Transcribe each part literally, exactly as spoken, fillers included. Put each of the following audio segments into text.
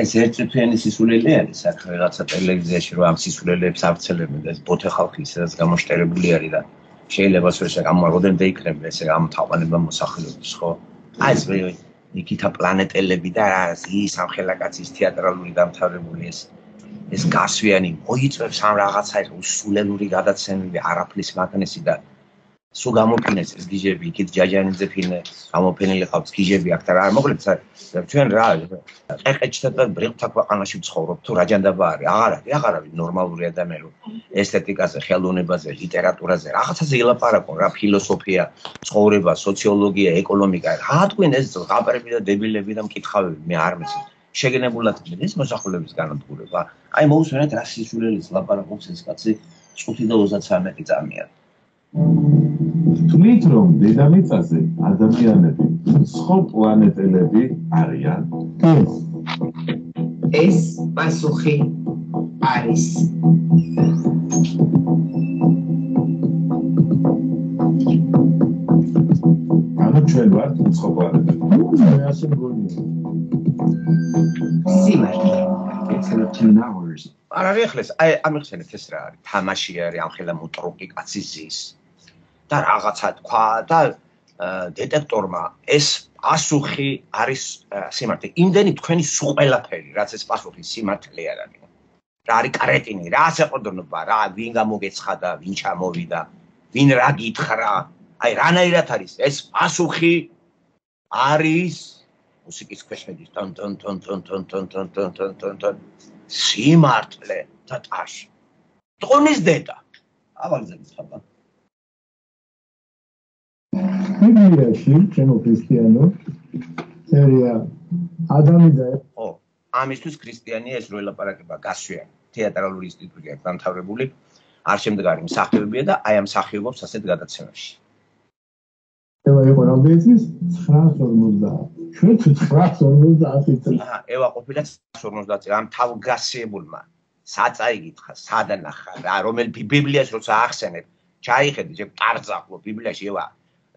ეს ერთწუთიანი სისულელი არის საქმე რაღაცა ტელევიზიაში რომ ამ სისულელებს ავრცელებენ და ეს ბოთე ხალხი ისედაც გამოშტერებული არის და შეიძლება სწორედ ამ როდემდე იქნება ესე ამ თაყვანება მოსახლეობის ხო აი ეს ნიკიტა პლანეტელები და ის ამ ხელაკაცის თეატრალური დამთავრებული ეს ეს გასვიანი მოიწევს ამ რაღაცა სულელური გადაცემები არაფლის მაგნესი და სულ გამოფინეს ეს გიჟები იქით ჯაჯანიძე ფილმი გამოფენილი ყავს გიჟები აქ და რა მოკლედ ჩვენ რა ყეყეჩთა და ბრილთა ქვეყანაში ვცხოვრობ თუ რა ჯანდაბა არის აღარ არის აღარ არის ნორმალური ადამიანი რომ ესთეტიკაზე ხელოვნებაზე ლიტერატურაზე რაღაცაზე ელაპარაკონ რა ფილოსოფია ცხოვრება სოციოლოგია ეკონომიკა რა თქვენ ეს ღაპრები და დებილები და მკითხავები მე არ მიცი შეგენებულად ეს მოსახლეობის განადგურება აი მოусვენეთ რა სისულელეს ლაპარაკობს ეს კაცი წუთი და ოცდათრამეტი წამია თვლით რომ დედამიწაზე ადამიანები სხვა პლანეტელები არიან ეს პასუხი არის ანუ ჩვენ ვართ სხვა პლანეტელები მე ასე მგონია სიმართლე thirteen hours არა რეხლეს აი ამიხსენეთ ეს რა არის თამაში არის ამ ხელა მოტროკი კაცის ზის და რაღაცა თქვა და დეტექტორმა ეს პასუხი არის სიმართლე იმდენი თქვენი სულ ყველაფერი რაც ეს პასუხი სიმართლე არ არის რა არის კრეტინი რა საყდრნობა რა ვინ გამოგეცხადა ვინ ჩამოვიდა ვინ რა გითხრა აი რანაირად არის ეს პასუხი არის მუსიკის ქვეშედის ტონ ტონ ტონ ტონ ტონ ტონ ტონ ტონ ტონ ტონ ტონ სიმართლე და ტაში ტონის დედა ავაგზავნით ხაბა ბიბლიაში ჩემო ქრისტიანო სერია ადამი და ო ამისთვის ქრისტიანია ეს რო ელაპარაკება გასვიანი თეატრალური ინსტიტუტი აქვს დამთავრებული არ შემდგარი მსახიობია და აი ამ მსახიობობს ასეთ გადაცემაში ევა იყო რამდენი ცხრაას ორმოცდაათ ჩვენ თუ ცხრაას ორმოცდაათი წელი აჰა ევა ყოფილა ცხრაას ორმოცდაათი ამ თავგასიებულმა საწაიგითხა სადანახა რა რომელი ბიბლიაში როცა ახსენებ ჩაიხედე ჯერ ტარზახლო ბიბლიაში ევა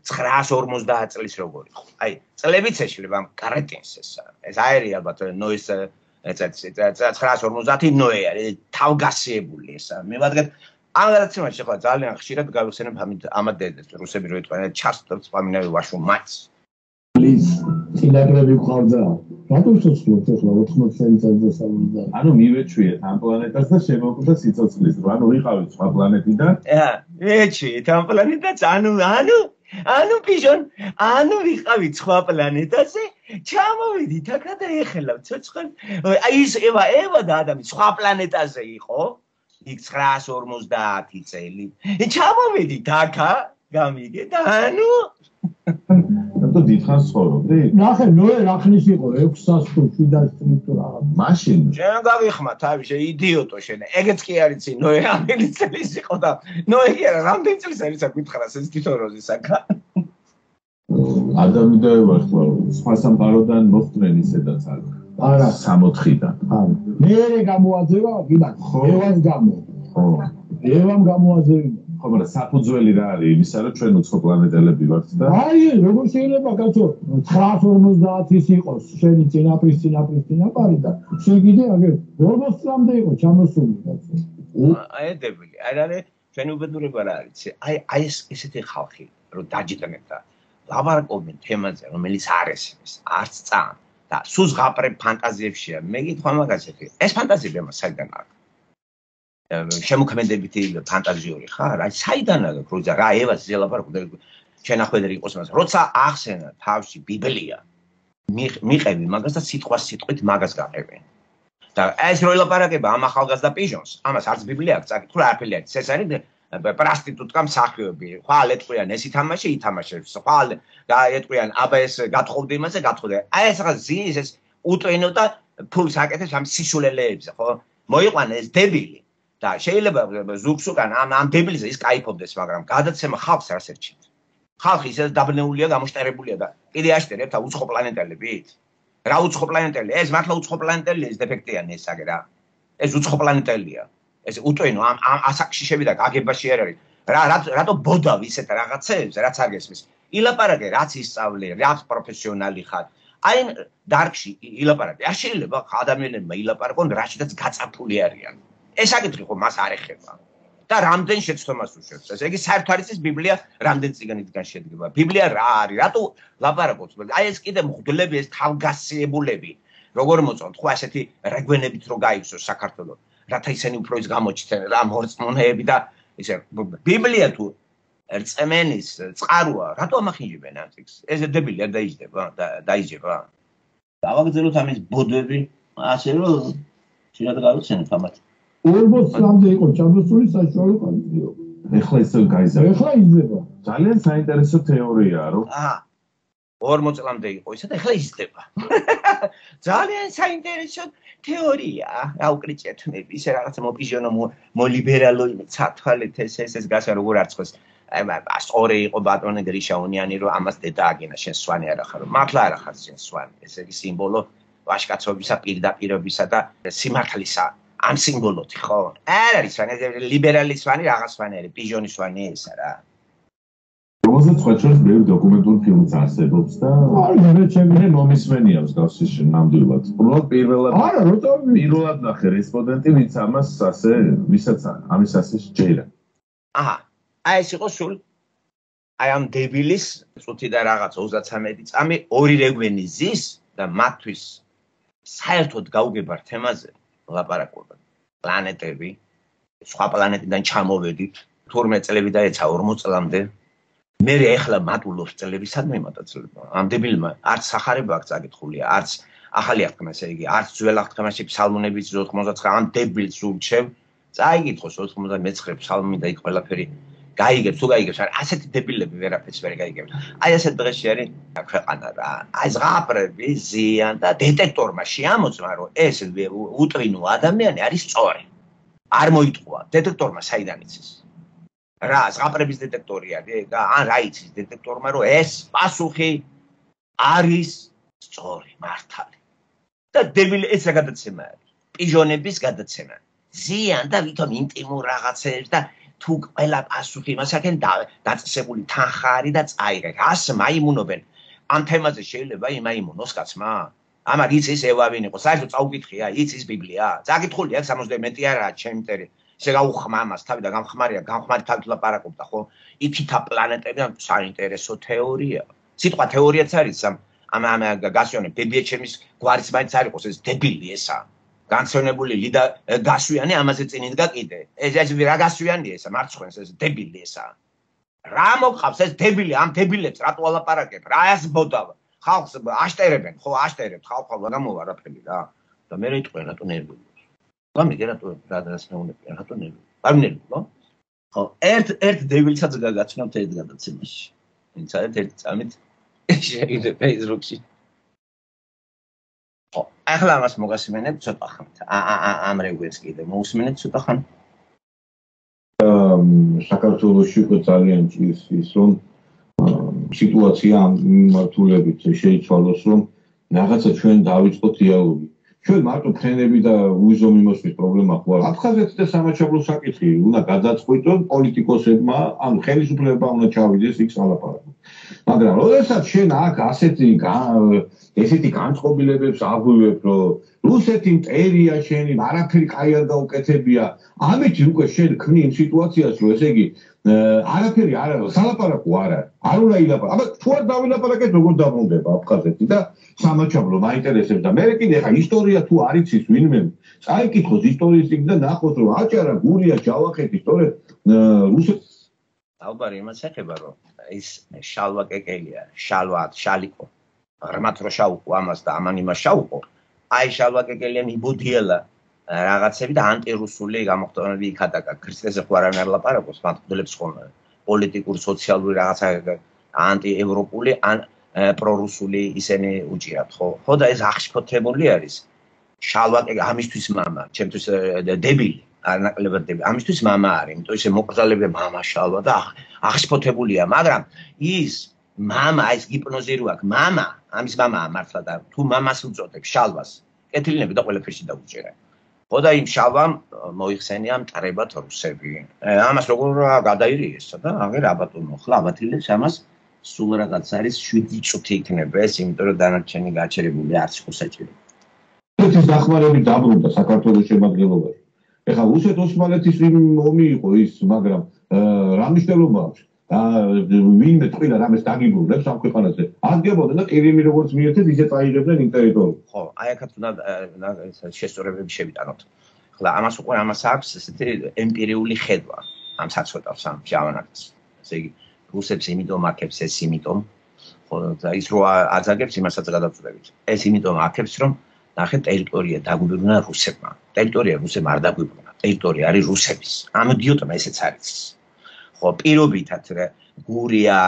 ცხრაას ორმოცდაათ წლის როგორი ხო აი წლებიც ეშლება ამ კრეტინს ეს ეს აერი ალბათ ნოის ეს ცხრაას ორმოცდაათი ნოე არის თავგასიებული ეს მე ვადგეთ ამ გადაცემაში ხო ძალიან ხშირად გავიხსენებ ამათ დედას რუსები რო ეტყვიან ჩასტობს პამინავი ვაშო მაც პლიზ სინაგრები ყავდა რატომ შეცვლოთ ახლა ოთხმოცი წელიწად და სამოცდა ანუ მივეჩვიეთ ამ პლანეტას და შემოგვდა სიცოცხლის რო ანუ ვიყავით სხვა პლანეტიდან აა ეჩვიეთ ამ პლანეტას ანუ ანუ ანუ ბიჟონ ანუ ვიყავით სხვა პლანეტაზე ჩამოვიდით აქა და ეხელავთ ცოცხალ აი ის ევა ევა და ადამი სხვა პლანეტაზე იყო იქ ცხრაას ორმოცდაათი წელი ჩამოვიდით აქა გამიგე და ანუ რატო დიდხანს ცხოვრობდი? ნახე, ნოე რა ხნის იყო ექვსას თუ შვიდას წლის თუ რაღაც. მაშინ შენ გავიხმა თავი, შე იდიოტო შენ. ეგეც კი არის ცი ნოე რამდენი წლის იყო და ნოე კი არა რამდენი წლის არის საკითხარას ეს თითოროზის აქა. ადამი და ევა ხო სხვა სამყაროდან მოხდნენ ისედაც არ. არა, სამოთხიდან. არა. მეერე გამოაძევა, გიდან. ევას გამო. ხო. ევამ გამოაძევა. ხო, მაგრამ საფუძველი რა არის იმისა, რომ ჩვენ უცხო პლანეტელები ვართ და აი, როგორ შეიძლება კაცო ცხრაას ორმოცდაათის იყოს შენი წინაპრის წინაპრის წინაპარი და შენ კიდე აგერ ორმოცი წლამდე იყო ჩამოსული კაცო. აი დებილი, არ არის ჩვენი უბედურება რა არის? აი აი ეს ესეთი ხალხი, რომ დაჯდნებ და ლაპარაკობენ თემაზე, რომელიც არ ესმის, არც წამ და სულ ზღაპრებ ფანტაზიებშია. მე გითხვა მაგას ეხი. ეს ფანტაზიები ამას საიდან აქვს? შემოქმედებითი ფანტაზიური ხარ? აი საიდან აქვს როცა რა ევას ზელაპარაკო შენახვედრი იყოს მას. როცა ახსენა თავში ბიბლია, მიყევი მაგას და სიტყვა სიტყვით მაგას გაყევი. და ეს რო ელაპარაკება ამ ახალგაზრდა პიჟონს, ამას არც ბიბლია აქვს, წაკითხული არაფერი არის. ეს არის პრასტიტუტკა მსახიობი. ხვალ ეტყვიან ეს ითამაშე, ითამაშებს. ხვალ ეტყვიან აბა ეს გათხოვდი იმაზე, გათხოვდი. აი ეს რაღაც ზის ეს უტვინო და ფულს აკეთებს ამ სიშულელეებზე, ხო? მოიყვანა ეს დებილი. და შეიძლება ზუგს უკან ამ ამ დებილზე ის кайფობდეს, მაგრამ გადაცემა ხალხს არ სერჩით. ხალხი ისე დაბნეულია, გამოშტერებულია და კიდე აშტერებთ უცხო პლანეტელებით. რა უცხო პლანეტელი? ეს მართლა უცხო პლანეტელი ეს დეფექტიანი ეს აგე რა. ეს უცხო პლანეტელია. ეს უტვინო ამ ამ ასაკში შევიდა გაგებაში არ არის. რა რატო ბოდავ ისეთ რაღაცებს, რაც არ გესმის. ილაპარაკე, რაც ისწავლე, რაც პროფესიონალი ხარ. აი დარკში ილაპარაკე. არ შეიძლება ადამიანებმა ილაპარაკონ რაშიდაც გაწართული არიან. ეს აკითხი ხო მას არ ეხება. და რამდენ შეცდომას უშვებს ეს. ეგ საერთოდ არის ეს ბიბლია რამდენ წიგნიდან შედგება. ბიბლია რა არის? რატო ლაპარაკობთ? აი ეს კიდე მღვდლები ეს თავგასიებულები. როგორ მოწონთ ხო ასეთი რეგვენებით რო გაიქცოს საქართველოს. რათა ისინი უფრო ის გამოჩნდნენ რა მორწმუნეები და ისე ბიბლია თუ რწმენის წყაროა, რატო ამახინჯებენ ამ წიგნს? ეს დებილი არ დაიჯდება, დაიჯება. დავაგრძელოთ ამის ბოდვები, ასე რომ შეიძლება გავიცენოთ ამათ. ორმოც წლამდე იყო ჩამოსული საშუალო კანონიო. ეხლა ისევ გაიზარდა. ეხლა იზრდება. ძალიან საინტერესო თეორიაა, რომ აა ორმოც წლამდე იყო ისა და ეხლა იზრდება. ძალიან საინტერესო თეორია. რა უკრიჭეთნები, ისე რაღაცა მოპიჟონო მოლიბერალო ცათვალეთ ეს ეს ეს გასა როგორ არცხოს. აი სწორი იყო ბატონი გრიშაუნიანი რომ ამას დედა აგენა შენ სვანი არ ახარო. მართლა არ ახარ შენ სვანი. ეს იგი სიმბოლო ვაჟკაცობისა, პირდაპირობისა და სიმართლისა. ამ სიმბოლოთი ხო? არ არის სვანი, ლიბერალი სვანი, რაღაც სვანი არის, პიჟონი სვანი ესა რა. რომელზეც ხოჭოს ბევრი დოკუმენტური ფილმიც არსებობს და არა, ჩემი მომისმენია მსგავსი ნამდვილად. უბრალოდ პირველად არა, როცა პირველად ნახე რესპონდენტი, ვინც ამას ასე, ვისაც ამის ასე შეჯერა. აჰა. აი ეს იყო სულ აი ამ დებილის წუთი და რაღაც ოცდათრამეტი წამი ორი რეგვენი ზის და მათთვის საერთოდ გაუგებარ თემაზე ლაპარაკობენ. პლანეტები, სხვა პლანეტიდან ჩამოვედით, თორმეტ წლები დაეცა ორმოც წლამდე. მე ეხლა მატულობს წლები, სადმე მატაცლება. ამ დებილმა არც სახარება აქ წაკითხულია, არც ახალი აღთქმა, ესე იგი, არც ძველ აღთქმაში ფსალმუნების ოთხმოცდათცხრა ამ დებილს ურჩევ, წაიგითხოს ოცდამეცხრე ფსალმუნი და იქ ყველაფერი გაიგებს, თუ გაიგებს, არა, ასეთი დებილები ვერაფერს ვერ გაიგებს. აი ასეთ დღეში არის ქვეყანა რა. აი ზღაპრები ზიან და დეტექტორმა შეამოწმა, რომ ეს უტრინო ადამიანი არის სწორი. არ მოიტყვა, დეტექტორმა საიდან იცის? რა, ზღაპრების დეტექტორი არის და ან რა იცის დეტექტორმა, რომ ეს პასუხი არის სწორი, მართალი. და დებილი ეს რა გადაცემა არის? პიჟონების გადაცემა. ზიან და ვითომ ინტიმურ რაღაცებს და თუ ყველა პასუხი მას აქენ დაწესებული თანხა არის და წაიღე. რას მაიმუნობენ? ამ თემაზე შეიძლება იმაიმუნოს კაცმა? ამარ იცის ევავინ იყო, საერთოდ წაუკითხია, იცის ბიბლია. წაკითხული აქვს სამოცდამეტი არაა ჩემი მტერი. ესე გაუხმა ამას თავი და გამხმარია, გამხმარი თავით ლაპარაკობდა, ხო? ითითა პლანეტები და საინტერესო თეორია. სიტყვა თეორიაც არის ამ ამ ამ გასვიანი ბებიეჩემის გვარის მაინც არ იყოს ეს დებილი ესა. განცენებული ლიდა გასვიანი ამაზე წინ იდგა კიდე. ეს ეს რა გასვიანია ესა, მარცხენს ეს დებილი ესა. რა მოყავს ეს დებილი, ამ დებილებს რატო ალაპარაკებ? რა ეს ბოდავა? ხალხს აშტერებენ, ხო, აშტერებთ, ხალხმა გამოვა რაფერი რა. და მე რიტყვენ რატო ნერვიულობს. გამიგე რატო რა დრას მეუნებიან, რატო ნერვიულობს. არ ნერვიულობს, ხო? ხო, ერთ ერთ დებილსაც გაგაცნობთ ერთ გადაცემაში. ვინც არის ერთ წამით შეიძლება Facebook-ში. ხო, ახლა ამას მოგასმენებ ცოტა ხანით. ამ რეგვენს კიდე მოусმენებ ცოტა ხანით. საქართველოში უკვე ძალიან ჭირს ის, რომ სიტუაცია ამ მიმართულებით შეიცვალოს, რომ რაღაცა ჩვენ დავიწყოთ დიალოგი. ჩვენ მარტო ფრენები და უიზო მიმოსვლის პრობლემა ხო არა. აფხაზეთის და სამაჩაბლოს საკითხი უნდა გადაწყვიტონ პოლიტიკოსებმა, ანუ ხელისუფლება უნდა ჩავიდეს იქ სალაპარაკო. მაგრამ როდესაც შენ აქ ასეთი ესეთი განწყობილებებს აღვივებ, რომ რუსეთი მტერია შენი, არაფერი კაი არ გაუკეთებია, ამით უკვე შენ ქმნი იმ სიტუაციას, რომ ესე იგი არაფერი არ არის, სალაპარაკო არ არის. არ უნდა ილაპარაკო. აბა თუ არ დავილაპარაკეთ, როგორ დაბრუნდება აფხაზეთი და სამაჩაბლო მაინტერესებს და მე კიდე ხა ისტორია თუ არ იცის ვინმე, წაიკითხოს ისტორიის წიგნი და ნახოს, რომ აჭარა, გურია, ჯავახეთი, სწორედ რუსეთი ალბათ იმას ეხება, რომ ის შალვა კეკელია, შალვა, შალიკო. რამაც რო შაუყო ამას და ამან იმას შაუყო. აი შალვა კეკელია მიბოდიელა რაღაცები და ანტირუსული გამოხდომები იქადაკა. ქრისტეზე ხო არ ლაპარაკობს, მათგულებს ხოლმე. პოლიტიკური, სოციალური რაღაცა ანტიევროპული ან პრორუსული ისინი უჭირათ, ხო? ხო და ეს აღშფოთებული არის. შალვა კეკელი ამისთვის მამა, ჩემთვის დებილი. არ ნაკლებად დებილი. ამისთვის მამა არის, იმიტომ ისე მოკრძალებია მამა შალვა და აღშფოთებულია, მაგრამ ის მამა ეს ჰიპნოზი რო აქვს, მამა, ამის მამაა მართლა და თუ მამას უწოდებს შალვას, კეთილინები და ყველაფერში დაუჭერა. ხო და იმ შალვამ მოიხსენია მტრებად რუსები. ამას როგორ გადაირიესა და აღერ აბატონო, ხლა აბათილებს ამას სულ რაღაც არის შვიდი წუთი იქნება ეს, იმიტომ რომ დანარჩენი გაჩერებული არც იყო საჭირო. ეს დახმარებით დაბრუნდა საქართველოს შემადგენლობაში. ეხლა რუსეთ-ოსმალეთის ომი იყო ის, მაგრამ რა მნიშვნელობა აქვს? ვინმე თქვა რამეს დაგიბრუნებს ამ ქვეყანაზე. ადგებოდნენ და ყირიმი როგორც მიერთეთ, ისე წაიღებდნენ იმ ტერიტორიას. ხო, აი აქაც უნდა შესწორებები შევიტანოთ. ახლა ამას უკვე ამას აქვს ესეთი ემპირიული ხედვა ამ საწყვეტავს ამ ჟავანაკს. ესე იგი, რუსებს იმიტომ აქებს ეს იმიტომ, ხო და ის რო აძაგებს იმასაც გადავწყვეტებით. ეს იმიტომ აქებს რომ ნახე ტერიტორია დაგვიბრუნა რუსებმა. ტერიტორია რუსებმა არ დაგვიბრუნა. ტერიტორია არის რუსების. ამ იდიოტმა ესეც არის. ხო, პირობითად გურია,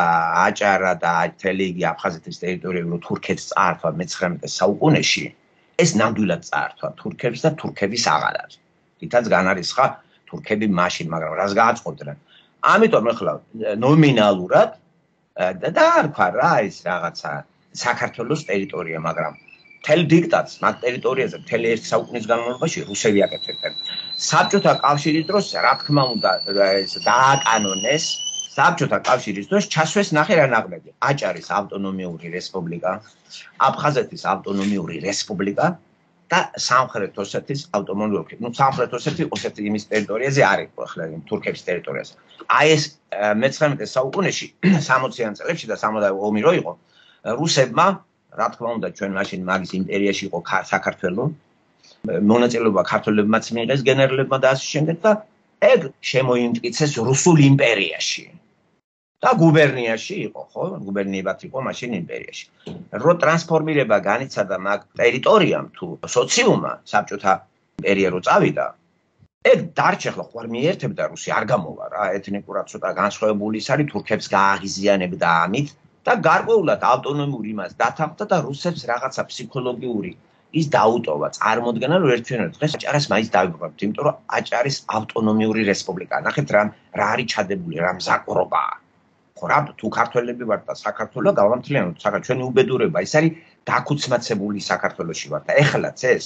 აჭარა და თელეგი აფხაზეთის ტერიტორიები რო თურქეთს წაართვა მეცხრამეტე საუკუნეში, ეს ნამდვილად წაართვა თურქებს და თურქების აღარ არის. თითაც განარისხა თურქები მაშინ, მაგრამ რას გააწყობდნენ? ამიტომ ახლა ნომინალურად და დაარქვა რა ის რაღაცა საქართველოს ტერიტორია, მაგრამ თელ დიქტატს მაგ ტერიტორიაზე მთელი ერთი საუკუნის განმავლობაში რუსები აკეთებდნენ. საბჭოთა კავშირის დროს რა თქმა უნდა ეს დააკანონეს, საბჭოთა კავშირის დროს ჩასვეს ნახე რა ნაღმები. აჭარის ავტონომიური რესპუბლიკა, აფხაზეთის ავტონომიური რესპუბლიკა და სამხრეთ ოსეთის ავტონომიური. ნუ სამხრეთ ოსეთი ოსეთი იმის ტერიტორიაზე არის, ახლა თურქების ტერიტორიაზე. აი ეს მეცხრამეტე საუკუნეში სამოციან წლებში და სამოცდაათი ომი რო იყო, რუსებმა რა თქმა უნდა ჩვენ მაშინ მაგის იმპერიაში იყო საქართველო, მონაწილეობა ქართველებმაც მიიღეს გენერლებმა და ასე შემდეგ და ეგ შემოიმტკიცეს რუსულ იმპერიაში. და გუბერნიაში იყო, ხო? გუბერნიებად იყო მაშინ იმპერიაში. რო ტრანსფორმირება განიცადა მაგ ტერიტორიამ თუ სოციუმმა, საბჭოთა იმპერია რო წავიდა, ეგ დარჩა ხო ხوار მიერთებდა რუსი არ გამოვა რა, ეთნიკურად ცოტა განსხვავებული ის არის, თურქებს გააღიზიანებდა ამით და გარკვეულად ავტონომიური იმას დათანხმდა და რუსებს რაღაცა ფსიქოლოგიური ის დაუტოვა, წარმოდგენა რომ ერთგვარად დღეს აჭარას მაინც დავიბრუნებთ, იმიტომ რომ აჭარის ავტონომიური რესპუბლიკა. ნახეთ რა რა არის ჩადებული, რა მზაკვრობაა. ხო რა თუ ქართველები ვართ და საქართველოს გავამთლიანოთ, საქართველოს ჩვენი უბედურება ის არის დაქუცმაცებული საქართველოში ვართ და ეხლაც ეს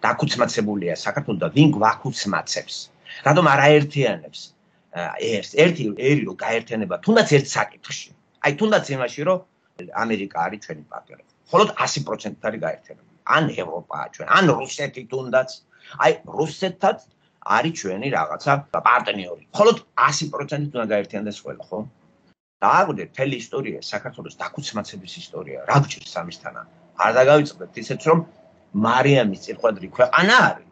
დაქუცმაცებულია საქართველოს და ვინ გვაქუცმაცებს? რატომ არ აერთიანებს? ერთ ერთი ერი რო გაერთიანება თუნდაც ერთ საკითხში. აი თუნდაც იმაში რომ ამერიკა არის ჩვენი პარტნიორი. მხოლოდ ასი პროცენტი არის გაერთიანებული. ან ევროპაა ჩვენ, ან რუსეთი თუნდაც. აი რუსეთთან არის ჩვენი რაღაცა პარტნიორი. მხოლოდ ასი პროცენტი უნდა გაერთიანდეს ყველა, ხო? დააგვდეთ მთელი ისტორია საქართველოს დაქუცმაცების ისტორია. რა გჭირს ამისთანა? არ დაგავიწყდეთ ისეც რომ მარიამის წირყვადრი ქვეყანა არის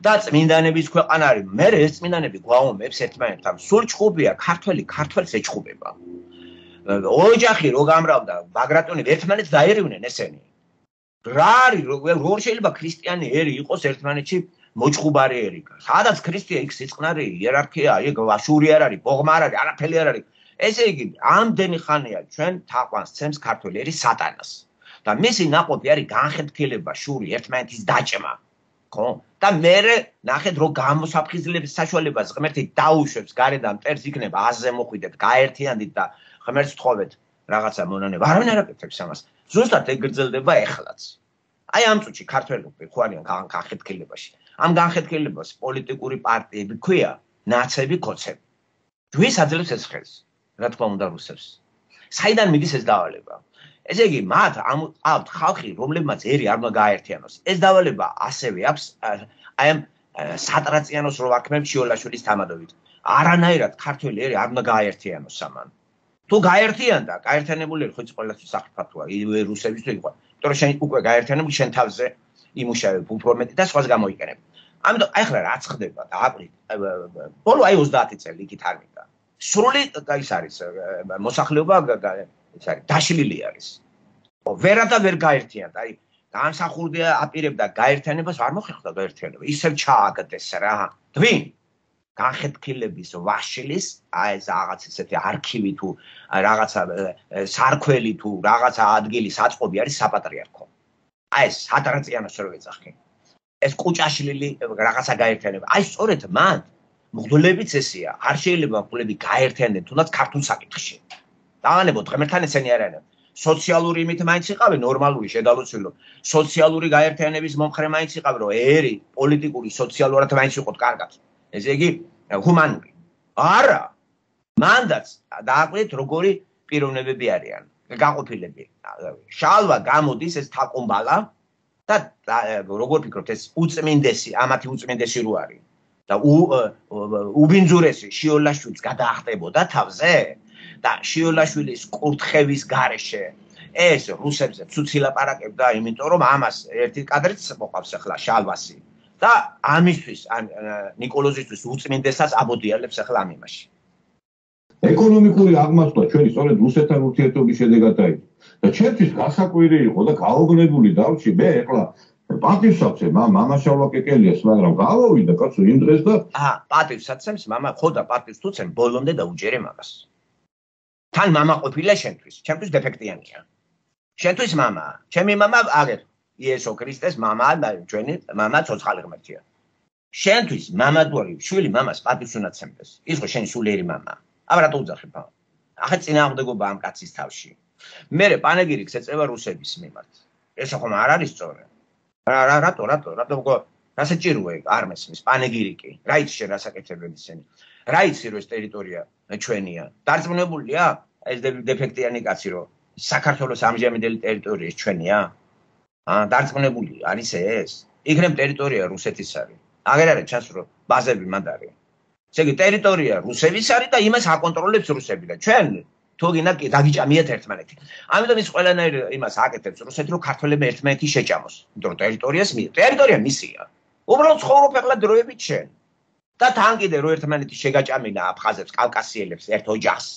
და წმინდანების ქვეყანა არის. მე ეს წმინდანები გვაუმებს ერთმანეთთან. სულ ჭხუბია ქართველი ქართველს ეჭხუბება. ოჯახი რო გამრავდა, ბაგრატონები ერთმანეთს დაერივნენ ესენი. რა არის როგორ შეიძლება ქრისტიანი ერი იყოს ერთმანეთში მოჭხუბარი ერი? სადაც ქრისტია იქ სიწყნარი, იერარქია, ეგ ვაშური არ არის, ბოღმა არ არის, არაფერი არ არის. ესე იგი, ამდენი ხანია ჩვენ თაყვანს ცემს ქართველი ერი სატანას. და მისი ნაყოფი არის განხეთქილება, შური, ერთმანეთის დაჭმა. ხო? და მერე ნახეთ რომ გამოსაფხიზლების საშუალებას ღმერთი დაუშვებს გარედან მტერს იქნება აზზე მოხვიდეთ, გაერთიანდით და ღმერთს თხოვეთ რაღაცა მონანება. არავინ არ აკეთებს ამას. ზუსტად ეგ გრძელდება ეხლაც. აი ამ წუთში ქართველები ხო არიან განხეთქილებაში. ამ განხეთქილებას პოლიტიკური პარტიები ქვია ნაცები კოცები. ვის აძლევს ეს ხელს? რა თქმა უნდა რუსებს. საიდან მიდის ეს დავალება? ესე იგი, მათ აქვთ ხალხი, რომლებმაც ერი არ უნდა გააერთიანოს. ეს დავალება ასევე აქვს აი ამ სატრაციანოს რო ვარქმევთ შიოლაშვილის თამადობით. არანაირად ქართველი ერი არ უნდა გააერთიანოს ამან. თუ გაერთიანდა, გაერთიანებული ერი ხო იცი ყველასთვის საფრთხეა, იგივე რუსებისთვის იყო. იმიტომ რომ შენ უკვე გაერთიანებული შენ თავზე იმუშავებ უფრო მეტი და სხვას გამოიყენებ. ამიტომ აი ახლა რაც ხდება და აპრილ ბოლო აი ოცდაათი წელი იქით არ მინდა. სრული ის არის მოსახლეობა ის არის დაშლილი არის. ვერა და ვერ გაერთიანდა. აი განსახურდია აპირებდა გაერთიანებას, არ მოხერხდა გაერთიანება. ისევ ჩააგდეს რა. თვინ განხეთქილების ვაშლის აი ეს რაღაც ესეთი არქივი თუ რაღაცა სარქველი თუ რაღაცა ადგილი საწყობი არის საპატრიარქო. აი ეს სატრაციანოს რო ეძახი. ეს კუჭაშლილი რაღაცა გაერთიანება. აი სწორედ მან მღვდლებიც ესეა. არ შეიძლება მღვდლები გაერთიანდნენ თუნდაც ქართულ საკითხში. დავანებოთ ღმერთთან ესენი არ არიან. სოციალური იმით მაინც იყავენ ნორმალური შედალოცვილო. სოციალური გაერთიანების მომხრე მაინც იყავენ რომ ერი პოლიტიკური სოციალურად მაინც იყოთ კარგად. ესე იგი ჰუმანური. არა. მანდაც დააკვირდით როგორი პიროვნებები არიან. გაყოფილები. შალვა გამოდის ეს თაკუმბალა და როგორ ფიქრობთ ეს უწმინდესი, ამათი უწმინდესი რო არის. და უბინძურესი შიოლაშვილს გადაახტებოდა თავზე და შიოლაშვილის კურთხევის გარეშე ეს რუსებზე ცუცი ლაპარაკებდა, იმიტომ რომ ამას ერთი კადრიც მოყავს ახლა შალვასი და ამისთვის ნიკოლოზისთვის უწმინდესას აბოდიალებს ახლა ამ იმაში. ეკონომიკური აღმასვლა ჩვენი სწორედ რუსეთთან ურთიერთობის შედეგად დაიწყო და ჩემთვის გასაკვირი იყო და გაოგნებული დავში მე ახლა პატივსაცემ მამა შალვა კეკელიას, მაგრამ გავავიდა კაცო იმ დღეს და აა პატივსაცემს მამა ხო და პატივს თუცემ ბოლომდე დაუჯერე მაგას. თან მამა ყოფილა შენთვის, ჩემთვის დეფექტიანია. შენთვის მამა, ჩემი მამა აგერ იესო ქრისტეს მამა და ჩვენი მამა ცოცხალი ღმერთია. შენთვის მამა თუ არის შვილი მამას პატივს უნდა ცემდეს. ის ხო შენი სულიერი მამა. აბა რატო უძახებ? ახლა წინააღმდეგობა ამ კაცის თავში. მე პანეგირიკს ეწევა რუსების მიმართ. ეს ხომ არ არის სწორი. რა რა რატო რატო რატო რა საჭიროა არ მესმის პანეგირიკი რა იცი შენ რა საკეთებები ისინი რა იცი რომ ეს ტერიტორია ჩვენია დარწმუნებულია ეს დეფექტიანი კაცი რომ საქართველოს ამჟამინდელი ტერიტორია ჩვენია აა დარწმუნებული არის ეს იქნებ ტერიტორია რუსეთის არის აღარ არის ჩანს რომ ბაზები მანდ არის ესე იგი ტერიტორია რუსების არის და იმას აკონტროლებს რუსები და ჩვენ თუ გინდა დაგიჭამიათ ერთმანეთი. ამიტომ ის ყველანაირ იმას აკეთებს რუსეთი რომ ქართველები ერთმანეთი შეჭამოს. იმიტომ რომ ტერიტორიას მი ტერიტორია მისია. უბრალოდ ცხოვრობ ახლა დროებით შენ. და თან კიდე რომ ერთმანეთი შეგაჭამინა აფხაზებს, კავკასიელებს ერთ ოჯახს.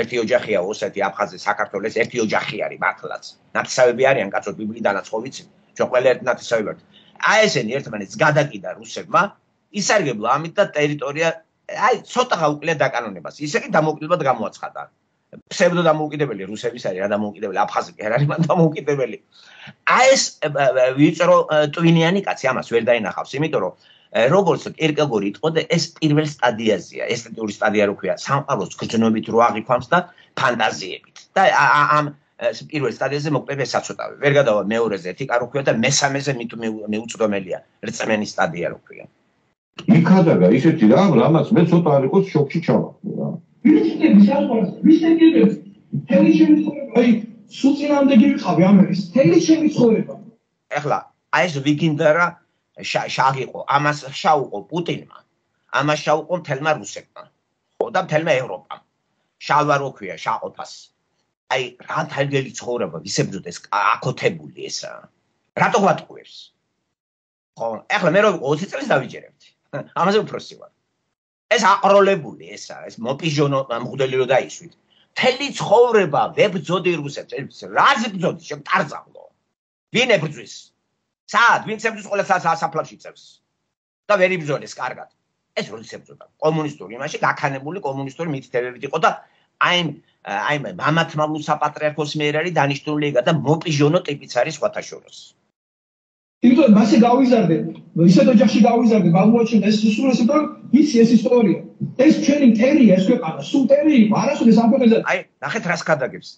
ერთი ოჯახია ოსეთი, აფხაზი, საქართველოს ერთი ოჯახი არის მართლაც. ნათესავები არიან კაცო ბიბლიდანაც ხო ვიცი. ჩვენ ყველა ერთ ნათესავები ვართ. აი ესენი ერთმანეთს გადაკიდა რუსებმა, ისარგებლა ამით და ტერიტორია აი ცოტა გაუკლია დაკანონებას. ისე კი დამოუკიდებლად გამოაცხადა. ფსევდო დამოუკიდებელი რუსების არის რა დამოუკიდებელი აფხაზი კი არ არის მან დამოუკიდებელი აი ეს ვიწრო ტვინიანი კაცი ამას ვერ დაინახავს იმიტომ რომ როგორც კირკეგორი იტყოდა ეს პირველ სტადიაზეა ესთეტური სტადია რო ქვია სამყაროს გრძნობით რო აღიქვამს და ფანტაზიებით და ამ პირველ სტადიაზე მოკლედ ეს საწოტავი ვერ გადავა მეორეზე ეთიკა რო ქვია და მესამეზე მეუწვდომელია რწმენის სტადია რო ქვია იქადაგა ისეთი რამ რამაც მე ცოტა არ იყოს შოკში ჩავარდი რა ვისკები საყვარს, ვისკები თელი ჩემი ცხოვრება, აი, სულ წინამდე გიყავი ამერის, თელი ჩემი ცხოვრება. ეხლა, აი ეს ვიგინდა რა შაღიყო, ამას შაუყო პუტინმა, ამას შაუყო მთელმა რუსებმა, ხო და მთელმა ევროპამ. შალვა რო ქვია, შაყოფას. აი, რა თალგელი ცხოვრება, ვისებრძოდეს აკოთებული ესა. რატო გვატყუებს? ხო, ეხლა მე რო ოცი წელს დავიჯერებთ. ამაზე უფროსი ვარ. ეს აყროლებული ესა, ეს მოპიჟონო მღვდელი რო დაისვით. მთელი ცხოვრება ვებძოდი რუსებს, რაზე ბძოდი, შემტარძაღლო. ვინ ებრძვის? სად? ვინც ებრძვის ყველას საფლავში წევს. და ვერ იბრძოლეს კარგად. ეს როდის ებრძოდა? კომუნისტური იმაში გაქანებული კომუნისტური მითითებებით იყო და აი აი მამათმავლუ საპატრიარქოს მიერ არის დანიშნული და მოპიჟონო ტიპიც არის სხვათა შორის. იმიტომ მასე გავიზარდე, ისეთ ოჯახში გავიზარდე, გამოაჩინე ეს სულ ესე რომ იცი ეს ისტორია. ეს ჩვენი მტერია, ეს ქვეყანა, სულ მტერი იყო, არასოდეს ამ ქვეყანაზე. აი, ნახეთ რას გადაგებს.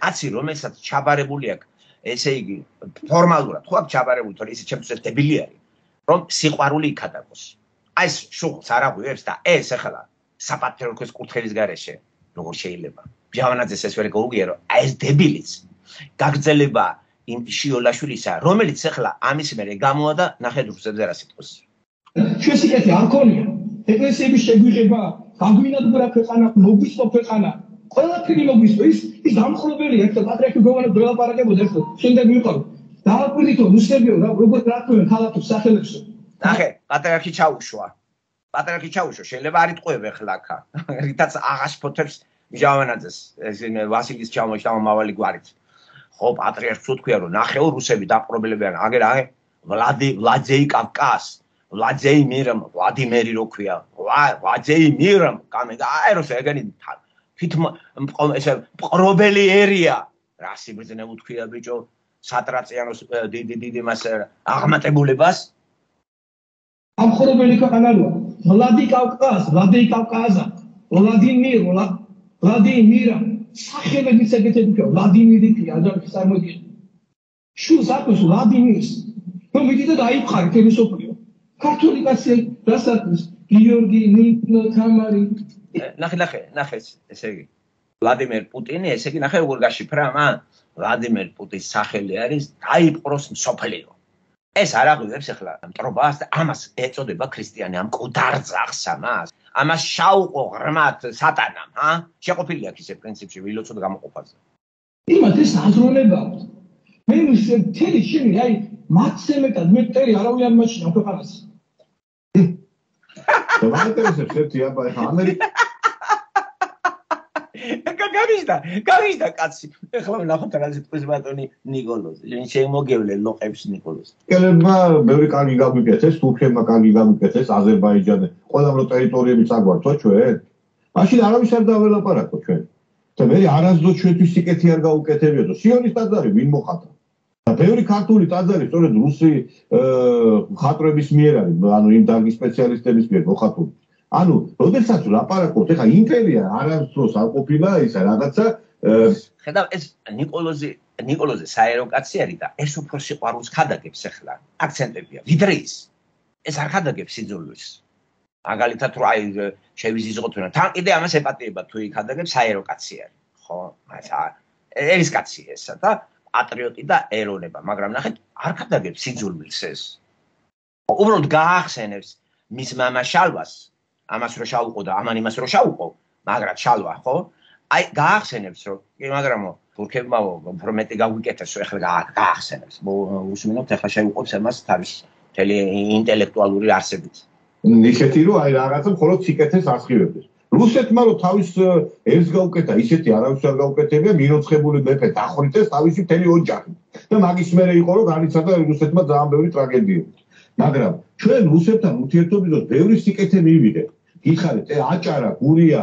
კაცი, რომელსაც ჩაბარებული აქვს, ესე იგი, ფორმალურად, ხო, ჩაბარებული, თორე ისე ჩემთვის დებილი არის, რომ სიყვარული იქადაგოს. აი ეს შუღლს არ აღვივებს და ეს ახლა საპატრიარქოს კურთხევის გარეშე, როგორ შეიძლება? ბჟავანაძეს ეს ვერ გაუგიერო, აი ეს დებილიც. გაგრძელება იმ შიოლაშვილისა, რომელიც ახლა ამის მერე გამოა და ნახეთ რუსებზე რა სიტყვის. ჩვენ სიკეთე არ ქონია. ეკლესიების შეგვიღება, გაგვინადგურა ქვეყანა, მოგვისწო ქვეყანა. ყველაფერი მოგვისწო. ის ის დამხრობელია, ერთ პატრიარქი გოგონებს ვერ ლაპარაკებოდა, ერთ შემდეგ ვიყავ. დააკვირდითო რუსებიო, როგორ რატომ ქალაქებს სახელებსო. ნახე, პატრიარქი ჩაუშვა. პატრიარქი ჩაუშვა, შეიძლება არ იტყვევ ახლა აქა. რითაც აღაშფოთებს ბჟავანაძეს, ეს ვასილის ჩამომავალი გვარით. ხო, პატრიარქს უთქვია, რომ ნახეო რუსები დაპყრობლებიან, აგერ აი ვლადი ვლაძეი კავკას, ვლაძეი მირამ, ვლადიმერი რო ქვია, ვლაძეი მირამ, კამე და აი რუსე ეგენი თვით ესე პყრობელი ერია. რა სიბრძნე უთქვია ბიჭო, სატრაციანოს დიდი დიდი მას აღმატებულებას. ამხორებელი ქვეყანაა. ვლადი კავკას, ვლადი კავკაზა, ვლადიმირ, ვლადიმირა სახელების ეგეთები ხო ვლადიმირი კი აჯანყის წარმოდგენა. შულს აქვს ვლადიმირს. რომ მიდიდო დაიფხარი თემისოფლიო. ქართული კაცი რასაც გიორგი, ნინო, თამარი. ნახე, ნახე, ნახე, ესე იგი. ვლადიმერ პუტინი, ესე იგი ნახე როგორ გაშიფრა მან? ვლადიმერ პუტინის სახელი არის დაიპყროს მსოფლიო. ეს არ აღვივებს ახლა მტრობას და ამას ეწოდება ქრისტიანი ამ კუდარძახს ამას. ამას შაუყო ღრმად სატანამ, ჰა? შეყოფილი აქვს ისე პრინციპში ვილოცოდ გამოყოფაზე. იმათ ეს აზროვნება აქვს. მე მთელი შენი აი მათზე მეტად მე ტერი არავინ არ მაჩვენა ქვეყანას. და მაინტერესებს ერთი აბა ეხა ამერიკა გაგიშდა, გაგიშდა კაცი. ეხლა ნახოთ რა ზეთყვის ბატონი ნიკოლოზი. შემოგევლე ლოყებს ნიკოლოზი. კელებმა ბევრი კარგი გაგვიკეთეს, თურქებმა კარგი გაგვიკეთეს, აზერბაიჯანი, ყველამ რო ტერიტორიები წაგვართო ჩვენ. მაშინ არავის არ დაველაპარაკო ჩვენ. და მე არასდროს ჩვენთვის სიკეთე არ გაუკეთებიოდო. სიონის ტაძარი ვინ მოხატა? და ბევრი ქართული ტაძარი სწორედ რუსი მხატვრების მიერ არის, ანუ იმ დარგის სპეციალისტების მიერ მოხატული. ანუ, როდესაც ლაპარაკობთ, ეხა იმპერია არასდროს არ ყოფილა ისა რაღაცა ხედავ ეს ნიკოლოზი ნიკოლოზი საერო კაცი არის და ეს უფრო სიყვარულს ხადაგებს ახლა აქცენტებია ვიდრე ის ეს არ ხადაგებს სიძულვის მაგალითად რომ აი შევიზიზღოთ რა თან კიდე ამას ეპატიება თუ იქადაგებს საერო კაცი არის ხო ეს ერის კაცი ესა და პატრიოტი და ეროვნება მაგრამ ნახეთ არ ხადაგებს სიძულვილს ეს უბრალოდ გაახსენებს მის მამა შალვას ამას რო შაუყო და ამან იმას რო შაუყო მაგრამ შალვა ხო აი გაახსენებს რომ კი მაგრამო თურქებმა უფრო მეტი გაგვიკეთეს რომ ეხლა გაახსენებს უსმინოთ ეხლა შეუყობს ამას თავის მთელი ინტელექტუალური არსებით ისეთი რომ აი რაღაცა მხოლოდ სიკეთეს ასხივებდეს რუსეთმა რომ თავის ერს გაუკეთა ისეთი არავის არ გაუკეთებია მიროცხებული მეფე დახვრიტეს თავისი მთელი ოჯახი და მაგის მერე იყო რომ განიცადა რუსეთმა ძალიან ბევრი ტრაგედიები მაგრამ ჩვენ რუსებთან ურთიერთობისას ბევრი სიკეთე მივიღეთ გიხარით აჭარა გურია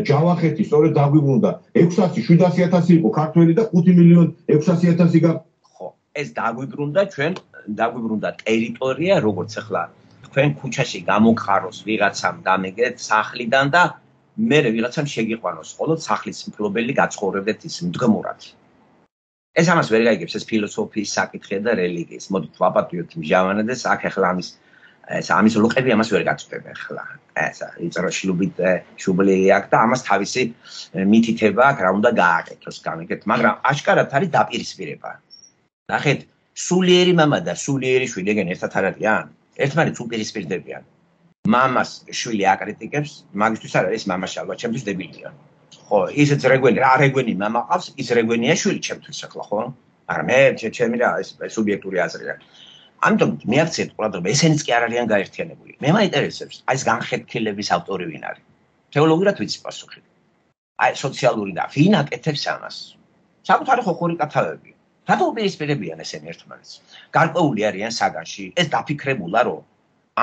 ჯავახეთი სწორედ დაგვიბრუნდა ექვსასი შვიდასი ათასი იყო ქართველი და ხუთი მილიონი ექვსასი ათასი ხო ეს დაგვიბრუნდა ჩვენ დაგვიბრუნდა ტერიტორია როგორც ახლა თქვენ ქუჩაში გამოგყაროს ვიღაცამ დამეგეთ სახლიდან და მე ვიღაცამ შეგიყვანოს მხოლოდ სახლის მფლობელი გაცხოვრებდეთ ის მდგმურად ეს ამას ვერ გაიგებს ეს ფილოსოფიის საკითხია და რელიგიის მოდით ვაპატიოთ მჟავანედეს აქ ახლა ამის ეს ამის ლოყები ამას ვერ გაწვდება ახლა ესა იწერა შლუბით შუბლი აქ და ამას თავისი მითითება აქ რა უნდა გააკეთოს გამიგეთ მაგრამ აშკარად არის დაპირისპირება ნახეთ სულიერი მამა და სულიერი შვილი ეგენ ერთად არ არიან ერთმანეთს უპირისპირდებიან მამას შვილი აკრიტიკებს მაგისთვის არ არის მამა შალვა ჩემთვის დებილია ხო ისეც რეგვენი რა რეგვენი მამა ყავს ის რეგვენია შვილი ჩემთვის ახლა ხო მაგრამ მე ჩემი რა ეს სუბიექტური აზრია ამიტომ მე აქცენტ ყურადღება ესენიც კი არ არიან გაერთიანებული მე მაინტერესებს აი ეს განხეთქილების ავტორი ვინ არის თეოლოგიურად ვიცი პასუხი აი სოციალური და ვინ აკეთებს ამას საკუთარი ხოხური კათავები რატო უპირისპირებიან ესენი ერთმანეთს გარკვეული არიან საგანში ეს დაფიქრებულა რომ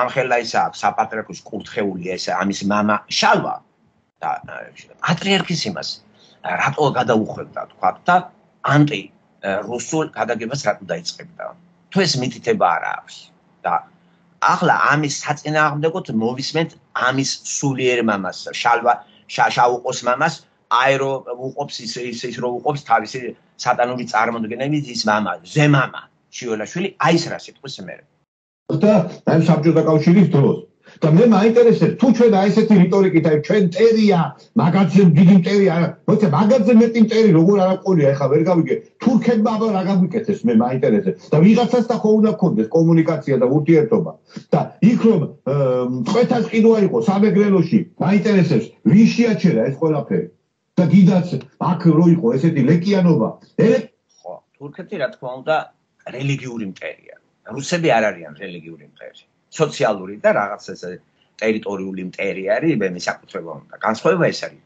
ამ ხელა ისა აქვს საპატრიარქოს კურთხეულია ეს ამის მამა შალვა და პატრიარქის იმას რატო გადაუხვევდა თქვა და ანტი რუსულ გადაგებას რატო დაიწყებდა თუ ეს მითითება არ აქვს და ახლა ამის საწინააღმდეგოდ მოვისმენთ ამის სულიერ მამას შალვა შაუყოს მამას აი რო უყობს ის ის რო უყობს თავისი სატანური წარმოდგენებით ის მამა ზემამა შიოლაშვილი აი ეს რა სიტყვის მე და აი საბჭოთა კავშირის დროს და მე მაინტერესებს თუ ჩვენ აი ესეთი რიტორიკით აი ჩვენ ტერია მაგაზე დიდი ტერია როცა მაგაზე მეტი ტერი როგორ არ აყოლია ეხა ვერ გავიგე თურქებმა აბა რა გაგვიკეთეს მე მაინტერესებს და ვიღაცას და ხო უნდა გქონდეს კომუნიკაცია და ურთიერთობა და იქ რომ წვეთას ყიდვა იყო სამეგრელოში მაინტერესებს ვინ შეაჩერა ეს ყველაფერი და გიდაც აქ რო იყო ესეთი ლეკიანობა ხო თურქეთი რა თქმა უნდა რელიგიური მტერია რუსები არ არიან რელიგიური მტერი სოციალური და რაღაც ეს ტერიტორიული მტერი არის მე საკუთრება უნდა განსხვავება ეს არის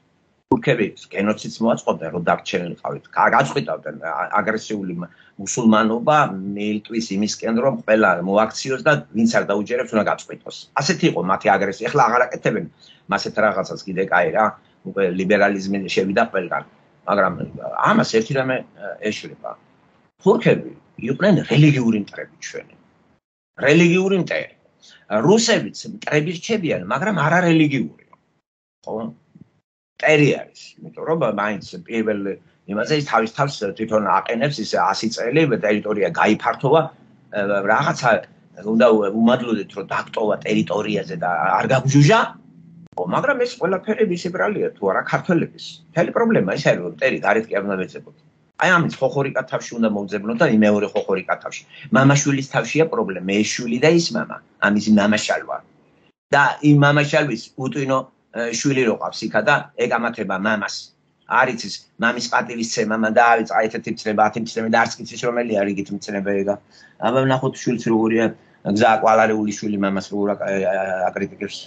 თურქები გენოციდს მოაწყობდნენ რომ დაგჩენილიყავით გაწყვიტავდნენ აგრესიული მუსულმანობა მიილტვის იმისკენ რომ ყველა მოაქციოს და ვინც არ დაუჯერებს უნდა გაწყვიტოს ასეთი იყო მათი აგრესია ეხლა აღარ აკეთებენ მასეთ რაღაცას კიდე კაი რა უკვე ლიბერალიზმი შევიდა ყველგან მაგრამ ამას ერთი რამე ეშლება თურქები იყვნენ რელიგიური მტრები ჩვენი რელიგიური მტერი რუსებიც მტრები რჩებიან მაგრამ არა რელიგიური ხო მტერი არის იმიტომ რომ მაინც პირველ იმაზე ის თავის თავს თვითონ აყენებს ის ასი წელი ტერიტორია გაიფართოვა რაღაცა უნდა უმადლოდეთ რომ დაკტოვა ტერიტორიაზე და არ გაგჟუჟა მაგრამ ეს ყველაფერი მისი ბრალია თუ არა ქართველების. მთელი პრობლემა ის არის რომ მტერი გარეთ კი არ უნდა მეძებოთ. აი ამის ხოხორიკა თავში უნდა მოვძებნოთ და მეორე ხოხორიკა თავში. მამაშვილის თავშია პრობლემა, ეს შვილი და ის მამა, ამის მამაშალვა. და იმ მამაშალვის უტვინო შვილი რო ყავს იქა და ეკამათება მამას. არის ის მამის პატივისცემა და არის წაეთეთი მცნება, ათი მცნება და არც კიცის რომელი არის იგით მცნება ეგა. აბა ნახოთ შვილს როგორია გზა აკვალარეული შვილი მამას როგორ აკრიტიკებს.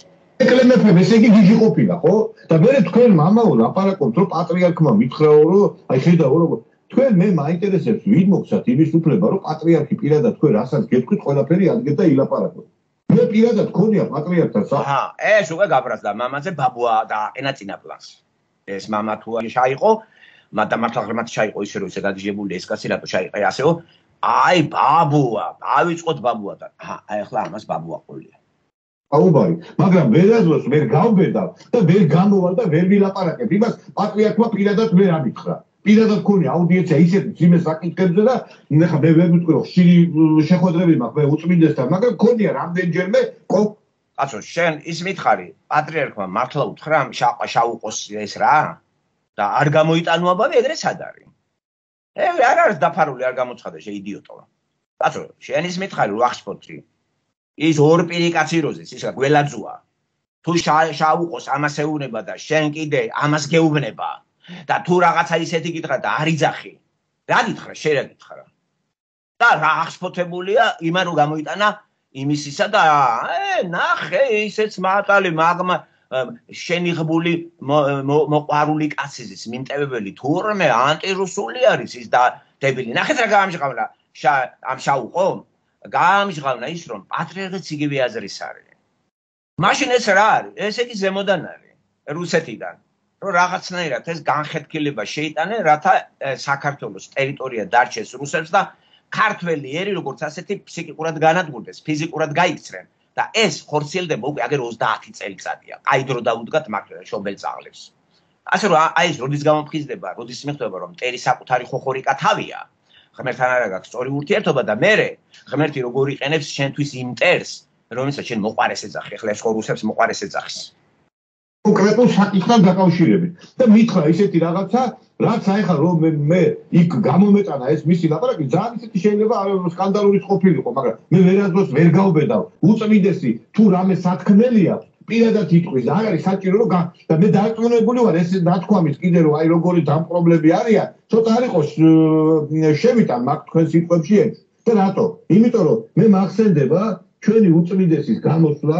ეკლემეფებ ესე იგი გიჟი ყოფილა ხო? და მე თქვენ მამაო ლაპარაკობთ რომ პატრიარქმა მითხრაო რომ აი ხედავ როგორ თქვენ მე მაინტერესებს ვინ მოგცათ იმის უფლება რომ პატრიარქი პირადად თქვენ რასაც გეტყვით ყველაფერი ადგეთ და ილაპარაკოთ. მე პირადად ქონია პატრიარქთან სა. აჰა, ეს უკვე გაბრაზდა მამაზე ბაბუა და აყენა წინა პლანს. ეს მამა თუ შეაიყო, მაგრამ მართლა ღრმად შეაიყო ისე რომ ესე გადიჟებული ეს კაცი რატო შეაიყე ასეო? აი ბაბუა, დავიწყოთ ბაბუათან. აჰა, აი ახლა ამას ბაბუა ყოლია. აუბარი, მაგრამ ვერაზოს ვერ გავბედავ და ვერ გამოვალ და ვერ ვილაპარაკებ. იმას პატრიარქმა პირადად ვერ ამითხრა. პირადად ქონია აუდიენცია ისეთ ძიმე საკითხებზე და ნახა მე ვერ ვიტყვი რომ ხშირი შეხვედრები მაქვს მე უწმინდესთან, მაგრამ ქონია რამდენჯერმე ყო კაცო, შენ ის მითხარი, პატრიარქმა მართლა უთხრა შაყა შაუყოს ეს რა? და არ გამოიტანუაბავი ეგრე სად არის? ე არ არის დაფარული, არ გამოცხადა შე იდიოტო. კაცო, შენ ის მითხარი რომ ახსფოთრი. ის ორ პირი კაცი როზის, ის გველაძუა. თუ შაუყოს ამას ეუბნება და შენ კიდე ამას გეუბნება და თუ რაღაცა ისეთი გითხრა და არ იძახი. რა გითხრა, შენ რა გითხრა? და რა ახსფოთებულია იმან რომ გამოიტანა იმისისა და ე ნახე ისეც მატალი მაგმა შენიღბული მოყვარული კაცის მიმტევებელი თურმე ანტირუსული არის ის და დებილი. ნახეთ რა გამჟღავნა ამ შაუყო? გამჟღავნა ის რომ პატრიარქიც იგივე აზრის არის. მაშინ ეს რა არის? ეს იგი ზემოდან არის, რუსეთიდან. რომ რაღაცნაირად ეს განხეთქილება შეიტანენ, რათა საქართველოს ტერიტორია დარჩეს რუსებს და ქართველი ერი როგორც ასეთი ფსიქიკურად განადგურდეს, ფიზიკურად გაიქცნენ და ეს ხორციელდება უკვე აგერ ოცდაათი წელიწადია. აი დრო დაუდგათ მაგ შობელწაღლებს. ასე რომ აი ეს როდის გამოფხიზდება, როდის მიხვდება რომ მტერი საკუთარი ხოხორიკა თავია. ღმერთთან არა გაქვს სწორი ურთიერთობა და მე ღმერთი როგორ იყენებს შენთვის იმ მტერს, რომელსაც შენ მოყარეს ეძახი, ახლა ეს ხო რუსებს მოყარეს ეძახის. კონკრეტულ საკითხთან დაკავშირებით და მითხრა ისეთი რაღაცა, რაც აიხა რომ მე იქ გამომეტანა ეს მისი ლაპარაკი, ძალიან ისეთი შეიძლება სკანდალური ყოფილიყო, მაგრამ მე ვერასდროს ვერ გავბედავ. უწმინდესი თუ რამე სათქმელია, პირადად იტყვის, არ არის საჭირო რომ და მე დარწმუნებული ვარ ეს ნათქვამის კიდე რომ აი როგორი დამპრობლები არიან, ცოტა არ იყოს შევიტან მაგ თქვენ სიტყვებში ეს. და რატო? იმიტომ რომ მე მახსენდება ჩვენი უწმინდესის გამოსვლა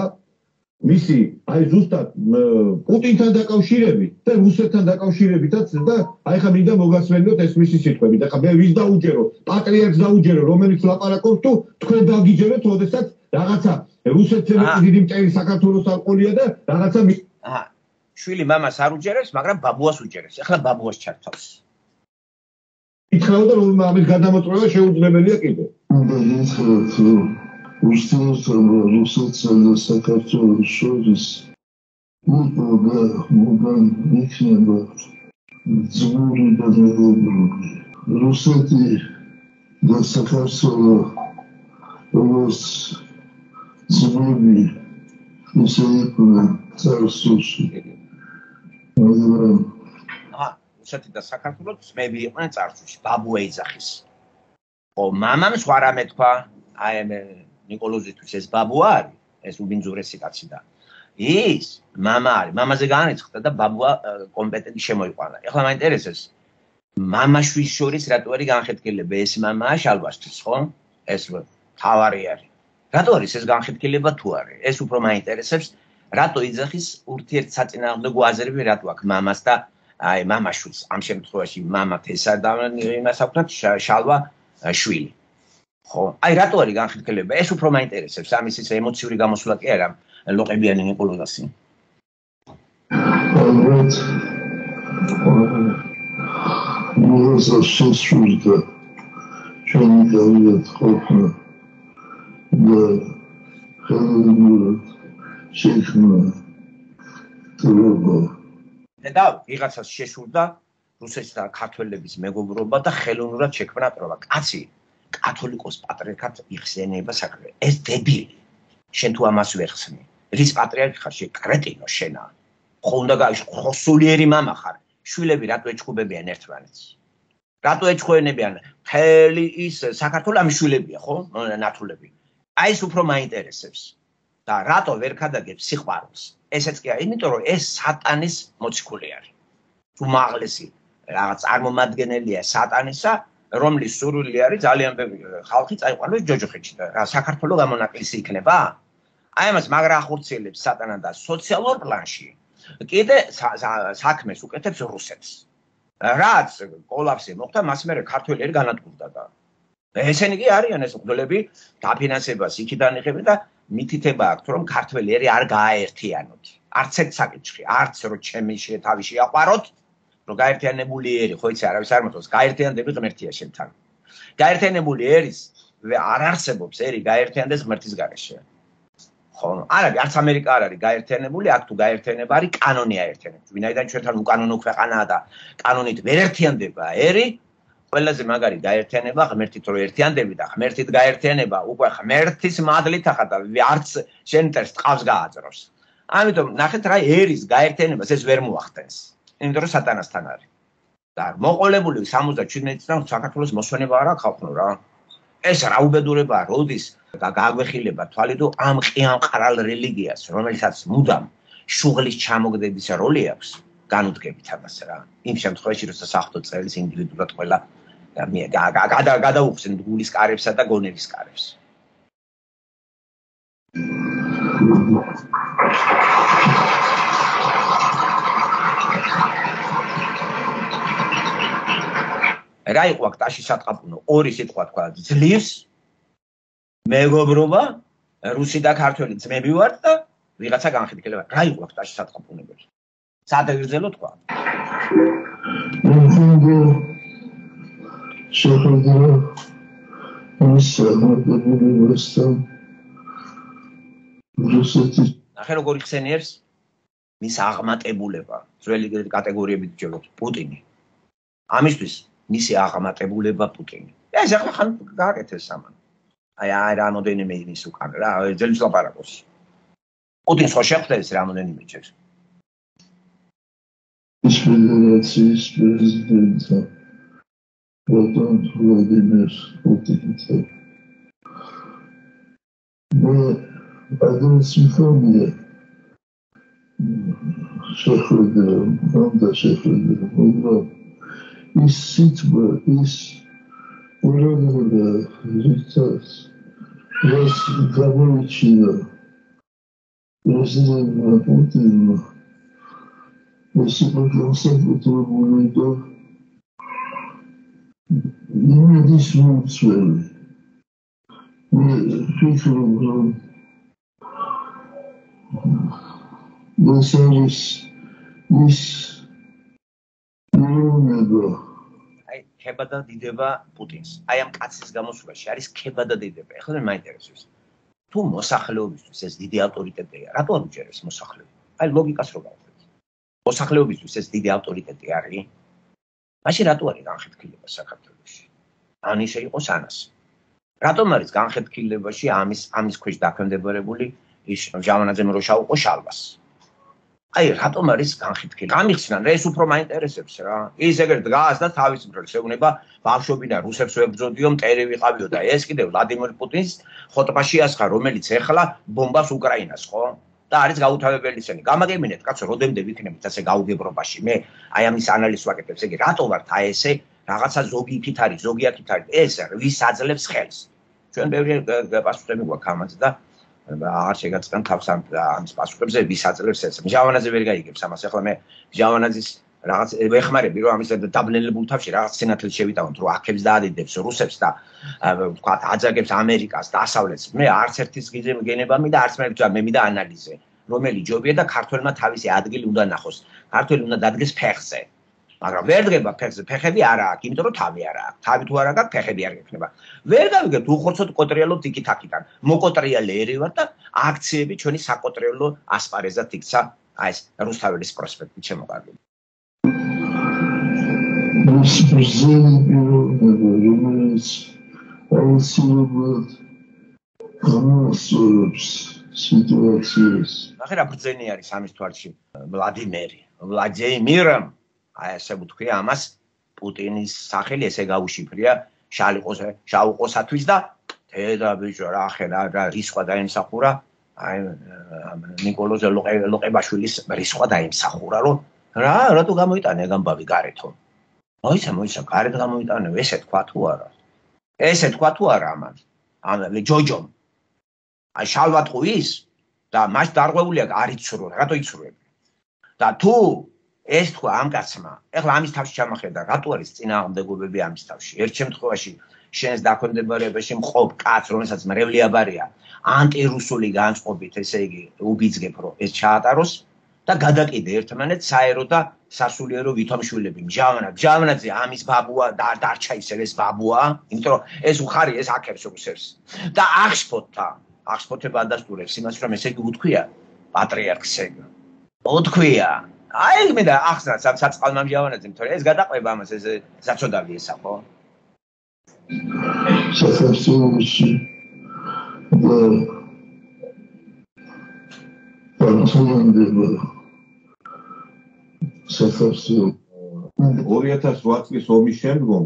მისი აი ზუსტად პუტინთან დაკავშირებით და რუსეთთან დაკავშირებითაც და აი ხა მინდა მოგასმენოთ ეს მისი სიტყვები და ხა მე ვის დაუჯერო პატრიარქს დაუჯერო რომელიც ლაპარაკობს თუ თქვენ დაგიჯერეთ როდესაც რაღაცა რუსეთთან დიდი მტერი საქართველოს არყოლია და რაღაცა აჰა შვილი მამას არ უჯერებს მაგრამ ბაბუას უჯერებს ახლა ბაბუას ჩართავს ითხოვდა რომ ამის გადამოწყვეტა შეუძლებელია კიდე Устроился русская საქართველოს შორის მოგა მოგა იქნება ძმური და მეგობრული რუსეთი და საქართველო როგორც ძმები ისე იყვნენ წარსულში მაგრამ აა რუსეთი და საქართველო ძმები იყვნენ წარსულში ბაბუა ეძახის ო მამამ სხვა რამე თქვა აი მე ნიკოლოზისთვის ეს ბაბუა არის, ეს უბინძურესი კაცი და ის მამა არის, მამაზე განრიცხდა და ბაბუა კომპეტენტი შემოიყვანა. ეხლა მაინტერესებს მამაშვილის შორის რატო არის განხეთქილება? ეს მამაა შალვასთვის, ხო? ეს თავარი არის. რატო არის ეს განხეთქილება თუ არის? ეს უფრო მაინტერესებს, რატო იძახის ურთიერთსაწინააღმდეგო აზრები რატო აქვს მამას და აი მამაშვილს. ამ შემთხვევაში მამათ ესა და იმას აქვს შალვა შვილი. ხო, აი რატო არის განხეთქილება? ეს უფრო მაინტერესებს, ამის ის ემოციური გამოსვლა კი არა, ლოყებიანი ნიკოლოზასი. ალბათ. მოგესა შესრულდა. ჩემი გავიდეთ ყოფნა. და ხელოვნურად შექმნა. თორობა. და ვიღაცას შეშურდა რუსეთის და ქართველების მეგობრობა და ხელოვნურად შექმნა თორობა. კაცი კათოლიკოს პატრიარქად იხსენება საქმე. ეს დებილი. შენ თუ ამას ვერ ხსნი. რის პატრიარქი ხარ შე კრეტინო შენა. ხო უნდა გაიშო სულიერი მამა ხარ შვილები რატო ეჩხუბებიან ერთმანეთს რატო ეჩხუენებიან მთელი ის საქართველოს ამ შვილებია ხო ნათულები აი ეს უფრო მაინტერესებს და რატო ვერ ქადაგებს სიყვარულს ესეც კი არა იმიტომ რომ ეს სატანის მოციქული არის უმაღლესი რაღაც წარმომადგენელია სატანისა რომლის სურვილი არის ძალიან ბევრი ხალხი წაიყვანოს ჯოჯოხეთში და რა საქართველოს გამონაკლისი იქნება აი ამას მაგრა ახორციელებს სატანა და სოციალურ პლანში კიდე საქმეს უკეთებს რუსეთს რაც კოლაფსი მოხდა მას მერე ქართველები განადგურდა და ესენი კი არიან ეს მგლები დაფინანსებას იქიდან იღებენ და მითითება აქვს რომ ქართველები არ გააერთიანოთ არც ერთ საკითხში არც რო ჩემი თავი შეაყვაროთ რომ გაერთიანებული ერი ხო იცი არავის არ მოწონს გაერთიანდები ღმერთია შენთან გაერთიანებული ერის არ არსებობს ერი გაერთიანდეს ღმერთის გარეშე ხო არა არც ამერიკა არ არის გაერთიანებული აქ თუ გაერთიანება არის კანონია ერთიანებს ვინაიდან ჩვენთან უკანონო ქვეყანაა და კანონით ვერ ერთიანდება ერი ყველაზე მაგარი გაერთიანება ღმერთით რო ერთიანდები და ღმერთით გაერთიანება უკვე ღმერთის მადლით ახლა და არც შენტერს ტყავს გააძროს ამიტომ ნახეთ რა ერის გაერთიანებას ეს ვერ მოახდენს იმიტომ რომ სატანასთან არის და მოყოლებული სამოცდაჩვიდმეტი წლიდან საქართველოს მოსვენება არა ხალხო რა ეს რა უბედურებაა როდის გაგვეხილება თვალიდო ამ ყიამყარალ რელიგიას რომელსაც მუდამ შუღლის ჩამოგდების როლი აქვს განუდგებით ამას რა იმ შემთხვევაში როცა საღვთო წელის ინდივიდუალურად ყველა გადაუხსენ გულის კარებსა და გონების კარებს რა იყო აქ ტაში სატყაპუნო ორი სიტყვა თქვა ძლივს მეგობრობა რუსი და ქართველი ძმები ვართ და ვიღაცა განხეთქილება რა იყო აქ ტაში სატყაპუნებელი სადაგრძელო თქვა შეხედა ის მოდებულებასთან რუსეთის ახლა როგორ იხსენიებს მის აღმატებულება ძველი კატეგორიებით ვჯეროთ პუტინი ამისთვის მისი აღმატებულება პუტინი ეს ახლა ხან გააკეთეს სამან აი აი რამოდენიმე იმის უკან რა ძელი ლაპარაკობს პუტინს ხო შეხვდა ეს რამოდენიმე ჯერ ის ფედერაციის პრეზიდენტი Vladimir Putin. Ve adresifamia şehirlerim, ben de şehirlerim. Onlar işsitme, iş oralarda ritas, res kabul içinde, President Putin'le Respublikasyon oturumunda yine dismut söyledi. Ve fikrimden Vesaires ის ნორმება აი ხება და დიდება პუტინს აი ამ კაცის გამოსვლაში არის ხება და დიდება ეხლა მე მაინტერესებს თუ მოსახლეობისთვის ეს დიდი ავტორიტეტია რატო არ უჭერებს მოსახლეობა აი ლოგიკას რო გავხდეთ მოსახლეობისთვის ეს დიდი ავტორიტეტი არის მაშინ რატო არის განხეთქილება საქართველოში ან ისე იყოს ანასი რატომ არის განხეთქილებაში ამის ამის ქვეშ დაქვემდებარებული ის ჟავანაძემ რო შაუყო შალვას აი რატომ არის განხეთქილი? ამიხსნან რა ეს უფრო მაინტერესებს რა. ის ეგრე დგას და თავის მხრებს ეუბნება ბავშვობიდან რუსებს ვებრძოდიო, მტერი ვიყავიო და ეს კიდევ ვლადიმერ პუტინს ხოტბაში ასხა, რომელიც ეხლა ბომბავს უკრაინას, ხო? და არის გაუთავებელი ისენი. გამაგებინეთ, კაცო, როდემდე ვიქნებით ასე გაუგებრობაში. მე აი ამის ანალიზს ვაკეთებს, ეგ რატო ვართ აი ესე რაღაცა ზოგი იქით არის, ზოგი აქით არის. ეს ვის აძლევს ხელს? ჩვენ ბევრი პასუხები გვაქვს ამაზე და აღარ შეგაწყენ თავს ამის პასუხებზე ვის აძლევს ეს. ჟავანაძე ვერ გაიგებს ამას. ახლა მე ჟავანაძის რაღაც ვეხმარები რომ ამის დაბნელებულ თავში რაღაც სინათლე შევიტანოთ რომ აქებს დაადიდებს რუსებს და თქვა აძაგებს ამერიკას და დასავლეთს. მე არც ერთის გენება მინდა არც მე მე მინდა ანალიზე რომელი ჯობია და ქართველმა თავისი ადგილი უნდა ნახოს. ქართველი უნდა დადგეს ფეხზე. მაგრამ ვერ დგება ფეხზე, ფეხები არა აქვს, იმიტომ რომ თავი არა აქვს. თავი თუ არა გაქვს, ფეხები არ გექნება. ვერ გავიგებთ უხორცოდ კოტრიალობთ იქით-აქიდან. მოკოტრიალე ერი ვარ და აქციები ჩვენი საკოტრიალო ასპარეზად იქცა აი ეს რუსთაველის პროსპექტი შემოყარული. ეს პრეზიდენტი რომელიც აუცილებლად გამოსწორებს სიტუაციას. ნახე რა ბრძენი არის ამის თვალში. ვლადიმერი ვლადიმირამ აი ესე ვთქვი ამას პუტინის სახელი ესე გაუშიფრია შალიყოს შაუყოსათვის და დედა ბიჭო რა ხელა რა რისხვა დაიმსახურა აი ნიკოლოზ ლოყებაშვილის რისხვა დაიმსახურა რომ რა რატო გამოიტანე გამბავი გარეთო მოიცა მოიცა გარეთ გამოიტანე ესე თქვა თუ არა ესე თქვა თუ არა ამან ამ ჯოჯომ აი შალვატყუის და მას დარღვეულია არ იცურო რატო იცურები და თუ ეს თქვა ამ კაცმა ეხლა ამის თავში ჩამახედა რატო არის წინააღმდეგობები ამის თავში ერთ შემთხვევაში შენს დაქვემდებარებაში მყოფ კაც რომელსაც მრევლი აბარია ანტირუსული განწყობით ესე იგი უბიძგებ რომ ეს ჩაატაროს და გადაკიდე ერთმანეთს საერო და სასულიერო ვითომშვილები მჟავნა მჟავნაძე ამის ბაბუა და დარჩა ისე ეს ბაბუა იმიტომ რომ ეს უხარი ეს აქებს რუსებს და აღშფოთთა აღშფოთება ადასტურებს იმას რომ ესე იგი უთქვია პატრიარქს ეგ უთქვია აი მე და ახსნა საწყალმა მჟავნაძემ თორე ეს გადაყვება ამას ეს საწოდავი ესა ხო საქართველოში და პარტიზანდება საქართველოს ორი ათას ოთხ წლის ომის შემდგომ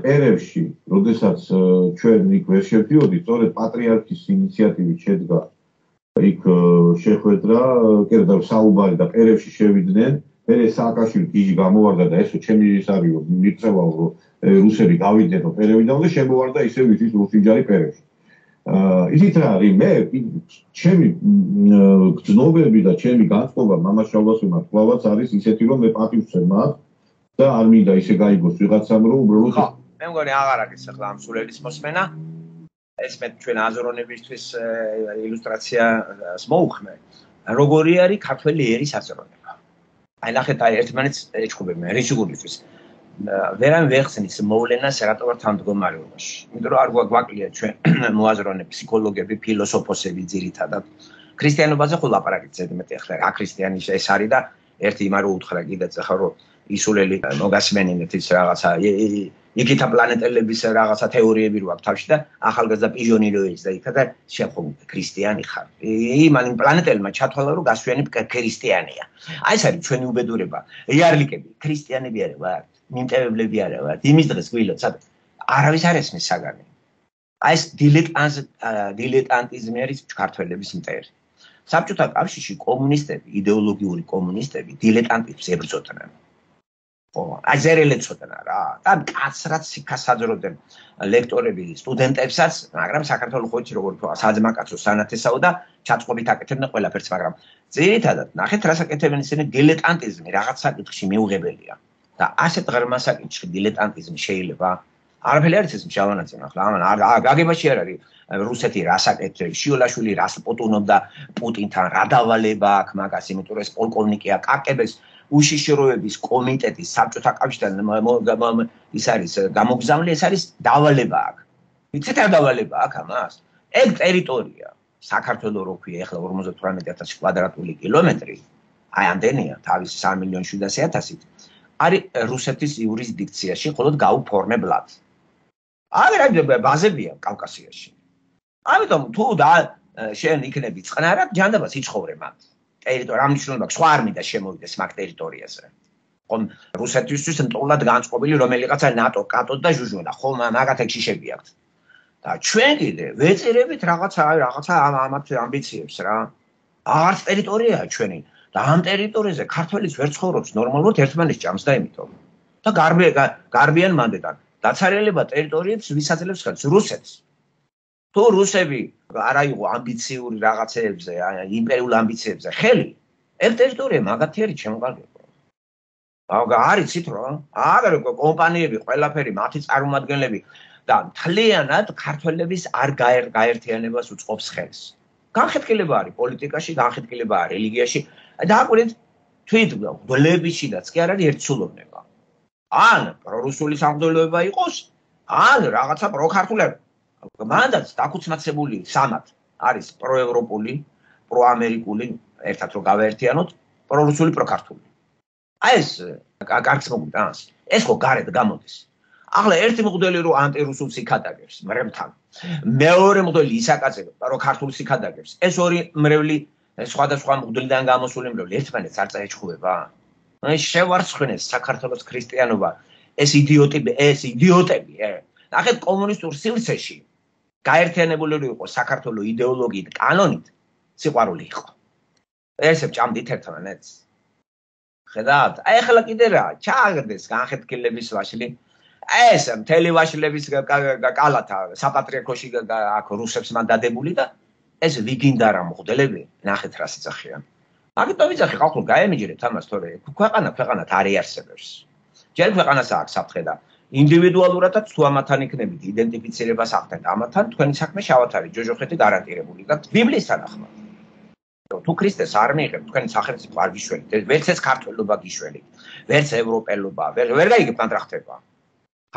პერევში, როდესაც ჩვენ იქ ვერ შევდიოდით, სწორედ პატრიარქის ინიციატივით შედგა იქ შეხვედრა, კიდევ საუბარი და პერევში შევიდნენ, მერე სააკაშვილი გიჟი გამოვარდა და ესო ჩემი ის არისო მიწევაო რომ რუსები გავიდნენ პერევიდან და შემოვარდა ისევ ის რუსინჯარი პერევში. ისიც რა არის მე ჩემი გრძნობები და ჩემი განწყობა მამას შალვასულმა კლავაც არის ისეთი რომ მე პატივს ვცემ და არ მინდა ისე გაიგოს ვიღაცამ რომ უბრალოდ ხო მე მგონი აღარ არის ახლა ამ სულელის მოსმენა ეს მე ჩვენ აზროვნებისთვის ილუსტრაციას მოუხმე როგორი არის ქართველი ერის აზროვნება აი ნახეთ აი ერთმანეთს ეჩხუბებიან რიჩიგურისთვის ვერან ვეხსნის მოვლენას რატო ვარ თანდგომარეობაში იმიტომ რომ არ გვაკლია ჩვენ მოაზროვნე ფსიქოლოგები ფილოსოფოსები ძირითადად ქრისტიანობაზე ხო ლაპარაკით ზედმეტი ახლა რა ქრისტიანი ეს არის და ერთი იმა რო უთხრა კიდეც ახლა რომ ისულელი მოგასმენინეთ ის რაღაცა იქითა პლანეტელების რაღაცა თეორიები რო აქვს თავში და ახალგაზრდა პიჟონი რო ის და იქა და შეხომ ქრისტიანი ხარ იმან პლანეტელმა ჩათვალა რომ გასვიანი ქრისტიანია აი ეს არის ჩვენი უბედურება იარლიკები ქრისტიანები არა ვართ მიმტევებლები არა ვართ იმის დღეს გვილოთ საერთოდ არავის არ ესმის საგანი აი ეს დილეტანტ დილეტანტიზმი არის ქართველების მტერი საბჭოთა კავშირში კომუნისტები იდეოლოგიური კომუნისტები დილეტანტიზმს ებრძოდნენ ხო აი ზერელეცოდენ რა და კაცრად სიქას აძროდნენ ლექტორები სტუდენტებსაც მაგრამ საქართველოს ხოჭი როგორ თქვა საძმაკაცო სანათესაო და ჩაწყობით აკეთებდნენ ყველაფერს მაგრამ ძირითადად ნახეთ რას აკეთებენ ისინი დილეტანტიზმი რაღაც საკითხში მიუღებელია და ასეთ ღრმა საკითხში დილეტანტიზმი შეიძლება არაფერი არის ეს მშავანაცემ ახლა ამან გაგებაში არ არის რუსეთი რას აკეთებს შიოლაშვილი რას პოტუნობდა პუტინთან რა დავალება აქვს მაგას იმიტომ რომ ეს პოლკოვნიკია კაკებეს უშიშროების კომიტეტის საბჭოთა კავშირთან ის არის გამოგზავნილი ეს არის დავალება აქვს იცით რა დავალება აქვს ამას ეგ ტერიტორია საქართველოს რო ქვია ახლა ორმოცდათვრამეტი ათასი კვადრატული კილომეტრი აი ამდენია თავისი სამი მილიონი შვიდასი ათასით არის რუსეთის იურისდიქციაში მხოლოდ გაუფორმებლად აგრეთვე ბაზებია კავკასიაში ამიტომ თუ და შენ იქნები წყნარად ჯანდაბას იცხოვრე მათ ტერიტორია ამნიშნულობა სხვა არ მინდა შემოვიდეს მაგ ტერიტორიაზე ხომ რუსეთისთვის მტულად განწყობილი რომელიღაცა ნატო კატო და ჟუჟუნა ხომ მაგათ ეგ შიშები აქვს და ჩვენ კიდე ვეწერებით რაღაცა რაღაცა ამათ ამბიციებს რა არც ტერიტორიაა ჩვენი და ამ ტერიტორიაზე ქართველიც ვერ ცხოვრობს ნორმალურად ერთმანეთს ჭამს და იმიტომ და გარბიან მანდედან დაცარიელება ტერიტორიებს ვისაძლევს ხელს რუსეთს თუ რუსები არ აიღო ამბიციური რაღაცეებზე იმპერიულ ამბიციებზე ხელი ეს ტერიტორია მაგათი არის შემოგარგება აგა არიცით რომ აგარ კომპანიები ყველაფერი მათი წარმომადგენლები და მთლიანად ქართველების არ გაერთიანებას უწყობს ხელს განხეთქილება არის პოლიტიკაში განხეთქილება არის რელიგიაში და აკვირდით თვით გველებიშიდაც კი არ არის ერთსულოვნება ან პრორუსული სამღვდელოება იყოს ან რაღაცა პროქართულება მანდაც დაკუცმაცებული სამად არის პროევროპული პროამერიკული ერთად რო გავაერთიანოთ პრორუსული პროქართული აი ეს კარგს მოგვიტანს ეს ხო გარეთ გამოდის ახლა ერთი მღვდელი რო ანტირუსულს იქადაგებს მრევლთან მეორე მღვდელი ისაკაცებ რო ქართულს იქადაგებს ეს ორი მრევლი სხვადასხვა მღვდლიდან გამოსული მრევლი ერთმანეთს არ წაეჩხუბება. აი შევარცხნეს საქართველოს ქრისტიანობა ეს იდიოტები, ეს იდიოტები. ნახეთ კომუნისტურ სივრცეში გაერთიანებული იყო საქართველოს იდეოლოგიით, კანონით, სიყვარული იყო. ესე ჭამდით ერთმანეთს. ხედავთ? აი ახლა კიდე რა, ჩააგდეს განხეთქილების ვაშლი. ეს მთელი ვაშლების კალათა საპატრიარქოში აქ რუსებს მან დადებული და ეს ვიგინდა რა მღვდლები, ნახეთ რა სიძახიან. ამიტომ ვიძახი ხალხურ გაემიჯერეთ ამას, თორე ქვეყანა ქვეყანად არ იარსებებს. ჯერ ქვეყანას აქვს საფრთხე და ინდივიდუალურადაც თუ ამათან იქნებით იდენტიფიცირებას ახდენთ, ამათან თქვენი საქმე შავად არის ჯოჯოხეთი გარანტირებული და ბიბლიის თანახმად. თუ ქრისტეს არ მიიღებთ, თქვენი სახელმწიფო არ გიშველით, ვერც ეს ქართველობა გიშველით, ვერც ევროპელობა, ვერ ვერ გაიგებთ ამ რა ხდება.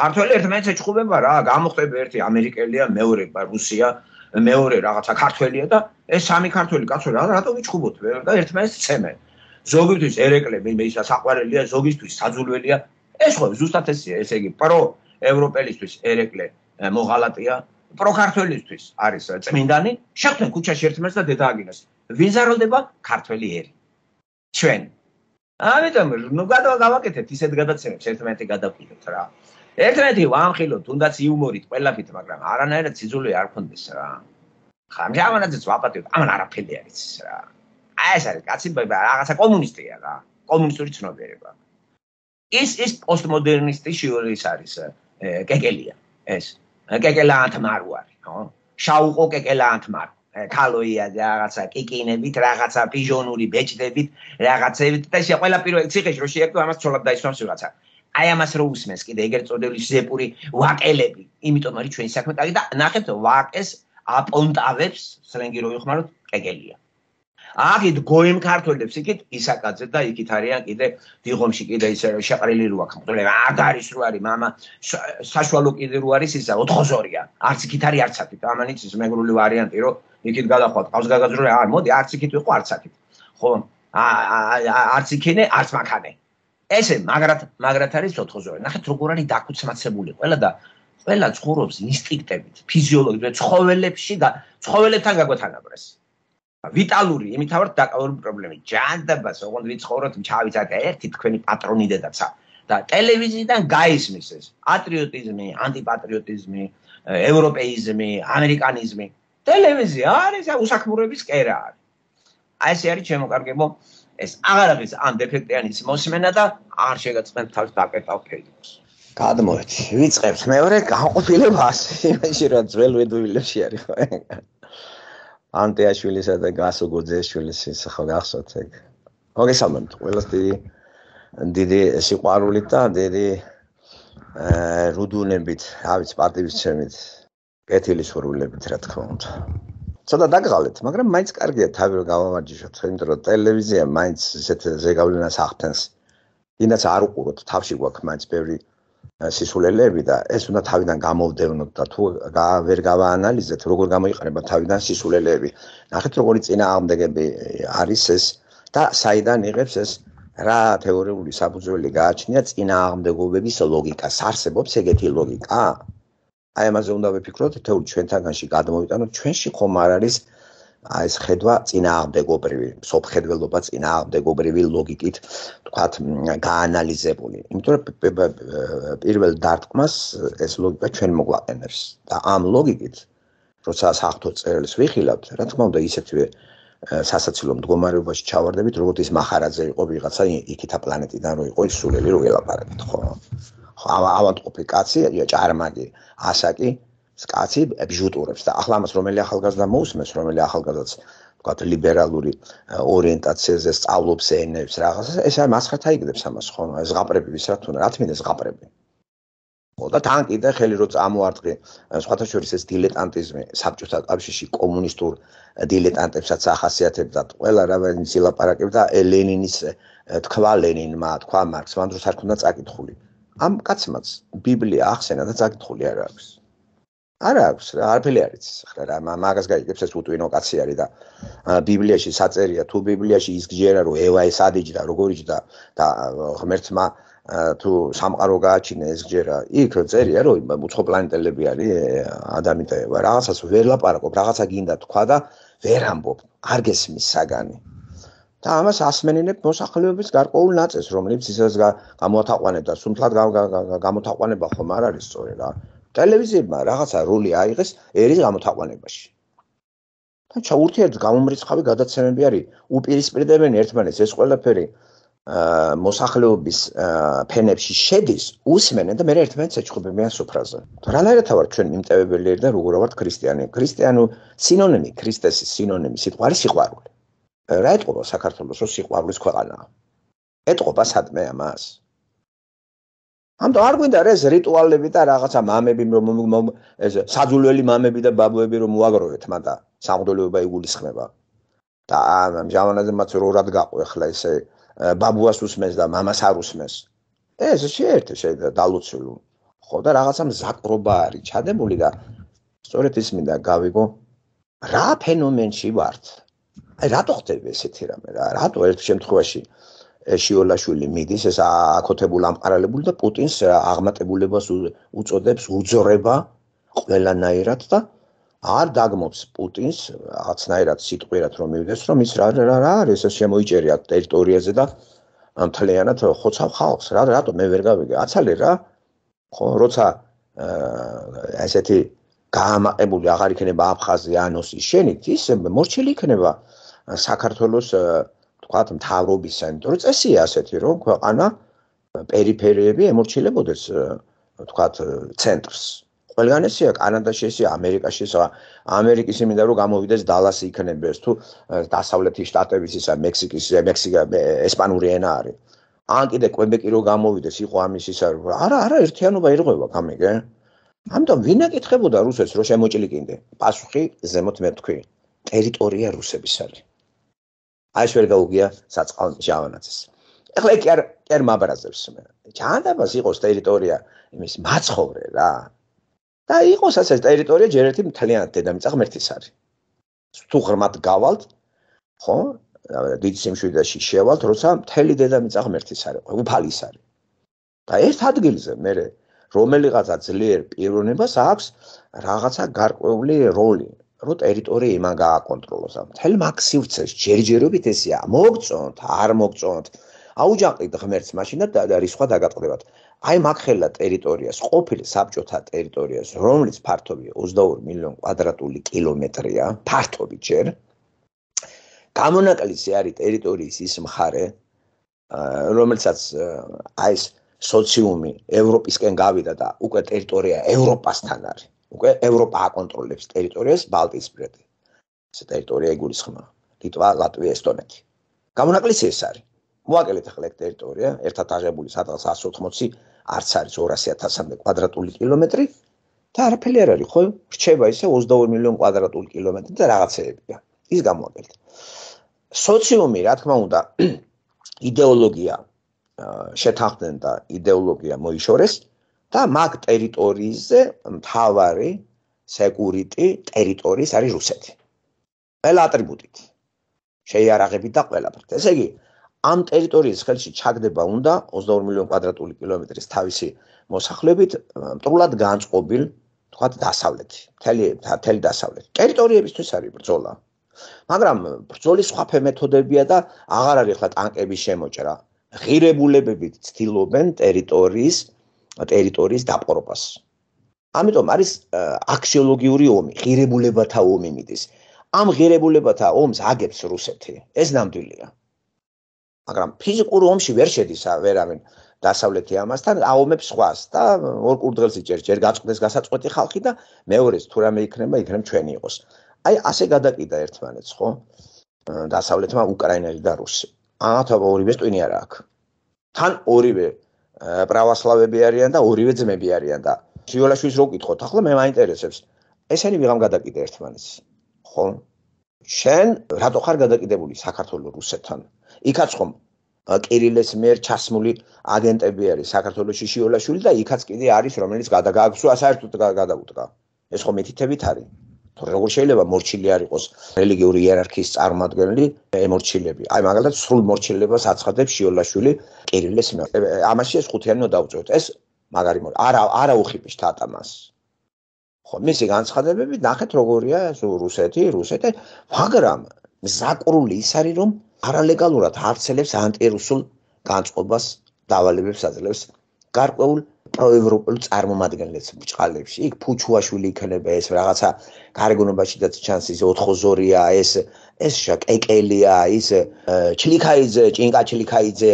ქართველი ერთმანეთს ეჩხუბება რა, გამოხდება ერთი ამერიკელია, მეორე რუსია, მეორე რაღაცა ქართველია და ეს სამი ქართველი კაცო რა რატო ვიჩხუბოთ და ერთმანეთს ცემენ. ზოგისთვის ერეკლები, ისა საყვარელია, ზოგისთვის საძულველია. ეს ხო ზუსტად ესია, ესე იგი პრო ევროპელისთვის ერეკლე მოღალატია, პრო ქართველისთვის არის წმინდანი, შეხვდნენ ქუჩაში ერთმანეთს და დედააგინეს. ვინ ზარალდება? ქართველი ერი. ჩვენ. ამიტომ ნუ გადავაკეთეთ ისეთ გადაცემებს ერთმანეთი გადავყიდოთ რა. ერთმანეთი ვამხილოთ, თუნდაც იუმორით, ყველაფრით, მაგრამ არანაირად სიძულვე არ ქონდეს რა. ხამ ამანაძეც ვაპატიოთ, ამან არაფერი არ იცის რა. აი ეს არის კაცი რაღაცა კომუნისტია რა, კომუნისტური ცნობიერება. ის ის პოსტმოდერნისტი შიურის არის კეკელია ეს კეკელაანთმარო არის ხო შაუყო კეკელაანთმარო ქალოია რაღაცა კიკინებით რაღაცა პიჟონური ბეჭდებით რაღაცებით და შე ყველა პირველი ციხეში რო შეერთო ამას ცოლად დაისვამს ვიღაცა აი ამას რო უსმენს კიდე ეგრეთ წოდებული ზეპური ვაკელები იმიტომ არის ჩვენი საქმე კარგი და ნახეთ ვაკეს აპონტავებს სლენგი რო ვიხმაროთ კეკელია აგით გოიმ ქართველებს იქით ისაკაძე და იქით არიან კიდე დიღომში კიდე ისე შეყრილი რო აქვს მყოლება არ არის რო არის мама საშუალო კიდე რო არის ისა ოთხოზორია არც იქით არის არც აქით ამანიც ის მეგრული ვარიანტი რო იქით გადახვათ ყავს გაგაძრული არ მოდი არც იქით ვიყო არც აქით ხო არც იქინე არც მაქანე ესე მაგრად მაგრად არის ოთხოზორი ნახეთ როგორ არის დაქუცმაცებული ყველა და ყველა ცხოვრობს ინსტინქტებით ფიზიოლოგიურად ცხოველებში და ცხოველებთან გაგვეთანაბრეს ვიტალური, იმით ავარ დაკავებული პრობლემით. ჯანდაბას, ოღონდ ვიცხოვროთ, ჩავიცათ ერთი თქვენი პატრონი დედაცა და ტელევიზიიდან გაისმის ეს პატრიოტიზმი, ანტიპატრიოტიზმი, ევროპეიზმი, ამერიკანიზმი. ტელევიზია არის უსაქმუროების კერა არის. აი ესე არის შემოკარგებო, ეს აღარ არის ამ დეფექტიანის მოსმენა და არ შეგაწყენთ თავს დაკეტავ ფეიდებს. გადმოეთ, ვიწყებთ მეორე განყოფილებას, იმაში რა ძველ ვედუილებში არის ხო? ანტეაშვილისა და გასო გოძეშვილის ხო გახსოვთ ეგ. მოგესალმებით ყველას დიდი დიდი სიყვარულით და დიდი რუდუნებით, ავიც პატივისცემით, კეთილისურვილებით რა თქმა უნდა. ცოტა დაგღალეთ, მაგრამ მაინც კარგია თავი რომ გავამარჯიშოთ, იმიტომ რომ ტელევიზია მაინც ესეთ ზეგავლენას ახდენს. ინაც არ უყუროთ, თავში გვაქვს მაინც ბევრი სისულელეები და ეს უნდა თავიდან გამოვდევნოთ და თუ ვერ გავაანალიზეთ როგორ გამოიყენება თავიდან სისულელეები. ნახეთ როგორი წინააღმდეგები არის ეს და საიდან იღებს ეს რა თეორიული საფუძველი გააჩნია წინააღმდეგობების ლოგიკას. არსებობს ეგეთი ლოგიკა? აი ამაზე უნდა ვიფიქროთ, თეორ ჩვენთანში გადმოვიტანოთ, ჩვენში ხომ არ არის აი ეს ხედვა წინააღმდეგობრივი, სოფხედველობა წინააღმდეგობრივი ლოგიკით, თქვათ, გაანალიზებული. იმიტომ რომ პირველ დარტყმას ეს ლოგიკა ჩვენ მოგვაყენებს და ამ ლოგიკით, როცა საფრთხო წერილს ვიხილავთ, რა თქმა უნდა, ისეთვე სასაცილო მდგომარეობაში ჩავარდებით, როგორც ის მახარაძე იყო ვიღაცა იქითა პლანეტიდან რო იყო ის სულელი რო ელაპარაკეთ, ხო? ხო, ავადმყოფი კაცი, ჭარმაგი, ასაკი კაცი ბიჟუტურებს და ახლა ამას რომელი ახალგაზრდა მოусმენს, რომელი ახალგაზრდაც თქვათ ლიბერალური ორიენტაციაზე სწავლობს ენებს რაღაცა, ეს არ მასხათ აიგდებს ამას ხო? ზღაპრები ვის რა თქმა, რა თქმა ზღაპრები. ხო და თან კიდე ხელი რო წამოარტყი, სხვათა შორის ეს დილეტანტიზმი საბჭოთა კავშირში კომუნისტურ დილეტანტებსაც ახასიათებდა, ყველა რა ვინც ილაპარაკებდა ლენინის თქვა ლენინმა, თქვა მარქსმა, ამ დროს არ ქონდა წაკითხული. ამ კაცმაც ბიბლია ახსენა და წაკითხული არ აქვს. არა აქვს, არაფერი არ იცის. ახლა რა მაგას გაიგებს ეს უტვინო კაცი არის და ბიბლიაში საწერია, თუ ბიბლიაში ის გჯერა რომ ევა ეს ადიჯდა, როგორ იჯდა და ღმერთმა თუ სამყარო გააჩინა ეს გჯერა, იქ წერია რომ უცხოპლანეტელები არის ადამი და ევა. რაღაცას ვერ ლაპარაკობ, რაღაცა გინდა თქვა და ვერ ამბობ, არ გესმის საგანი. და ამას ასმენინებ მოსახლეობის გარკვეულ ნაწილს, რომელიც ისაც გამოათაყვანებდა, სუმთლად გამოთაყვანება ხომ არ არის სწორი რა. ტელევიზიებმა რაღაცა როლი აიღეს ერის გამოთაყვანებაში. და ჩაურთიერთ გამომრიცხავი გადაცემები არის, უპირისპირდებენ ერთმანეთს, ეს ყველაფერი მოსახლეობის ფენებში შედის, usmenen და მე ერთმანეთს ეჩხუბებიან სუფრაზე. რანაირად ვარ ჩვენ მიმტევებელი და როგორ ვართ ქრისტიანი? ქრისტიანო სინონიმი, ქრისტესის სინონიმი სიტყვა არის სიყვარული. რა ეთყობა საქართველოს რო სიყვარულის ქვეყანაა? ეთყობა სადმე ამას? ამიტომ არ გვინდა ეს რიტუალები და რაღაცა მამები რომ ეს საძულველი მამები და ბაბუები რომ მოაგროვეთ მანდა სამღვდელოება იგულისხმება. და ამ ჟავანაზე მათ რორად გაყო ახლა ესე ბაბუას უსმენს და მამას არ უსმენს. ეს შეერთე შეიძლება დალოცულო. ხო და რაღაცა მზაკრობა არის ჩადებული და სწორედ ის მინდა გავიგო რა ფენომენში ვართ. აი რატო ხდება ესეთი რამე რა? რატო ერთ შემთხვევაში შიოლაშვილი მიდის ეს აკოთებულ ამყარალებული და პუტინს აღმატებულებას უწოდებს უძრება ყველანაირად და არ დაგმობს პუტინს რაღაცნაირად სიტყვიერად რომ მივიდეს რომ ის რა რა არის ეს შემოიჭერია ტერიტორიაზე და მთლიანად ხოცავ ხალხს რა რატო მე ვერ გავიგე აცალე რა ხო როცა ესეთი გაამაყებული აღარ იქნება აფხაზია ანოსის შენით ის მორჩილი იქნება საქართველოს თქვათ მთავრობისა იმიტომ რომ წესია ასეთი რომ ქვეყანა პერიფერიები ემორჩილებოდეს თქვათ ცენტრს ყველგან ესია კანადაში ესია ამერიკაში ესა ამერიკის იმინდა რომ გამოვიდეს დალასი იქნებდეს თუ დასავლეთის შტატების ისა მექსიკის მექსიკა ესპანური ენა არის ან კიდე კვებეკი რომ გამოვიდეს იყო ამის ისა არა არა ერთიანობა ირღვევა გამიგე ამიტომ ვინ ეკითხებოდა რუსეთს რომ შემოჭილიკინდე პასუხი ზემოთ მე თქვი ტერიტორია რუსების არის აი შევერ გაუგია საწყალ ჟავანაძეს ეხლა კი არ კი არ მაბრაზებს მე ჯანდაბას იყოს ტერიტორია იმის მაცხოვრე რა და იყოს ასე ტერიტორია ჯერ ერთი მთლიანად დედამიწა ღმერთის არის თუ ღრმად გავალთ ხო დიდ სიმშვიდეში შევალთ როცა მთელი დედამიწა ღმერთის არის უფალის არის და ერთ ადგილზე მე რომელიღაცა ძლიერ პიროვნებას აქვს რაღაცა გარკვეული როლი რო ტერიტორია იმან გააკონტროლოს ამ მთელ მაქსივცეს ჯერჯერობით ესეა მოგწონთ არ მოგწონთ აუჯანყდით ღმერთს მაშინ და რისხვა დაგატყდებათ აი მაგხელა ტერიტორიას ყოფილი საბჭოთა ტერიტორიას რომელიც ფართობი ოცდაორი მილიონი კვადრატული კილომეტრია ფართობი ჯერ გამონაკლისი არის ტერიტორიის ის მხარე რომელსაც აი ეს სოციუმი ევროპისკენ გავიდა და უკვე ტერიტორია ევროპასთან არის უკვე ევროპა აკონტროლებს ტერიტორიას ბალტიისპირეთი ეს ტერიტორია იგულისხმება ლიტვა ლატვია ესტონეთი გამონაკლისი ეს არის მოაკელეთ ახლა ტერიტორია ერთად აღებული სადღაც εκατს ოცდაოთხი არც არის ორასი ათასამდე კვადრატული კილომეტრი და არაფერი არ არის ხო რჩება ისე ოცდაორი მილიონი კვადრატული კილომეტრი და რაღაცეებია ის გამოაკელეთ სოციუმი რა თქმა უნდა იდეოლოგია შეთანხმდნენ და იდეოლოგია მოიშორეს და მაგ ტერიტორიაზე მთავარი სეკურიტი ტერიტორიის არის რუსეთი ყველა ატრიბუტით შეიარაღებით და ყველაფრით ესე იგი ამ ტერიტორიის ხელში ჩაგდება უნდა ოცდაორი მილიონი კვადრატული კილომეტრის თავისი მოსახლეობით მტრულად განწყობილ თქვათ დასავლეთი მთელი მთელი დასავლეთი ტერიტორიებისთვის არის ბრძოლა მაგრამ ბრძოლის სხვა მეთოდებია და აღარ არის ახლა ტანკების შემოჭრა ღირებულებებით ცდილობენ ტერიტორიის ტერიტორიის დაპყრობას ამიტომ არის აქსიოლოგიური ომი ღირებულებათა ომი მიდის ამ ღირებულებათა ომს აგებს რუსეთი ეს ნამდვილია მაგრამ ფიზიკურ ომში ვერ შედის ვერავინ დასავლეთი ამასთან აომებს სხვას და ორ კურდღელს იჭერს ჯერ გაწყდეს გასაწყვეტი ხალხი და მეორეს თუ რამე იქნება იქნება ჩვენი იყოს აი ასე გადაკიდა ერთმანეთს ხო დასავლეთმა უკრაინელი და რუსი ათა ორივე ტვინი არა აქვს თან ორივე პრავოსლავები არიან და ორივე ძმები არიან და შიოლაშვილის რო გითხოთ ახლა მე მაინტერესებს ესენი ვიღამ გადაკიდა ერთმანეთს ხო შენ რატო ხარ გადაკიდებული საქართველოს რუსეთთან იქაც ხომ კირილეს მიერ ჩასმული აგენტები არის საქართველოში შიოლაშვილი და იქაც კიდე არის რომელიც გადაგააქვსო საერთოდ გადაუტყა ეს ხომ მითითებით არის თუ როგორ შეიძლება მორჩილი არ იყოს რელიგიური იერარქიის წარმომადგენელი ემორჩილები აი მაგალითად სრულ მორჩილებას აცხადებს შიოლაშვილი კირილეს მიერ ამაში ეს ხუთიანი უნდა დავწევთ ეს მაგარი არა არა უხიპის თატამას ხო, მისი განცხადებები ნახეთ როგორია რუსეთი, რუსეთი, მაგრამ ზაკრული ის არის რომ არალეგალურად არცელებს ანტირუსულ განწყობას დავალებებს აძლევს გარკვეულ პროევროპულ წარმომადგენლებს ბჭყალებში. იქ ფუჩუაშვილი იქნება ეს რაღაცა გარეგნობაშიდაც ჩანს ის ოთხოზორია, ეს ეს კეკელია, ის ჩლიქაიძე, ჭინკა ჩლიქაიძე,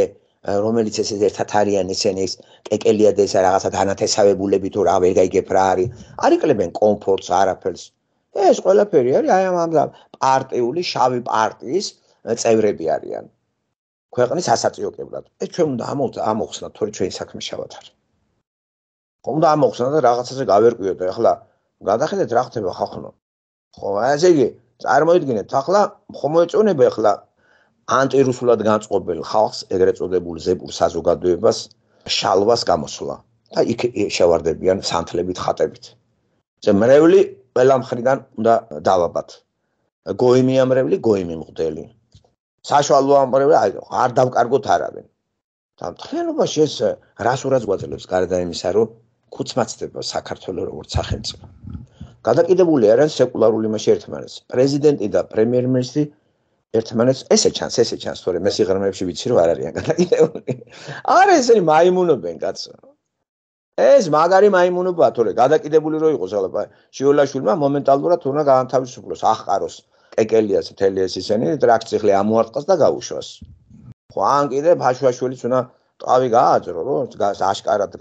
რომელიც ეს ერთად არიან ესენი ეს კეკელია და ეს რაღაცა დანათესავებულები თუ რა ვერ გაიგებ რა არის. არ იკლებენ კომფორტს, არაფერს. ეს ყველაფერი არის აი ამ პარტიული შავი პარტიის წევრები არიან. ქვეყნის ასაწიოებლად. ეს ჩვენ უნდა ამოხსნათ, თორე ჩვენი საქმე შავად არის. უნდა ამოხსნათ და რაღაცაზე გავერკვიოთ და ახლა გადახედეთ რა ხდება ხალხო. ხო, ესე იგი, წარმოიდგინეთ, ახლა ხომ მოეწონება ახლა ანტირუსულად განწყობილ ხალხს, ეგრეთ წოდებულ ზებურ საზოგადოებას შალვას გამოსვლა და იქ შევარდებიან სანთლებით, ხატებით. მრევლი ყველა მხრიდან უნდა დავაბათ. გოიმი ამრევლი, გოიმი მღვდელი. საშუალო ამრევლი არ დავკარგოთ არავინ. და მთლიანობაში ეს რასურაც გვაძლევს გარდა იმისა, რომ ქუცმაცდება საქართველოს როგორც სახელმწიფო. გადაკიდებული არიან სეკულარული მასში ერთმანეთს. პრეზიდენტი და პრემიერ-მინისტრი ერთმანეთს ესე ჩანს, ესე ჩანს, თორე მე სიღრმეებში ვიცი რომ არ არიან გადაკიდებული. არა ესენი მაიმუნობენ კაცო. ეს მაგარი მაიმუნობაა, თორე გადაკიდებული რო იყოს ახლა შიოლაშვილმა მომენტალურად უნდა გაანთავისუფლოს, ახყაროს კეკელიას მთელი ეს ისენი ტრაქციხლი ამოარტყას და გაუშვას. ხო, ან კიდე ბაშუაშვილიც უნდა ტყავი გააძრო, რომ აშკარად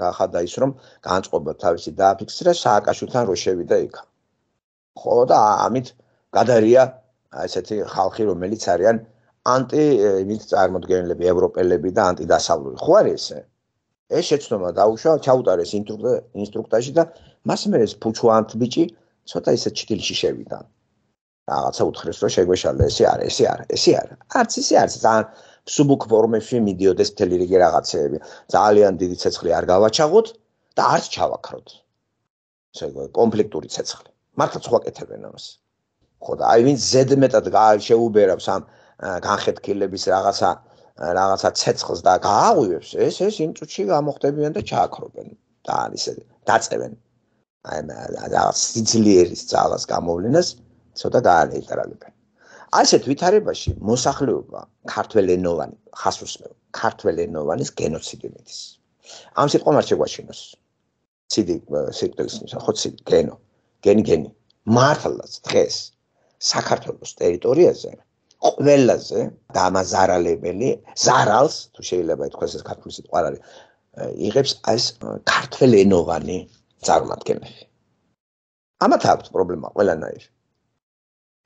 გახადა ის რომ განწყობა თავისი დააფიქსირა სააკაშვილთან რო შევიდა იქ. ხო და ამით გადარია ესეთი ხალხი რომელიც არიან ანტი იმით წარმოდგენილები, ევროპელები და ანტიდასავლური. ხო არის ესე? ეს შეცდომა დაუშვა, ჩაუტარეს ინსტრუქტაჟი და მას მე ეს ფუჩუანთ ბიჭი ცოტა ისე ჩtildeში შევიდა. რაღაცა უთხრეს რომ შეგვეშალა, ესე არა, ესე არა, ესე არა. არც ისე არც ძალიან სუბუქ ფორმებში მიდიოდეს მთელი რიგი რაღაცეები. ძალიან დიდი ცეცხლი არ გავაჩაღოთ და არც ჩავაქროთ. ესე კონფლიქტური ცეცხლი. მართლაც ვაკეთებენ ამას. ხო და აი ვინც ზედმეტად შეუბერავს ამ განხეთქილების რაღაცა რაღაცა ცეცხლს და გააღვივებს, ეს ეს იმ წუთში გამოხდებიან და ჩააქრობენ და ისე დაწევენ. აი რაღაც სიძლიერის ძალას გამოვლენას ცოტა გაანეიტრალებენ. აი ესეთ ვითარებაში მოსახლეობა ქართველენოვანი ხას უსმევ, ქართველენოვანის გენოციდი მიდის. ამ სიტყვამ არ შეგვაშინოს. ციდი სიტყვის ხო ციდი გენო, გენი გენი. მართლაც დღეს საქართველოს ტერიტორიაზე ყველაზე დამაზარალებელი ზარალს თუ შეიძლება ითქვას ეს ქართული სიტყვა არ არის იღებს ეს ქართველენოვანი წარმომადგენლები. ამათ აქვს პრობლემა ყველანაირი.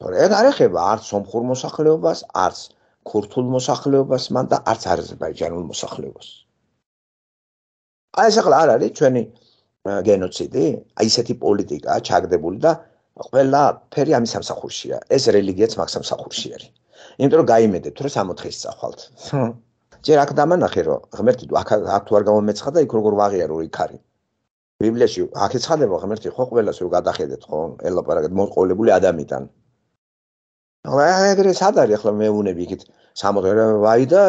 თორე ეგ არ ეხება არც სომხურ მოსახლეობას, არც ქურთულ მოსახლეობას, მან და არც აზერბაიჯანულ მოსახლეობას. აი ეს ახლა არ არის ჩვენი გენოციდი, აი ესეთი პოლიტიკაა ჩაგდებული და ყველა ფერი ამის სამსახურშია. ეს რელიგიაც მაგ სამსახურში არის. იმიტომ რომ გაიმედეთ, რომ სამოთხეს წახვალთ. ჯერ აქ დამანახე, რომ ღმერთი აქ აქ თუ არ გამომეცხადა, იქ როგორ ვაღიარო იქ არის. ბიბლიაში აქ ეცხადება ღმერთი ხო ყველას რომ გადახედეთ ხო, ელაპარაკეთ მოსყოლებული ადამიანთან. ახლა ეგრე სად არის ახლა მეუნები იქით სამოთხე ვაი და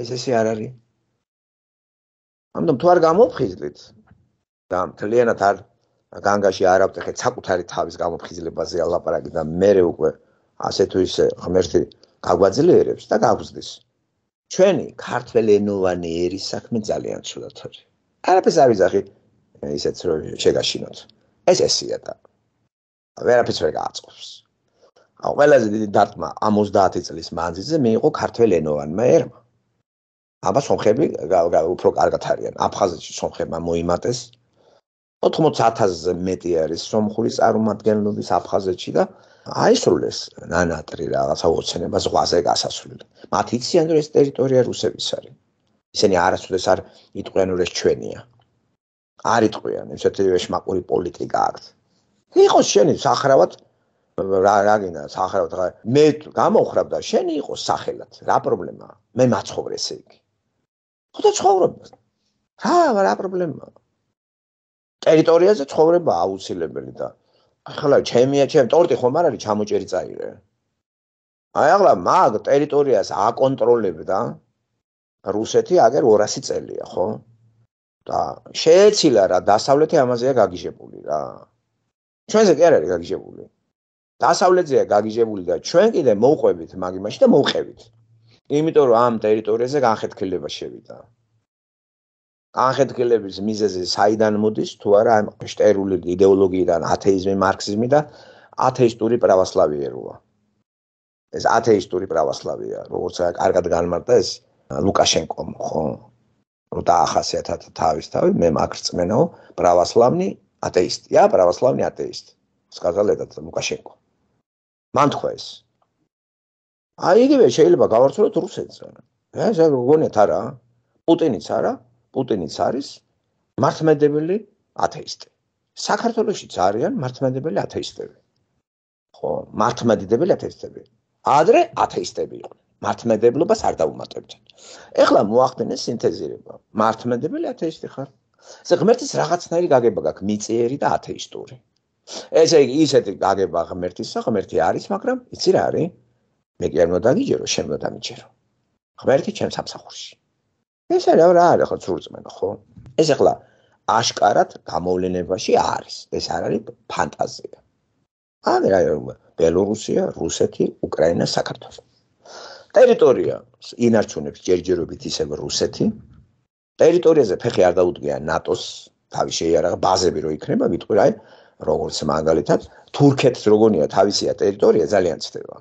ეს ესე არ არის. ამიტომ თუ არ გამოფხიზლით და მთლიანად არ განგაში არ ავტეხეთ საკუთარი თავის გამოფხიზლებაზე ალაპარაკი და მერე უკვე ასე თუ ისე ღმერთი გაგვაძლიერებს და გაგვზრდის. ჩვენი ქართველენოვანი ერის საქმე ძალიან ცუდად არის. არაფერს არ ვიზახი ისეც რომ შეგაშინოთ. ეს ესია და ვერაფერს ვერ გააწყობს. აუ ყველაზე დიდი დარტყმა ოცდაათი წლის მანძილზე მიიღო ქართველენოვანმა ერმა. აბა სომხები უფრო კარგად არიან. აფხაზეთში სომხებმა მოიმატეს ოთხმოცი ათასზე მეტი არის სომხური წარმომადგენლობის აფხაზეთში და აისრულეს ნანატრი რაღაცა ოცნება ზღვაზე გასასვლელი. მათ იციან რომ ეს ტერიტორია რუსების არის. ისინი არასოდეს არ იტყვიან რომ ეს ჩვენია. არ იტყვიან, ესეთი ეშმაკური პოლიტიკა აქვს. იყოს შენი სახრავად რა რა გინდა სახრავად მე გამოხრაბ და შენი იყოს სახელად. რა პრობლემაა? მე მაცხოვრე ესე იგი. ხო და ცხოვრობ. რა რა პრობლემაა? ტერიტორიაზე ცხოვრება აუცილებელი და ახლა ჩემია ჩემ ტორტი ხომ არ არის ჩამოჭერი წაიღე. აი ახლა მაგ ტერიტორიას აკონტროლებდა რუსეთი აგერ ორასი წელია, ხო? და შეეცილა რა დასავლეთი ამაზეა გაგიჟებული რა. ჩვენზე კი არ არის გაგიჟებული. დასავლეთზეა გაგიჟებული და ჩვენ კიდე მოვყვებით მაგ იმაში და მოვყევით. იმიტომ რომ ამ ტერიტორიაზე განხეთქილება შევიდა. განხეთქილების მიზეზი საიდან მოდის თუ არა ამ შტერული იდეოლოგიიდან ათეიზმი, მარქსიზმი და ათეისტური პრავოსლავიეროა. ეს ათეისტური პრავოსლავია, როგორც კარგად განმარტა ეს ლუკაშენკომ, ხო? რომ დაახასიათა თავის თავი, მე მაგ რწმენაო, პრავოსლავნი ათეისტია, პრავოსლავნი ათეისტი. сказал этот ლუკაშენკო. მან თქვა ეს. აი იგივე შეიძლება გავარცელოთ რუსეთზე. ეს გონიათ არა? პუტინიც არა? პუტინიც არის მართლმადიდებელი ათეისტი. საქართველოშიც არიან მართლმადიდებელი ათეისტები. ხო, მართლმადიდებელი ათეისტები. ადრე ათეისტები იყვნენ. მართლმადიდებლობას არ დაუმატებდნენ. ეხლა მოახდინეს სინთეზირება. მართლმადიდებელი ათეისტი ხარ. ესე ღმერთის რაღაცნაირი გაგება გაქვს მიწიერი და ათეისტური. ესე იგი ისეთი გაგება ღმერთისა, ღმერთი არის, მაგრამ იცი რა არის? მე კი არ უნდა დაგიჯერო, შენ უნდა დამიჯერო. ღმერთი ჩემს სამსახურში. ეს რა რა არის ხო სურწმენა, ხო? ეს ახლა აშკარად გამოვლენებაში არის. ეს არ არის ფანტაზია. ან რა ბელორუსია, რუსეთი, უკრაინა, საქართველო. ტერიტორია ინარჩუნებს ჯერჯერობით ისევ რუსეთი. ტერიტორიაზე ფეხი არ დაუდგია ნატოს, თავი შეიარაღა ბაზები რო იქნება, ვიტყვი რა, როგორც მაგალითად, თურქეთს როგორია თავისია ტერიტორია ძალიან ცდება.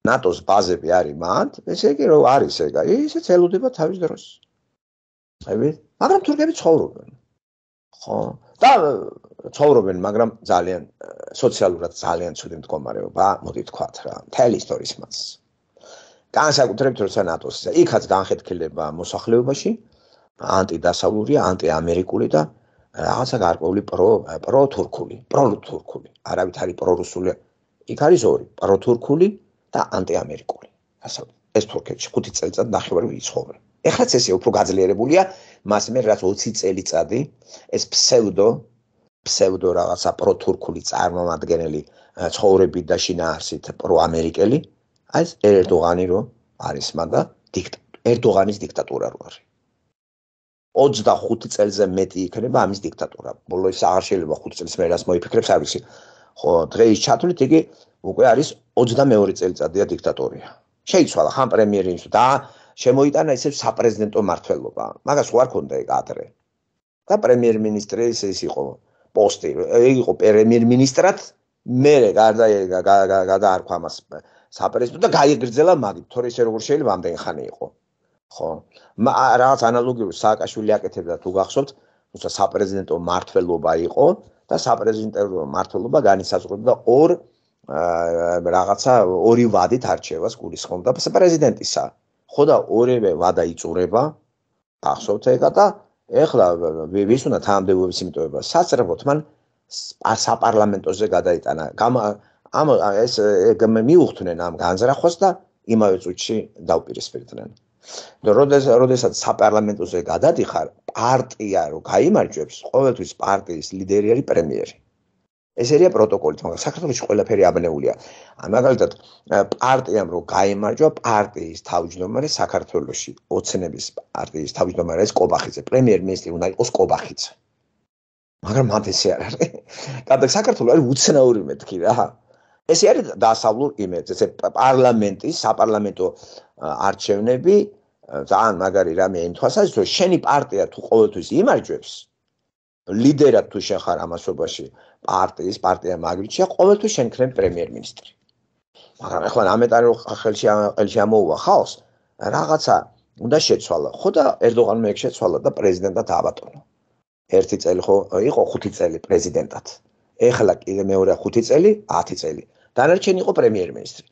ნატოს ბაზები არის მანდ, ესე იგი რომ არის ეგა, ისეც ელოდება თავის დროს. ხები? მაგრამ თურქები ცხოვრობენ. ხო? და ცხოვრობენ, მაგრამ ძალიან სოციალურად ძალიან ცუდი მდგომარეობა, მოდი თქვათ რა, მთელი ისტორიის მას. განსაკუთრებით როცა ნატოს იქაც განხეთქილება მოსახლეობაში, ანტიდასავლური, ანტიამერიკული და რაღაცა გარკვეული პრო პროთურქული, პროთურქული, არავითარი პრორუსული. იქ არის ორი, პროთურქული და ანტიამერიკული. ასე ეს თურქეთში ხუთი წელიწად ნახევარი იცხოვრა. ეხლაც ესე უფრო გაძლიერებულია, მას მე რაც ოცი წელიწადი ეს ფსევდო ფსევდო რაღაცა პროთურქული წარმომადგენელი ცხოვრებით და შინაარსით პროამერიკელი, აი ეს ერდოღანი რო არის მაგა ერდოღანის დიქტატურა რო არის. ოცდახუთი წელზე მეტი იქნება ამის დიქტატურა. ბოლო ის აღარ შეიძლება ხუთი წელს მე რას მოიფიქრებს არ ვიცი. ხო, დღეის ჩათვლით იგი უკვე არის ოცდამეორე წელიწადია დიქტატორია. შეიცვალა ხან პრემიერ-მინისტრი და შემოიტანა ისევ საპრეზიდენტო მმართველობა. მაგას ხო არ ქონდა ეგ ადრე. და პრემიერ-მინისტრი ის იყო პოსტი, იყო პრემიერ-მინისტრად, მერე გარდა გადაარქვა ამას საპრეზიდენტო და გაიგრძელა მაგით, თორე ისე როგორ შეიძლება ამდენი ხანი იყო. ხო, რაღაც ანალოგიური სააკაშვილი აკეთებდა თუ გახსოვთ, თუმცა საპრეზიდენტო მმართველობა იყო და საპრეზიდენტო მმართველობა განისაზღვრებდა ორ რაღაცა ორი ვადით არჩევას გულისხმობდა პრეზიდენტისა. ხო და ორივე ვადა იწურება, გახსოვთ ეგა და ეხლა ვის უნდა თანამდებობის იმიტოება სასწრაფოდ მან საპარლამენტოზე გადაიტანა. ამ ეს მიუხვდნენ ამ განზრახვას და იმავე წუთში დაუპირისპირდნენ. და როდესაც საპარლამენტოზე გადადიხარ, პარტია რო გაიმარჯვებს, ყოველთვის პარტიის ლიდერი არის პრემიერი. ეს არის პროტოკოლით, მაგრამ საქართველოში ყველაფერი აბნეულია. მაგალითად, პარტიამ რო გაიმარჯვა, პარტიის თავმჯდომარე საქართველოში, ოცნების პარტიის თავმჯდომარე არის კობახიძე, პრემიერ-მინისტრი უნდა იყოს კობახიძე. მაგრამ მათ ესე არ არის. და საქართველო არის უცნაური მეთქი რა. ესე არის დასავლურ იმედს, ესე პარლამენტის, საპარლამენტო არჩევნები ძალიან მაგარი რამე იმ თვალსაზრისით, რომ შენი პარტია თუ ყოველთვის იმარჯვებს, ლიდერად თუ შენ ხარ ამასობაში პარტიის, პარტია მაგრიჩია, ყოველთვის შენ ხარ პრემიერ-მინისტრი. მაგრამ ახლა ამეტარი რომ ხელში ხელში ამოუვა ხალხს, რაღაცა უნდა შეცვალა. ხო და ერდოღანმა ეგ შეცვალა და პრეზიდენტად დააბატონა. ერთი წელი ხო იყო ხუთი წელი პრეზიდენტად. ეხლა კიდე მეორე ხუთი წელი, ათი წელი. დანარჩენი იყო პრემიერ-მინისტრი.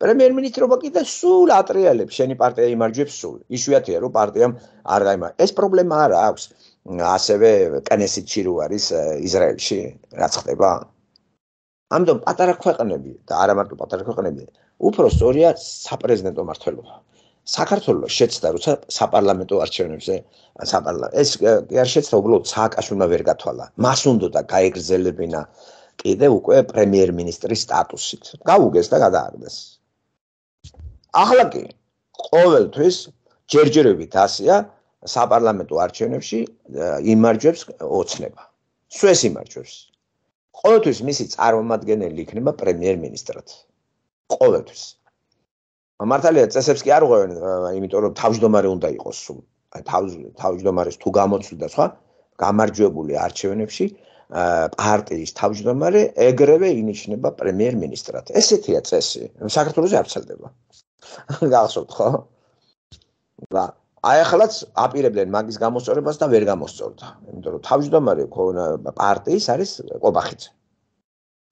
პრემიერ-მინისტრობა კიდე სულ ატრიალებს, შენი პარტია იმარჯვებს სულ. იშვიათია რომ პარტიამ არ გაიმარჯვა. ეს პრობლემა არა აქვს. ასევე კნესეთში რო არის ისრაელში, რაც ხდება. ამიტომ პატარა ქვეყნები და არა მარტო პატარა ქვეყნები, უფრო სწორია საპრეზიდენტო მმართველობა. საქართველოს შეცდა როცა საპარლამენტო არჩევნებზე საპარლამენტო ეს კი არ შეცდა უბრალოდ სააკაშვილმა ვერ გათვალა. მას უნდა გაეგრძელებინა კიდე უკვე პრემიერ-მინისტრის სტატუსით. გაუგეს და გადააგდეს. ახლა კი ყოველთვის ჯერჯერობით ასია საპარლამენტო არჩევნებში იმარჯვებს ოცნება. სუეს იმარჯვებს. ყოველთვის მისი წარმომადგენელი იქნება პრემიერ-მინისტრად. ყოველთვის. მართალია წესებს კი არ უღვევენ, იმიტომ რომ თავმჯდომარე უნდა იყოს სულ. აი თავმჯდომარეს თუ გამოცვლიდა სხვა გამარჯვებული არჩევნებში პარტიის თავმჯდომარე ეგრევე ინიშნება პრემიერ-მინისტრად. ესეთია წესი. საქართველოში არ ვრცელდება. გახსოვთ ხო? და აი ახლაც აპირებდნენ მაგის გამოსწორებას და ვერ გამოსწორდა. იმიტომ რომ თავმჯდომარე პარტიის არის ყობახიძე.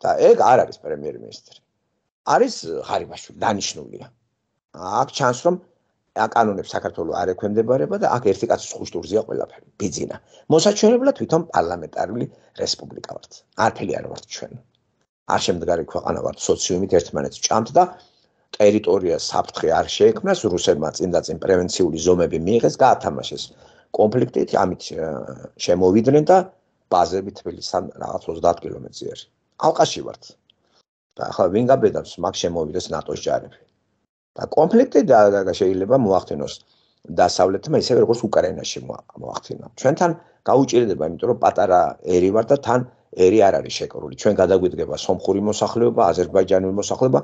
და ეგ არ არის პრემიერ-მინისტრი. არის ღარიბაშვილი, დანიშნულია. აქ ჩანს რომ აკანონებს საქართველოს არ ექვემდებარება და აქ ერთი კაცის ხუშტურზეა ყველაფერი, ბიძინა. მოსაჩვენებლად თვითონ პარლამენტარული რესპუბლიკა ვართ. არაფერი არ ვართ ჩვენ. არ შემდგარი ქვეყანა ვართ, სოციუმით ერთმანეთს ჭამთ და ტერიტორიას საფრთხე არ შეექმნას, რუსებმა წინ და წინ პრევენციული ზომები მიიღეს, გაათამაშეს კონფლიქტით, ამით შემოვიდნენ და ბაზები თბილისთან რაღაც ოცდაათ კილომეტრზე არის. ალყაში ვართ. და ახლა ვინ გაბედავს, მაგ შემოვიდეს ნატოს ჯარები. და კონფლიქტი და შეიძლება მოახდინოს დასავლეთმა ისევე როგორც უკრაინაში მოახდინა. ჩვენთან გაუჭირდება, იმიტომ რომ პატარა ერი ვარ და თან ერი არ არის შეკრული. ჩვენ გადაგვიდგება სომხური მოსახლეობა, აზერბაიჯანული მოსახლეობა,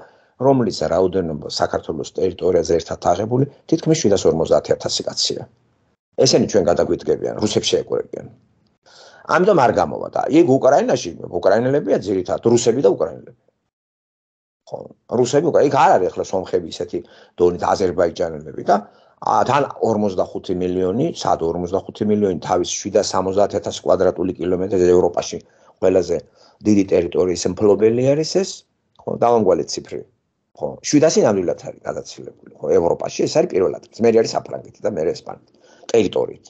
რომლის რაოდენობა საქართველოს ტერიტორიაზე ერთად აღებული თითქმის შვიდას ორმოცდაათი ათასი კაცია. ესენი ჩვენ გადაგვიდგებიან, რუსებს შეეკურებიან. ამიტომ არ გამოვა და იქ უკრაინაში უკრაინელებია ძირითადად რუსები და უკრაინელები. ხო, რუსები უკრაინა, იქ არ არის ახლა სომხები ისეთი დონით აზერბაიჯანელები და თან ორმოცდახუთი მილიონი, სად ორმოცდახუთი მილიონი თავის შვიდას სამოცდაათი ათასი კვადრატული კილომეტრი ევროპაში ყველაზე დიდი ტერიტორიის მფლობელი არის ეს, ხო, დავამგვალი ციფრი. ხო, შვიდასი ნამდვილად არის გადაცილებული, ხო, ევროპაში ეს არის პირველად. მე არის საფრანგეთი და მე ესპანეთი ტერიტორიით.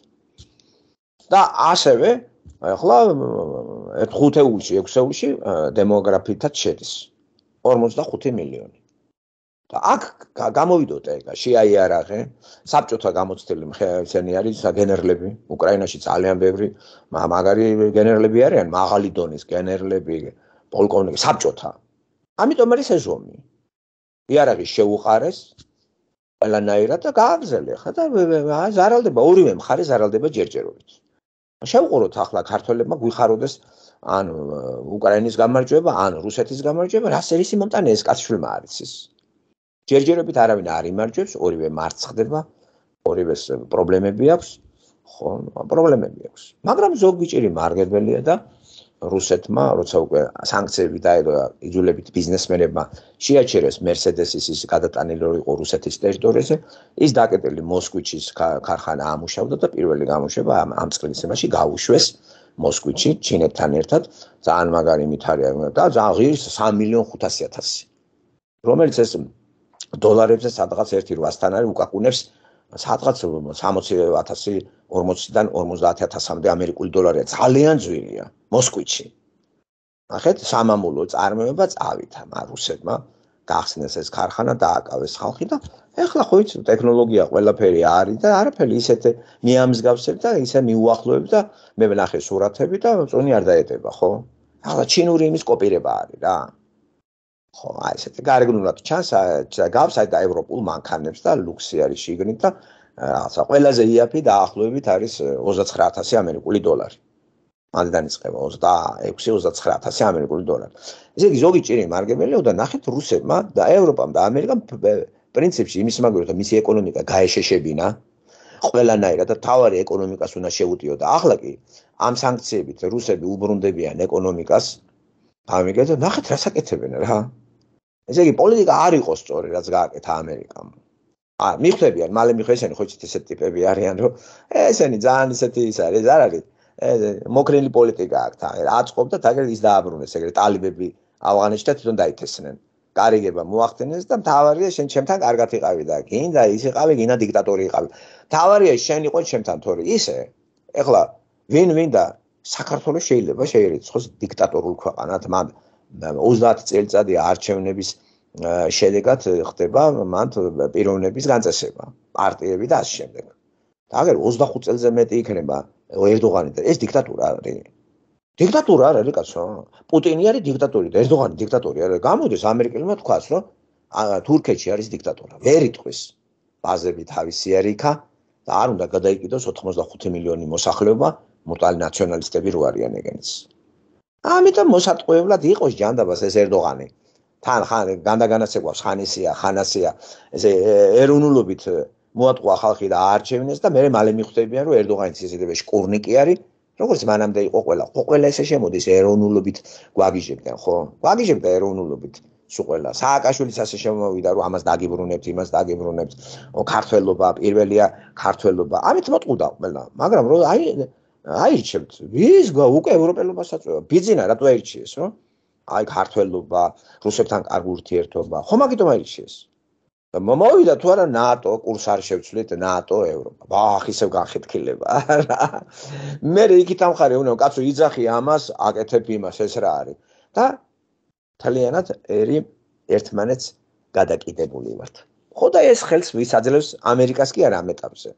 და ასევე ახლა ხუთეულში, ექვსეულში დემოგრაფიითაც შედის ორმოცდახუთი მილიონი. და აქ გამოვიდოთ ეგ შეაიარაღე, საბჭოთა გამოცდილი მხეცენი არის გენერლები, უკრაინაში ძალიან ბევრი მაგარი გენერლები არიან, მაღალი დონის გენერლები, პოლკოვნიკი, საბჭოთა. ამიტომ არის ეს ომი. იარაღი შეუყარეს ყველანაირად და გააგზელე ხა და ზარალდება ორივე მხარე ზარალდება ჯერჯერობით. შევყუროთ ახლა ქართველებმა გვიხაროდეს ან უკრაინის გამარჯვება, ან რუსეთის გამარჯვება, რა სერისი მომტანე ეს კაცშვილმა არის ის. ჯერჯერობით არავინ არ იმარჯვებს, ორივე მარცხ ხდება, ორივეს პრობლემები აქვს, ხო, პრობლემები აქვს. მაგრამ ზოგი ჭირი მარგებელია და რუსეთმა, როცა უკვე სანქციები დაედო იძულებით ბიზნესმენებმა შეაჩერეს მერსედესის ის გადატანილი იყო რუსეთის ტერიტორიაზე, ის დაკეტილი მოსკვიჩის ქარხანა ამუშავდა და პირველი გამოშვება ამ წლისებაში გაუშვეს მოსკვიჩი ჩინეთთან ერთად, ძალიან მაგარი მithარია და ძალიან ღირს სამი მილიონი ხუთასი ათასი. რომელიც ეს დოლარებზე სადღაც ერთი რვასთან არის უკაკუნებს სადღაც სამოცი ათასი ორმოციდან ორმოცდაათი ათასამდე ამერიკული დოლარია, ძალიან ძვირია მოსკვიჩი. ნახეთ, სამამულო წარმოება წავიდა რუსებმა, გახსნეს ეს ქარხანა, დააკავეს ხალხი და ეხლა ხო იცი ტექნოლოგია ყველაფერი არის და არაფერი ისეთ მიამსგავსებ და ისე მიუახლოებ და მე ვნახე სურათები და წონი არ დაეტება, ხო? ახლა ჩინური იმის კოპირება არის რა. ხო, აი ესეთი გარეგნულად ჩანს, გავს აი და ევროპულ მანქანებს და ლუქსი არის შიგნით და რაღაცა ყველაზე იაფი დაახლოებით არის ოცდაცხრა ათასი ამერიკული დოლარი. მანდ დაიწყება ოცდაექვსი ოცდაცხრა ათასი ამერიკული დოლარი. ესე იგი ზოგი ჭირი მარგებელია და ნახეთ რუსებმა და ევროპამ და ამერიკამ პრინციპში იმის მაგალითად რომ მისი ეკონომიკა გაეშეშებინა ყველანაირად და თავარი ეკონომიკას უნდა შეუტიო და ახლა კი ამ სანქციებით რუსები უბრუნდებიან ეკონომიკას. ამიგეთ და ნახეთ რა საკეთებენ რა. ესე იგი პოლიტიკა არ იყოს სწორი რაც გააკეთა ამერიკამ. ა მიხვდებიან, მალე მიხვ ესენი ხო იცით ესეთი ტიპები არიან რომ ესენი ძალიან ისეთი ის არის, არ არის. მოკრილი პოლიტიკა აქვს თან. აწყობდა და ეგრე ის დააბრუნეს, ეგრე ტალიბები ავღანეთში და თვითონ დაითესნენ. გარიგება მოახდინეს და მთავარია შენ ჩემთან კარგად იყავი და გინდა ის იყავი, გინდა დიქტატორი იყავი. მთავარია შენ იყო ჩემთან თორე ისე. ეხლა ვინ ვინ და საქართველოს შეიძლება შეერიცხოს დიქტატორულ ქვეყანად, მან ოცდაათი წელიწადი არჩევნების შედეგად ხდება მან პიროვნების განწესება, პარტიები და ასე შემდეგ. და აგერ ოცდახუთ წელზე მეტი იქნება ერდოღანი და ეს დიქტატურა არის. დიქტატურა არ არის კაცო. პუტინი არის დიქტატორი და ერდოღანი დიქტატორი არის. გამოდის ამერიკელებმა თქვას, რომ თურქეთში არის დიქტატურა. ვერ იტყვის. ბაზები თავისი არის იქა და არ უნდა გადაიკიდოს ოთხმოცდახუთი მილიონი მოსახლეობა მუტალი ნაციონალისტები რო არიან ეგენიც. ამიტომ მოსატყუებლად იყოს ჯანდაბას ეს ერდოღანი. თან ხან განდაგანაცეკვავს ხანისია, ხანასია, ესე ეროვნულობით მოატყუა ხალხი და აარჩევნეს და მე მალე მიხვდებიან რომ ერდოღანის ისედივე შკურნიკი არის, როგორც მანამდე იყო ყველა. ყველა ესე შემოდის ეროვნულობით გვაგიჟებდნენ, ხო? გვაგიჟებდა ეროვნულობით. სულ სააკაშვილის ასე შემოვიდა რომ ამას დაგიბრუნებთ, იმას დაგიბრუნებთ, ქართველობა, პირველია ქართველობა. ამით მოტყუდა ყველა, მაგრამ რომ აი აირჩევთ, ვის უკვე ევროპელობასაც ბიძინა რატო აირჩიეს, რომ აი ქართველობა, რუსებთან კარგი ურთიერთობა, ხო მაგიტომ აირჩიეს. და მომოვიდა თუ არა ნატო, კურს არ შევცვლით ნატო, ევროპა. ბახ, ისევ განხეთქილება. მე იქით ამხარე უნდა კაცო იძახი ამას, აკეთებ იმას, ეს რა არის. და თალიანად ერი ერთმანეთს გადაკიდებული ვართ. ხო და ეს ხელს ვის აძლევს ამერიკას კი არა ამ ეტაპზე.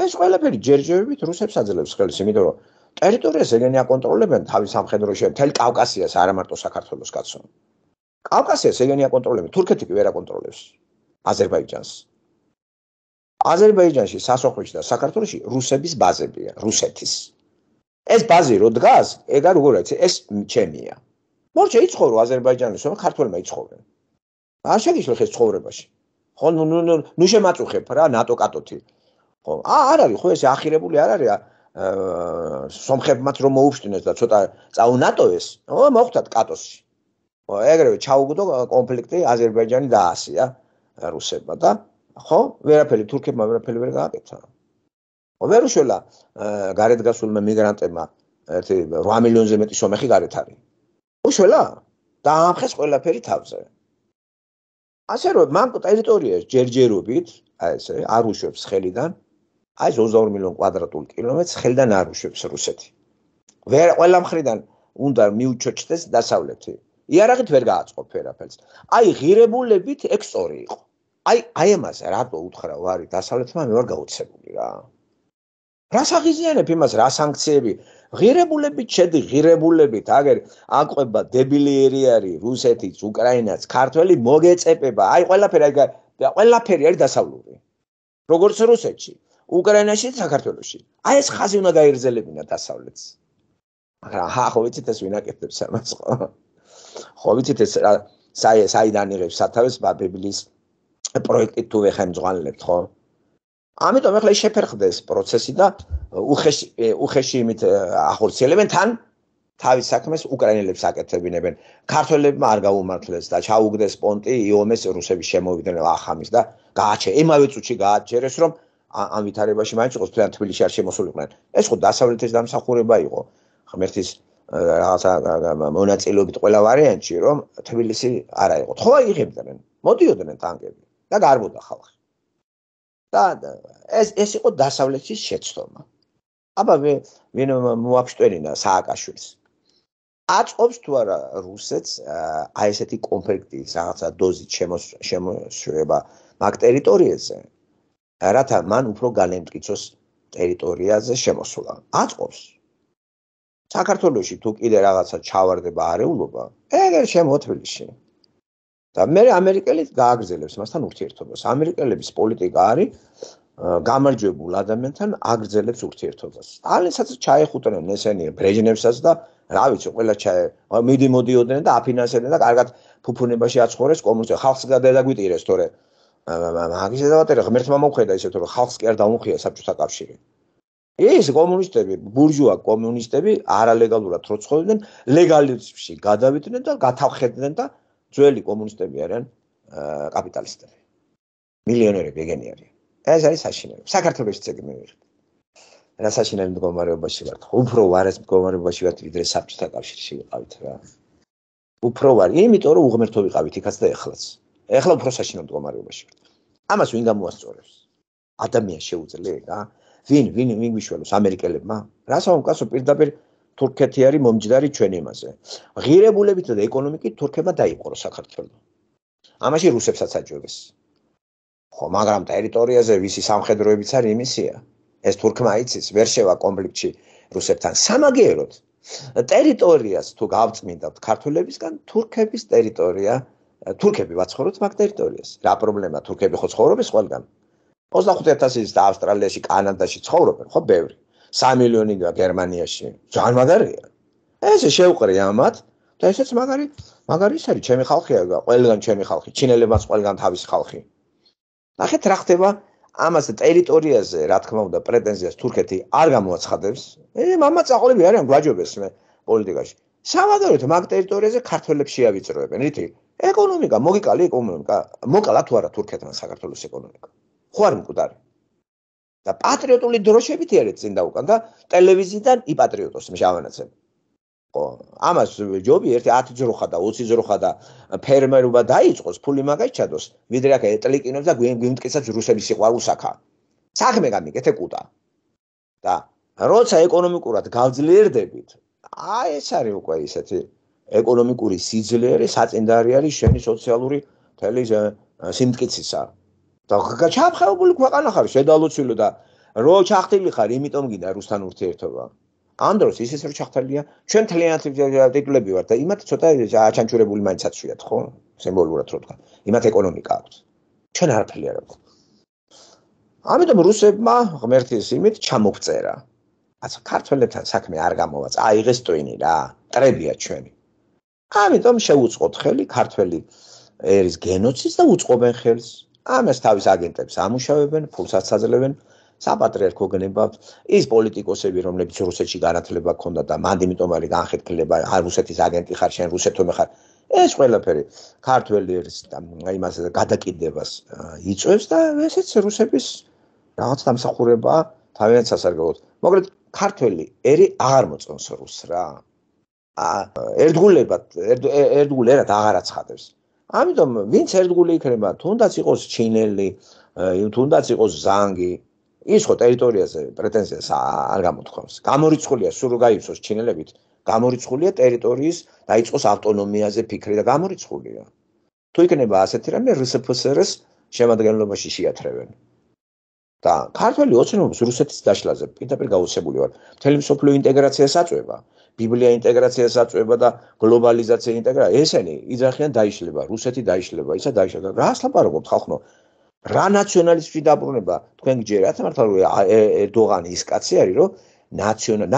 ეს ყველაფერი ჯერჯერობით რუსებს აძლევს ხელს, იმიტომ რომ ტერიტორიას ეგენი აკონტროლებენ თავის სამხედროში, მთელ კავკასიას, არა მარტო საქართველოს კაცო. კავკასიას ეგენი აკონტროლებენ, თურქეთი კი ვერ აკონტროლებს აზერბაიჯანს. აზერბაიჯანში, სასოხლოში და საქართველოში რუსების ბაზებია, რუსეთის. ეს ბაზი რო დგას, ეგა როგორ არის, ეს ჩემია. მორჩა იცხოვრო აზერბაიჯანის, რომ ქართველმა იცხოვენ. არ შეგიშლეხ ეს ცხოვრებაში. ხო, ნუ ნუ ნუ შემაწუხებ რა ნატო კატოთი. ხო, არ არის ხო ეს ახირებული არ არის სომხებმაც რომ მოუფშტინეს და ცოტა წაუნატოეს, ო მოხვდათ კატოსში. ხო, ეგრევე ჩაუგდო კონფლიქტი აზერბაიჯანი და ასია რუსებმა და ხო, ვერაფერი თურქებმა ვერაფერი ვერ გააკეთა. ხო, ვერ უშველა გარეთ გასულმა მიგრანტებმა ერთი რვა მილიონზე მეტი სომეხი გარეთ არის. უშველა და ამხეს ყველაფერი თავზე. ასე რომ მან ტერიტორიას ჯერჯერობით, აი ესე, არ უშვებს ხელიდან, აი ოცდაორი მილიონი კვადრატული კილომეტრს ხელიდან არ უშვებს რუსეთი. ვერ ყველა მხრიდან უნდა მიუჩოჩდეს დასავლეთი. იარაღით ვერ გააწყობ ვერაფერს. აი ღირებულებით ექსტორი იყო. აი აი ამას რატო უთხრა ვარი დასავლეთმა მე ვარ გაუცებული რა. რას აღიზიანებ იმას რა სანქციები ღირებულებით შედი ღირებულებით აგერ აყვება დებილიერი არის რუსეთიც უკრაინაც ქართველი მოგეწეპება აი ყველაფერი აი ყველაფერი არის დასავლური როგორც რუსეთში უკრაინაში და საქართველოში აი ეს ხაზი უნდა გაიგრძელებინა დასავლეთს მაგრამ ხა ხო ვიცით ეს ვინ აკეთებს ამას ხო ხო ვიცით ეს საი საიდან იღებს სათავეს ბაბილის პროექტით თუ ეხემძღვანელებთ ხო ამიტომ ახლა შეფერხდეს პროცესი და უხეში უხეში იმით ახორციელებენ თან თავის საქმეს უკრაინელებს აკეთებინებენ ქართველებმა არ გაუმართლეს და ჩაუგდეს პონტი იომეს რუსების შემოვიდნენ ახამის და გააჩე იმავე წუთში გააჩერეს რომ ამ ვითარებაში მაინც იყოს თლიან თბილისში არ შემოსულიყვნენ ეს ხო დასავლეთის დამსახურება იყო ღმერთის რაღაცა მონაწილეობით ყველა ვარიანტში რომ თბილისი არ აიყო ხო იღებდნენ მოდიოდნენ ტანკები და გარბოდა ხალხი და ეს ეს იყო დასავლეთის შეცდომა. აბა ვინ მოაფშტერინა სააკაშვილს. აწყობს თუ არა რუსეთს აი ესეთი კონფლიქტის რაღაცა დოზით შემოშვება მაგ ტერიტორიაზე, რათა მან უფრო განემტკიცოს ტერიტორიაზე შემოსვლა. აწყობს. საქართველოში თუ კიდე რაღაცა ჩავარდება არეულობა, ეგერ შემო თბილისში. და მე ამერიკელით გააგრძელებს მასთან ურთიერთობას. ამერიკელების პოლიტიკა არის გამარჯვებულ ადამიანთან აგრძელებს ურთიერთობას. ალენსაც ჩაეხუტნენ ესენი ბრეჟნევსაც და რა ვიცი, ყველა ჩაე მიდი მოდიოდნენ და აფინანსებდნენ და კარგად ფუფუნებაში აცხოვრეს კომუნისტები. ხალხს გადაგვიტირეს თორე მაგის დავატერე ღმერთმა მოუხედა ისე თორე ხალხს კი არ დაუმხია საბჭოთა კავშირი. ეს კომუნისტები, ბურჟუა კომუნისტები არალეგალურად რო ცხოვრობდნენ, ლეგალიზმში გადავიდნენ და გათავხედდნენ და ძველი კომუნისტები არიან კაპიტალისტები. მილიონერები ეგენი არიან. ეს არის საშინელი. საქართველოშიც ეგ მივიღეთ. რა საშინელი მდგომარეობაში ვართ. უფრო ვარ ეს მდგომარეობაში ვართ, ვიდრე საბჭოთა კავშირში ვიყავით რა. უფრო ვარ, იმიტომ რომ უღმერთო ვიყავით იქაც და ეხლაც. ეხლა უფრო საშინელ მდგომარეობაში ვართ. ამას ვინ გამოასწორებს? ადამიანს შეუძლია რა. ვინ ვინ ვინ გვიშველოს ამერიკელებმა? რასაო მკაცო პირდაპირ თურქეთი არის მომჯდარი ჩვენ იმაზე. ღირებულებით და ეკონომიკით თურქებმა დაიპყრო საქართველო. ამაში რუსებსაც აჯობეს. ხო, მაგრამ ტერიტორიაზე ვისი სამხედროებიც არის იმისია. ეს თურქმა იცის, ვერ შევა კონფლიქტში რუსებთან. სამაგიეროდ ტერიტორიას თუ გავწმინდავთ ქართველებისგან, თურქების ტერიტორია, თურქები ვაცხოვროთ მაგ ტერიტორიას. რა პრობლემა? თურქები ხო ცხოვრობენ ყველგან. ოცდახუთ ათასის და ავსტრალიაში, კანადაში ცხოვრობენ, ხო, ბევრი. სამი მილიონი გერმანიაში. ძალიან მაგარია. ესე შევყრი ამათ და ესეც მაგარი, მაგარი ის არის, ჩემი ხალხია, ყველგან ჩემი ხალხი, ჩინელებიც ყველგან თავისი ხალხი. ნახეთ რა ხდება ამას ტერიტორიაზე, რა თქმა უნდა, პრეტენზიას თურქეთი არ გამოაცხადებს. ე, მამა წაყოლები არიან გვაჯობეს მე პოლიტიკაში. სამაგეროთ მაგ ტერიტორიაზე ქართველებს შეავიწროებენ, რითი? ეკონომიკა, მოგიკალი ეკონომიკა, მოკალა თუ არა თურქეთმა საქართველოს ეკონომიკა. ხო არ მკვდარი. და პატრიოტული დროშებით იარეთ წინ და უკან და ტელევიზიიდან იპატრიოტოს მჟავანაცებ. ხო, ამას ჯობი ერთი ათი ძროხა და ოცი ძროხა და ფერმერობა დაიწყოს, ფული მაგას ჩადოს, ვიდრე აქ ეტლიკინებს და გვიმტკიცებს რუსების სიყვარულს აქა. საქმე გამიგეთ ეკუტა. და როცა ეკონომიკურად გავძლიერდებით, აი ეს არის უკვე ისეთი ეკონომიკური სიძლიერე, საწინდარი არის შენი სოციალური თელი სიმტკიცისა. და ჩაფხაებული ქვეყანა ხარ, შედალოცილო და რო ჩახტილი ხარ, იმიტომ გინდა რუსთან ურთიერთობა. ამ დროს ისიც რო ჩახტელია, ჩვენ თლიანად ტიტულები ვართ და იმათ ცოტა აჩანჩურებული მაინც აცვიათ, ხო? სიმბოლურად რო თქვა. იმათ ეკონომიკა აქვს. ჩვენ არაფერი არ აქვს. ამიტომ რუსებმა ღმერთის იმით ჩამოგწერა. აცა ქართველებთან საქმე არ გამოვაც, აიღეს ტვინი რა, ტრებია ჩვენი. ამიტომ შეუწყოთ ხელი ქართველი ერის გენოციდს და უწყობენ ხელს. ამას თავის აგენტებს ამუშავებენ, ფულსაც აძლევენ, საპატრიარქო გნებავთ, ის პოლიტიკოსები, რომლებიც რუსეთში განათლება ჰქონდა და მანდ იმიტომ არის განხეთქილება, არ რუსეთის აგენტი ხარ, შენ რუსეთომე ხარ. ეს ყველაფერი ქართველი ერის იმას გადაკიდებას იწვევს და ესეც რუსების რაღაც დამსახურებაა თავიანთ სასარგებლოდ. მაგრამ ქართველი ერი აღარ მოწონს რუსს რა. ერთგულებად, ერთგულ ერად აღარ აცხადებს. ამიტომ ვინც ერთგული იქნება, თუნდაც იყოს ჩინელი, თუნდაც იყოს ზანგი, ის ხო ტერიტორიაზე პრეტენზიას არ გამოთქვამს. გამორიცხულია სულ რო გაიცოს ჩინელებით, გამორიცხულია ტერიტორიის დაიწყოს ავტონომიაზე ფიქრი და გამორიცხულია. თუ იქნება ასეთი რამე რსფსრ-ს შემადგენლობაში შეათრევენ. და ქართველი ოცნობს რუსეთის დაშლაზე პირდაპირ გაუცებული ვარ. მთელი მსოფლიო ინტეგრაციას აწვევა, ბიბლია ინტეგრაციას აწვევა და გლობალიზაცია ინტეგრაცია. ესენი იძახიან დაიშლება, რუსეთი დაიშლება, ისა დაიშლება. რას ლაპარაკობთ ხალხო? რა ნაციონალიზმში დაბრუნება თქვენ გჯერათ მართლა რომ ერდოღანი ის კაცი არის რომ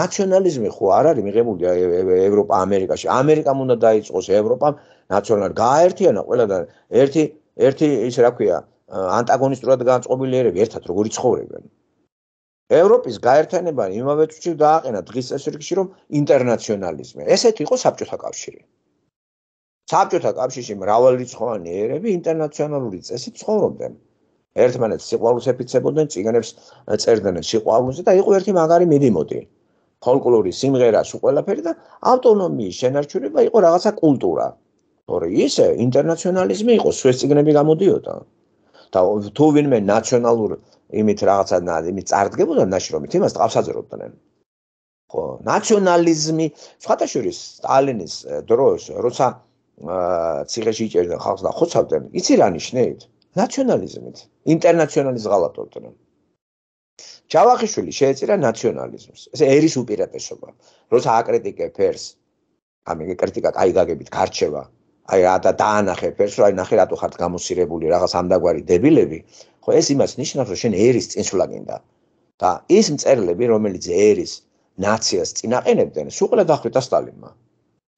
ნაციონალიზმი ხო არ არის მიღებული ევროპა ამერიკაში. ამერიკამ უნდა დაიწყოს ევროპამ ნაციონალ გააერთიანა ყველა და ერთი ერთი ის რა ქვია ანტაგონისტურად განწყობილი ერები ერთად როგორი ცხოვრებენ. ევროპის გაერთიანება იმავე წუთში დააყენა დღის წესრიგში რომ ინტერნაციონალიზმი. ესეთი იყო საბჭოთა კავშირი. საბჭოთა კავშირში მრავალრიცხოვანი ერები ინტერნაციონალური წესით ცხოვრობდნენ. ერთმანეთს სიყვარულს ეფიცებოდნენ, წიგნებს წერდნენ სიყვარულზე და იყო ერთი მაგარი მიდიმოდი. ფოლკლორი, სიმღერა, სულ ყველაფერი და ავტონომიის შენარჩუნება იყო რაღაცა კულტურა. თორე ისე ინტერნაციონალიზმი იყო, სვეს წიგნები გამოდიოდა. და თუ ვინმე ნაციონალურ იმით რაღაცა იმით წარდგებოდა ნაშრომით, იმას ტყავსაძრობდნენ. ხო, ნაციონალიზმი, სხვათაშორის სტალინის დროს, როცა ციხეში იჭერდნენ ხალხს და ხოცავდნენ, იცი რა ნიშნით? ნაციონალიზმით, ინტერნაციონალიზმს ღალატობდნენ. ჯავახიშვილი შეეწირა ნაციონალიზმს. ეს ერის უპირატესობა. როცა აკრიტიკებ ერს, ამიგე კრიტიკა კაი გაგებით გარჩევა. აი რა და დაანახე ფერს, რომ აი ნახე რატო ხართ გამოსირებული რაღაც ამდაგვარი დებილები, ხო ეს იმას ნიშნავს, რომ შენ ერის წინსვლა გინდა. და ის მწერლები, რომელიც ერის ნაციას წინაყენებდნენ, სულ ყველა დახრიტა სტალინმა.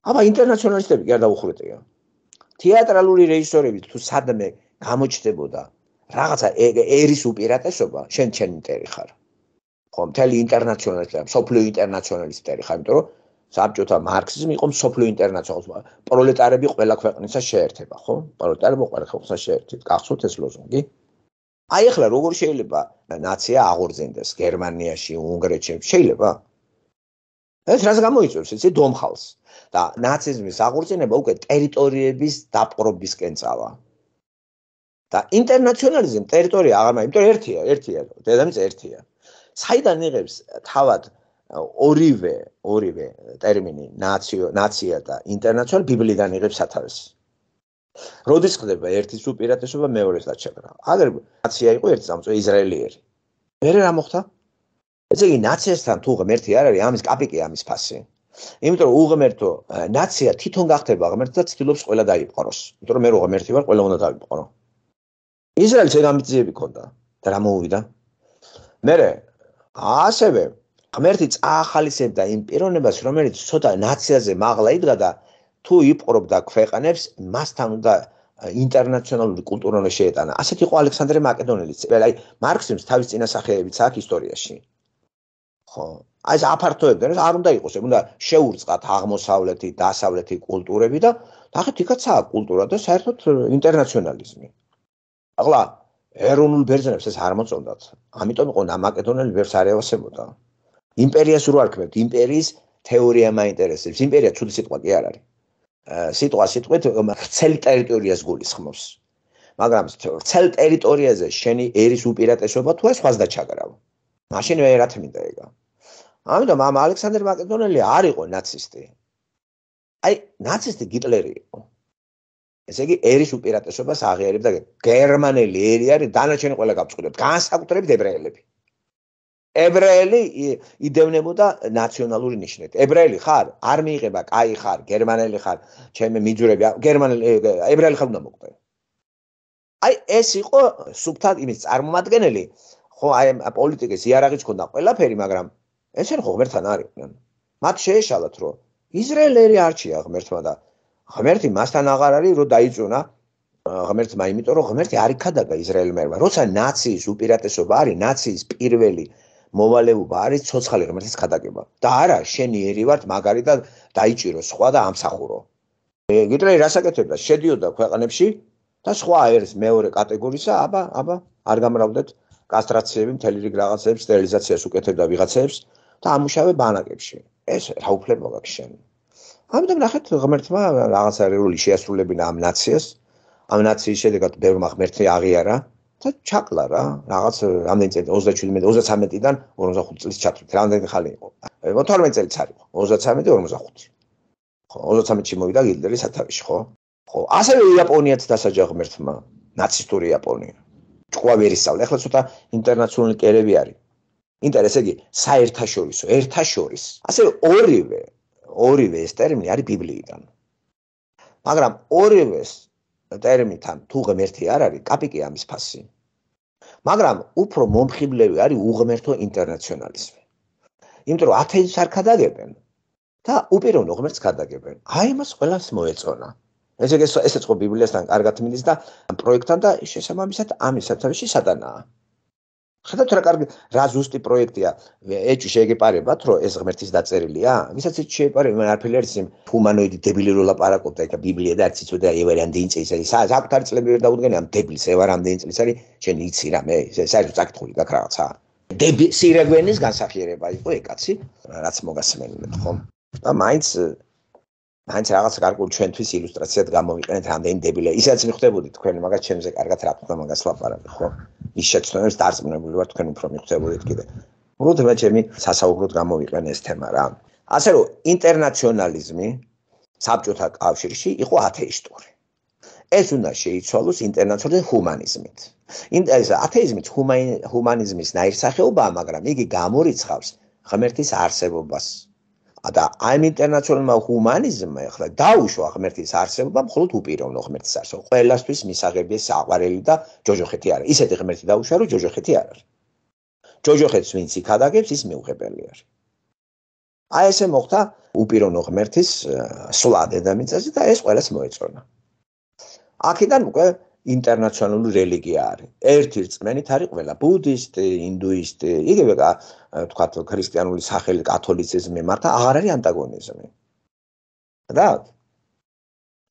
აბა ინტერნაციონალისტები კი არ დაუხრიტია. თეატრალური რეჟისორები თუ სადმე გამოჩნდებოდა რაღაცა ერის უპირატესობა, შენ შენ ინტერი ხარ. ხო, მთელი ინტერნაციონალისტები, სოფლიო ინტერნაციონალისტები ხარ, იმიტომ რომ საბჭოთა მარქსიზმი იყო სოფლიო ინტერნაციონალიზმი. პროლეტარები ყველა ქვეყნისა შეერთება, ხო? პროლეტარები ყველა ქვეყნისა შეერთება. გახსოვთ ეს ლოზუნგი? აი ახლა როგორ შეიძლება ნაცია აღორძინდეს გერმანიაში, უნგრეთში? შეიძლება? ეს რას გამოიწვევს? იცი დომხალს. და ნაციზმის აღორძინება უკვე ტერიტორიების დაპყრობისკენ წავა. და ინტერნაციონალიზმი ტერიტორია აღარ მაინც, იმიტომ ერთია, ერთია, დედამიწა ერთია. საიდან იღებს თავად ორივე, ორივე ტერმინი ნაციო, ნაცია და ინტერნაციონალი ბიბლიდან იღებს სათავეს. როდის ხდება ერთის უპირატესობა მეორეს დაჩაგრა? აგერ ნაცია იყო ერთი სამწო ისრაელიერი. მერე რა მოხდა? ესე იგი ნაციასთან თუ ღმერთი არ არის, ამის კაპიკი ამის ფასი. იმიტომ რომ უღმერთო ნაცია თვითონ გახდება ღმერთი და ცდილობს ყველა დაიპყროს. იმიტომ რომ მე რო ღმერთი ვარ, ყველა უნდა დაიპყრო. ისრაელს ეგ ამბიციები ჰქონდა. და რა მოუვიდა? მერე ასევე ღმერთი წაახალისებდა იმ პიროვნებას, რომელიც ცოტა ნაციაზე მაღლა იდგა და თუ იპყრობდა ქვეყანებს, მასთან უნდა ინტერნაციონალური კულტურა უნდა შეეტანა. ასეთ იყო ალექსანდრე მაკედონელის. აი მარქსიმს თავის წინასახეებიც აქვს ისტორიაში. ხო, აი ეს აფართოებდნენ, არ უნდა იყოს, უნდა შეურწყათ აღმოსავლეთი, დასავლეთი კულტურები და ნახეთ, იქაც აქვს კულტურა და საერთოდ ინტერნაციონალიზმი. ახლა ეროვნულ ბერძნებს ეს არ მოწონდათ. ამიტომ იყო მაკედონელი ბევრს არ ევასებოდა. იმპერიას რო არქმევთ, იმპერიის თეორია მაინტერესებს. იმპერია ცუდი სიტყვა კი არ არის. სიტყვა სიტყვით ვრცელ ტერიტორიას გულისხმობს. მაგრამ ვრცელ ტერიტორიაზე შენი ერის უპირატესობა თუ ეს სხვას დაჩაგრავ. მაშინ ვერათ მინდა ეგა. ამიტომ ამ ალექსანდრე მაკედონელი არ იყო ნაცისტი. აი, ნაცისტი გიტლერი იყო. ესე იგი, ერის უპირატესობას აღიარებდა გერმანელი ერი არის, დანარჩენი ყველა გავწყვეტებთ, განსაკუთრებით ებრაელები. ებრაელი იდევნებოდა ნაციონალური ნიშნით. ებრაელი ხარ, არ მიიღება, კაი ხარ, გერმანელი ხარ, ჩემი მიძურები, გერმანელი, ებრაელი ხარ უნდა მოკვდე. აი, ეს იყო სუფთა იმის წარმომადგენელი, ხო, აი პოლიტიკის იარაღიც ქონდა ყველაფერი, მაგრამ ესენ ხო ღმერთთან არიყვნენ. მათ შეეშალათ, რომ ისრაელი არჩია ღმერთმა და ღმერთი მასთან აღარ არის, რომ დაიწუნა ღმერთმა, იმიტომ რომ ღმერთი არ იქადაგა ისრაელმა. როცა ნაციის უპირატესობა არის, ნაციის პირველი მოვალეობა არის ცოცხალი ღმერთის ქადაგება. და არა, შენი ერი ვართ, მაგარი და დაიჭირო სხვა და ამსახურო. გიტლერი რასაკეთებდა? შედიოდა ქვეყნებში და სხვა ერს მეორე კატეგორიისა, აბა, აბა, არ გამრავდეთ კასტრაციები, მთელი რიგ რაღაცებს, სტერილიზაციას უკეთებდა ვიღაცებს და ამუშავე ბანაკებში. ეს რა უფლება გაქვს შენ? ამიტომ ნახეთ, ღმერთმა რაღაცა როლი შეასრულებინა ამ ნაციას. ამ ნაციის შედეგად ბევრმა ღმერთი აღიარა და ჩაკლა რა, რაღაც რამდენი წელი ოცდაშვიდი ოცდათვრამეტიდან ორმოცდახუთი წლის ჩათვლით. რამდენი ხალი იყო? თორმეტ წელიც არის. ოცდათვრამეტი ორმოცდახუთი. ხო, ოცდათვრამეტში მოვიდა გიტლერი სათავეში, ხო? ხო, ასევე იაპონიაც დასაჯა ღმერთმა, ნაცისტური იაპონია. ჭკუა ვერ ისწავლა. ახლა ცოტა ინტერნაციონალური კერები არის. ინტერესი იგი საერთაშორისო, ერთაშორის. ასევე ორივე, ორივე ეს ტერმინი არის ბიბლიიდან. მაგრამ ორივეს ტერმინთან თუ ღმერთი არ არის, კაპიკი ამის ფასი. მაგრამ უფრო მომხიბლები არის უღმერთო ინტერნაციონალიზმი. იმიტომ რომ ათეიზმს არ ქადაგებენ და უპიროვნო ღმერთს ქადაგებენ. აი მას ყველას მოეწონა. ესე იგი ესეც ხო ბიბლიასთან კარგად მიდის და პროექტთან და შესაბამისად ამის სათავეში სატანაა. ხედავთ რა კარგი, რა ზუსტი პროექტია. ეჭვი შეგეპარებათ, რომ ეს ღმერთის დაწერილია? ვისაც ეჭვი შეეპარება, მან არაფერი არის იმ ჰუმანოიდი დებილი რო ლაპარაკობდა, იქა ბიბლია და არც იცოდა ევარ რამდენი წლის არის. საკუთარი წლები ვერ დაუდგენია ამ დებილს, ევარ რამდენი წლის არის, შენ იცი რა მე, საერთოდ წაკითხული გაქვს რაღაცა. დები სირაგვენის განსახიერება იყო ეკაცი, რაც მოგასმენთ ხო? და მაინც მაინც რაღაც კარგულ ჩვენთვის ილუსტრაციად გამოვიყენეთ რამდენი დებილია. ისაც მიხვდებოდი თქვენ, მაგას ჩემზე კარგად რა თქმა უნდა მაგას ლაპარაკი ხო? ის შეცდომებს დარწმუნებული ვარ თქვენ უფრო მიხვდებოდით კიდე. უბრალოდ ჩემი სასაუბროდ გამოვიყენე ეს თემა რა. ასე რომ ინტერნაციონალიზმი საბჭოთა კავშირში იყო ათეისტური. ეს უნდა შეიცვალოს ინტერნაციონალური ჰუმანიზმით. ეს ათეიზმიც ჰუმანიზმის ნაირსახეობაა, მაგრამ იგი გამორიცხავს ღმერთის არსებობას. და ამ ინტერნაციონალურმა ჰუმანიზმმა ახლა დაუშვა ღმერთის არსებობა მხოლოდ უპიროვნო ღმერთის არსებობა. ყველასთვის მისაღებია საყვარელი და ჯოჯოხეთი არა. ისეთი ღმერთი დაუშვა, რომ ჯოჯოხეთი არ არის. ჯოჯოხეთს ვინც იქადაგებს, ის მიუღებელი არის. აი ესე მოხდა უპიროვნო ღმერთის სვლა დედამიწაზე და ეს ყველას მოეწონა. აქედან უკვე ინტერნაციონალური რელიგია არის. ერთი რწმენით არის ყველა ბუდისტი, ინდუისტი, იგივე თქვათ ქრისტიანული სახელი კათოლიციზმი, მართა აღარ არის ანტაგონიზმი. და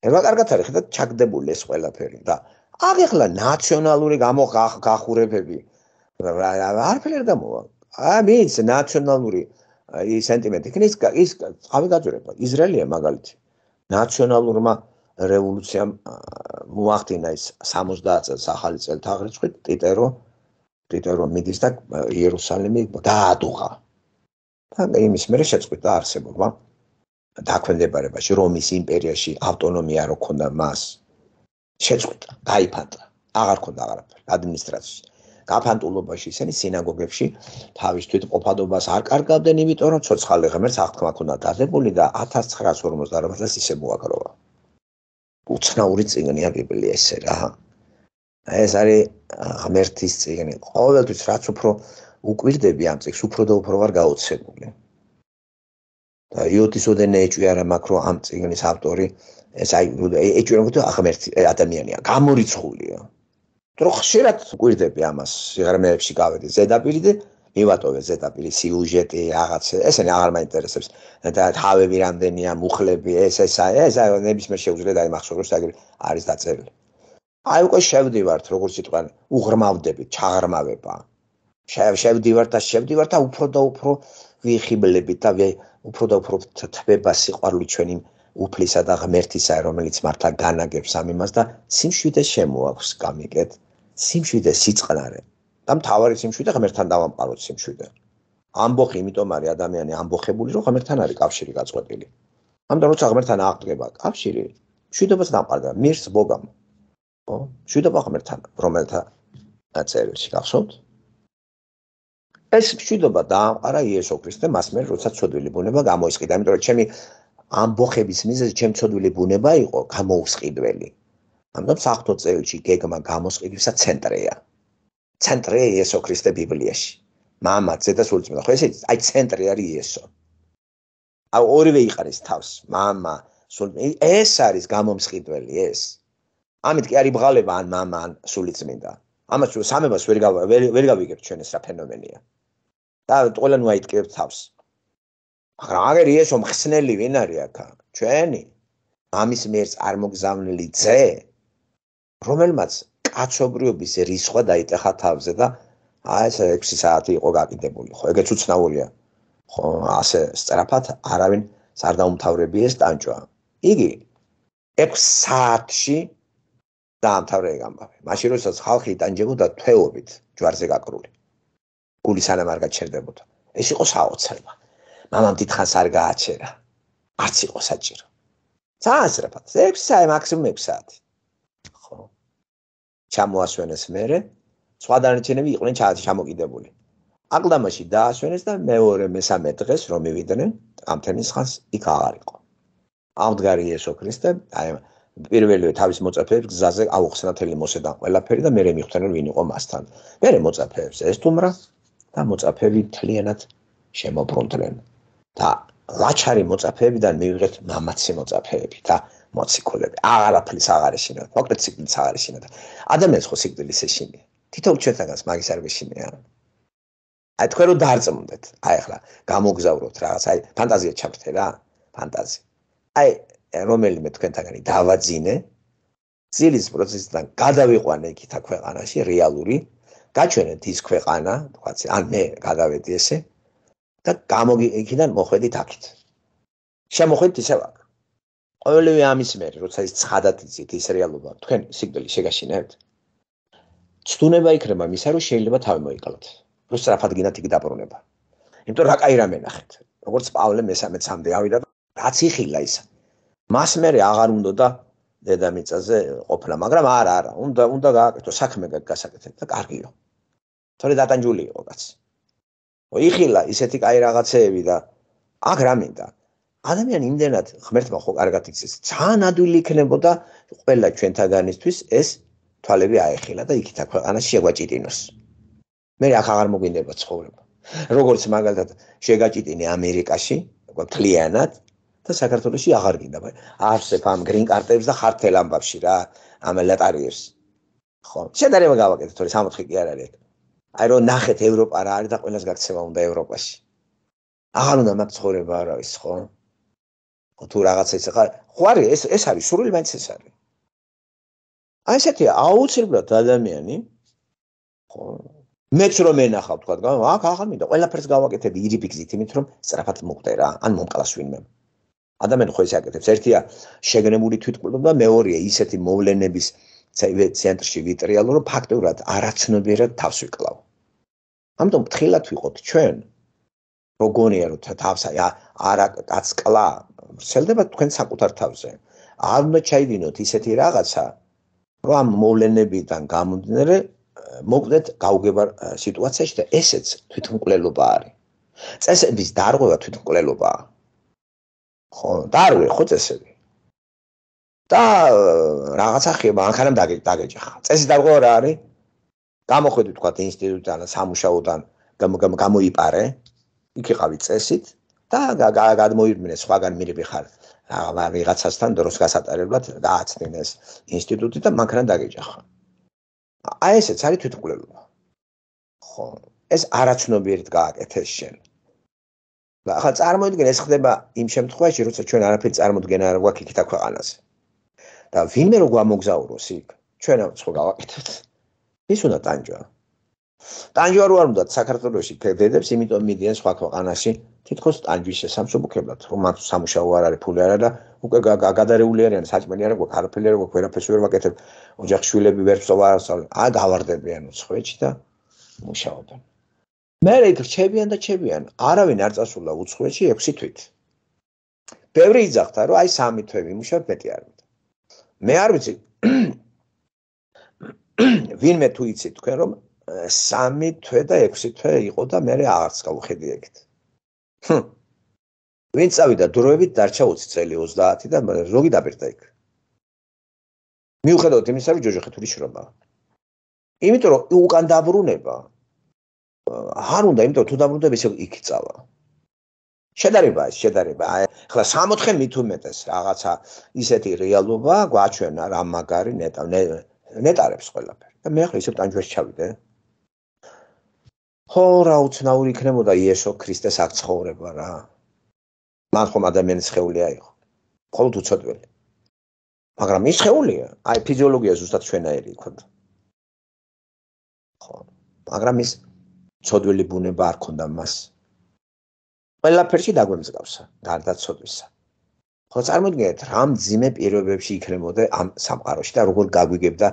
ერვა კარგად არის, ხედავთ ჩაგდებული ეს ყველაფერი და აქ ახლა ნაციონალური გამოგახურებები არაფერი არ გამოვა. აი მის ნაციონალური სენტიმენტი იქნეს ის წავი გაძვრება. ისრაელია მაგალითი. ნაციონალურმა რევოლუციამ მოახდინა ის სამოცდაათ წელს ახალი წელთაღრიცხვით ტიტერო ტიტერო მიდის და იერუსალიმი დაადუღა. და იმის მერე შეწყვიტა არსებობა დაქვემდებარებაში რომის იმპერიაში ავტონომია რო ქონდა მას შეწყვიტა, გაიფანტა. აღარ ქონდა აღარაფერი ადმინისტრაციაში. გაფანტულობაში ისინი სინაგოგებში თავის თვითმყოფადობას არ კარგავდნენ, იმიტომ რომ ცოცხალი ღმერთს აღთქმა ქონდა დადებული და ათას ცხრაას ორმოცდაარბაათს ისე მოაგროვა. უცნაური წიგნია ბიბლია ესე რა. ეს არის ღმერთის წიგნი. ყოველთვის რაც უფრო უკვირდები ამ წიგნს, უფრო და უფრო ვარ გაოცებული. და იოტის ოდენე ეჭვი არა მაქვს, რომ ამ წიგნის ავტორი ეს აი ეჭვი რომ ვთქვა ღმერთი ადამიანია, გამორიცხულია. რომ ხშირად გვირდები ამას სიღრმეებში გავედი ზედაპირი და მივატოვე ზედაპირი სიუჟეტი რაღაცა ესენი აღარ მაინტერესებს და თავები რამდენია მუხლები ეს ეს ეს ნებისმიერ შეუძლია დაიმახსოვროს აგერ არის დაწერილი აი უკვე შევდივართ როგორც იტყვიან უღრმავდებით ჩაღრმავება შევდივართ და შევდივართ და უფრო და უფრო ვიხიბლებით და უფრო და უფრო თბება სიყვარული ჩვენი უფლისა და ღმერთისა რომელიც მართლა განაგებს ამ იმას და სიმშვიდე შემოაქვს გამიგეთ სიმშვიდე სიწყნარე და მთავარი სიმშვიდე ღმერთთან დავამყაროთ სიმშვიდე. ამბოხი იმიტომ არის ადამიანი ამბოხებული რომ ღმერთთან არის კავშირი გაწყვეტილი. ამიტომ როცა ღმერთთან აღდგება კავშირი, მშვიდობას დამყარდა მირს ბოგამ. ხო? მშვიდობა ღმერთთან, რომელთა წერილში გახსოვთ? ეს მშვიდობა დაამყარა იესო ქრისტე მას მერე როცა ცოდვილი ბუნება გამოისყიდა, იმიტომ რომ ჩემი ამბოხების მიზეზი ჩემი ცოდვილი ბუნება იყო გამოუსყიდველი. ამიტომ საღვთო წერილში გეგმა გამოსყიდვისა ცენტრია. ცენტრია იესო ქრისტე ბიბლიაში. მამა, ძე და სულიწმინდა. ხო ესე აი ცენტრი არის იესო. აი ორივე იყარის თავს. მამა, სულიწმინდა. ეს არის გამომსყიდველი ეს. ამით კი არის ბღალება ან მამა ან სულიწმინდა. ამას სამებას ვერ ვერ გავიგებთ ჩვენ ეს რა ფენომენია. და ყველანი აიტკიებთ თავს. მაგრამ აგერ იესო მხსნელი ვინ არის აქა? ჩვენი ამის მიერ წარმოგზავნილი ძე, რომელმაც კაცობრიობის რისხვა დაიტეხა თავზე და აი ეს ექვსი საათი იყო გაკიდებული. ხო, ეგეც უცნაურია. ხო, ასე სწრაფად არავინ არ დაუმთავრები ეს ტანჯვა. იგი ექვს საათში დაამთავრა ეგ ამბავი. მაშინ როდესაც ხალხი იტანჯებოდა თვეობით ჯვარზე გაკრული. გული სანამ არ გაჩერდებოდა. ეს იყო საოცრება. მამამ დიდხანს არ გააჩერა. არც იყო საჭირო. ძალიან სწრაფად. ექვსი საათი მაქსიმუმ ექვსი საათი. ხო. ჩამოასვენეს მერე, სხვა დანარჩენები იყვნენ ჩამოკიდებული. აკლდამაში დაასვენეს და მეორე მესამე დღეს რომ მივიდნენ, ამთენის ხანს იქ აღარ იყო. ამდგარი იესო ქრისტე, აი პირველივე თავის მოწაფეებს გზაზე აუხსნა თელი მოსედან ყველაფერი და მერე მიხვდნენ ვინ იყო მასთან. მერე მოწაფეებს ესტუმრა და მოწაფეები მთლიანად შემობრუნდნენ. და ლაჩარი მოწაფეებიდან მივიღეთ მამაცი მოწაფეები და მოციქულები. აღარაფრის აღარ ეშინათ, მოკლედ სიკვდილს აღარ ეშინათ. ადამიანს ხო სიკვდილის ეშინია. თითოეულ ჩვენთანაც მაგის არ ვეშინია. აი თქვენ რო დაარწმუნდეთ, აი ახლა გამოგზავროთ რაღაც, აი ფანტაზია ჩავრთე რა, ფანტაზია. აი რომელიმე თქვენთაგანი დავაძინე, ძილის პროცესიდან გადავიყვანე იქითა ქვეყანაში რეალური, გაჩვენეთ ის ქვეყანა, თქვაც ან მე გადავედი ესე და გამოგი იქიდან მოხვედით აქეთ. შემოხვედით ისევ აქ. ყოველივე ამის მერე, როცა ის ცხადად იცით ის რეალობა, თქვენ სიკვდილი შეგაშინებთ. ცდუნება იქნება მისა, რომ შეიძლება თავი მოიკლოთ. რო სწრაფად გინდათ იქ დაბრუნება. იმიტომ რა კაი რამე ნახეთ. როგორც პავლე მესამე-მესამე ავიდა და რაც იხილა ის. მას მერე აღარ უნდა და დედამიწაზე ყოფნა, მაგრამ არა, არა, უნდა უნდა გააკეთო საქმე გასაკეთეთ და კარგიო. თორე დატანჯული იყო კაცი. იხილა ისეთი კაი რაღაცეები და აქ რა მინდა? ადამიანი იმდენად ღმერთმა ხო კარგად იცის, ძალიან ადვილი იქნებოდა ყველა ჩვენთაგანისთვის ეს თვალები აეხილა და იქითა ქვეყანაში შეგვაჭიტინოს. მე აქ აღარ მოგვინდება ცხოვრება. როგორც მაგალითად შეგაჭიტინე ამერიკაში, მთლიანად და საქართველოში აღარ გინდა. არსებ ამ გრინ კარტებს და ხართელ ამბავში რა, ამ ლატარიერს. ხო, შედარება გავაკეთეთ, თორე სამოთხი კი არ არის. აი რომ ნახეთ ევროპა რა არის და ყველას გაქცევა უნდა ევროპაში. აღარ უნდა მაგ ცხოვრება არავის, ხო? თუ რაღაცა ის ხარ, ხო არის ეს ეს არის სურვილი მაინც ეს არის. აი ესეთი აუცილებლად ადამიანი ხო მეც რომ ენახავ თქვა, აქ აღარ მინდა ყველაფერს გავაკეთებ ირიბი გზით, იმით რომ სწრაფად მოხდე რა, ან მომკლას ვინმე. ადამიანი ხო ესე აკეთებს, ერთია შეგნებული თვითმკვლელობა და მეორეა ისეთი მოვლენების ცენტრში ვიტრიალო, რომ ფაქტობრივად არაცნობიერად თავს ვიკლავ. ამიტომ ფრთხილად ვიყოთ ჩვენ, როგორია რომ თავს არა კაცკლა ვრცელდება თქვენ საკუთარ თავზე. არ უნდა ჩაიდინოთ ისეთი რაღაცა, რომ ამ მოვლენებიდან გამომდინარე მოკვდეთ გაუგებარ სიტუაციაში და ესეც თვითმკვლელობა არის. წესების დარღვევა თვითმკვლელობაა. ხო, დარღვე ხო წესები. და რაღაცა ხება, ანხანამ დაგეჯახა. წესი დაგყო რა არის? გამოხვედი თქვა ინსტიტუტიდან, სამუშაოდან გამოიპარე, იქ იყავი წესით და გადმოირმინე სხვაგან მირები ხარ. ვიღაცასთან დროს გასატარებლად გააცნინეს ინსტიტუტი და მანქანა დაგეჯახა. აი ესეც არის თვითმკვლელობა. ხო, ეს არაცნობიერად გააკეთეს შენ. და ახლა წარმოიდგინე ეს ხდება იმ შემთხვევაში, როცა ჩვენ არაფერი წარმოდგენა არ გვაქვს იქით აქვეყანაზე. და ვინმე რო გვამოგზაუროს იქ, ჩვენ ხო გავაკეთებთ. ის უნდა ტანჯვა. ტანჯვა რო არ უნდა საქართველოში ფედედებს, იმიტომ მიდიან სხვა ქვეყანაში თითქოს ტანჯვის შესამსუბუქებლად, რომ მათ სამუშაო არ არის, ფული არ არის და უკვე გადარეული არიან, საჭმელი არ გვაქვს, არაფერი არ გვაქვს, ვერაფერს ვერ ვაკეთებ, ოჯახში შვილები ვერ ვსწავლ არ ვსწავლ. აა გავარდებიან უცხოეთში და მუშაობენ. მე იქ რჩებიან და რჩებიან, არავინ არ წასულა უცხოეთში ექვსი თვით. ბევრი იძახდა, რომ აი სამი თვე ვიმუშავებ, მეტი არ მინდა. მე არ ვიცი ვინმე თუ იცით თქვენ რომ სამი თვე და ექვსი თვე იყო და მე აღარც გავუხედი ეგეთ. ვინ წავიდა დროებით დარჩა ოცი წელი ოცდაათი და ზოგი დაბერდა იქ. მიუხედავად იმისა, რომ ჯოჯოხეთური შრომა. იმიტომ რომ უკან დაბრუნება არ უნდა, იმიტომ თუ დაბრუნდები ისე იქ წავა. შედარება ეს შედარება. ახლა სამოთხე მით უმეტეს რაღაცა ისეთი რეალობა გვაჩვენა რა მაგარი ნეტა ნეტარებს ყველაფერი. და მე ახლა ისე ტანჯვაში ჩავიდე. ხო რა უცნაური იქნებოდა იესო ქრისტეს აქ ცხოვრება რა. მან ხომ ადამიანის სხეულია იყო. მხოლოდ უცოდველი. მაგრამ ის სხეულია, აი ფიზიოლოგია ზუსტად ჩვენაირი იქონდა. ხო, მაგრამ ის ცოდველი ბუნება არ ქონდა მას. ყველაფერში დაგვემსგავსა, გარდა ცოდვისა. ხო წარმოიდგინეთ, რა მძიმე პირობებში იქნებოდა ამ სამყაროში და როგორ გაგვიგებდა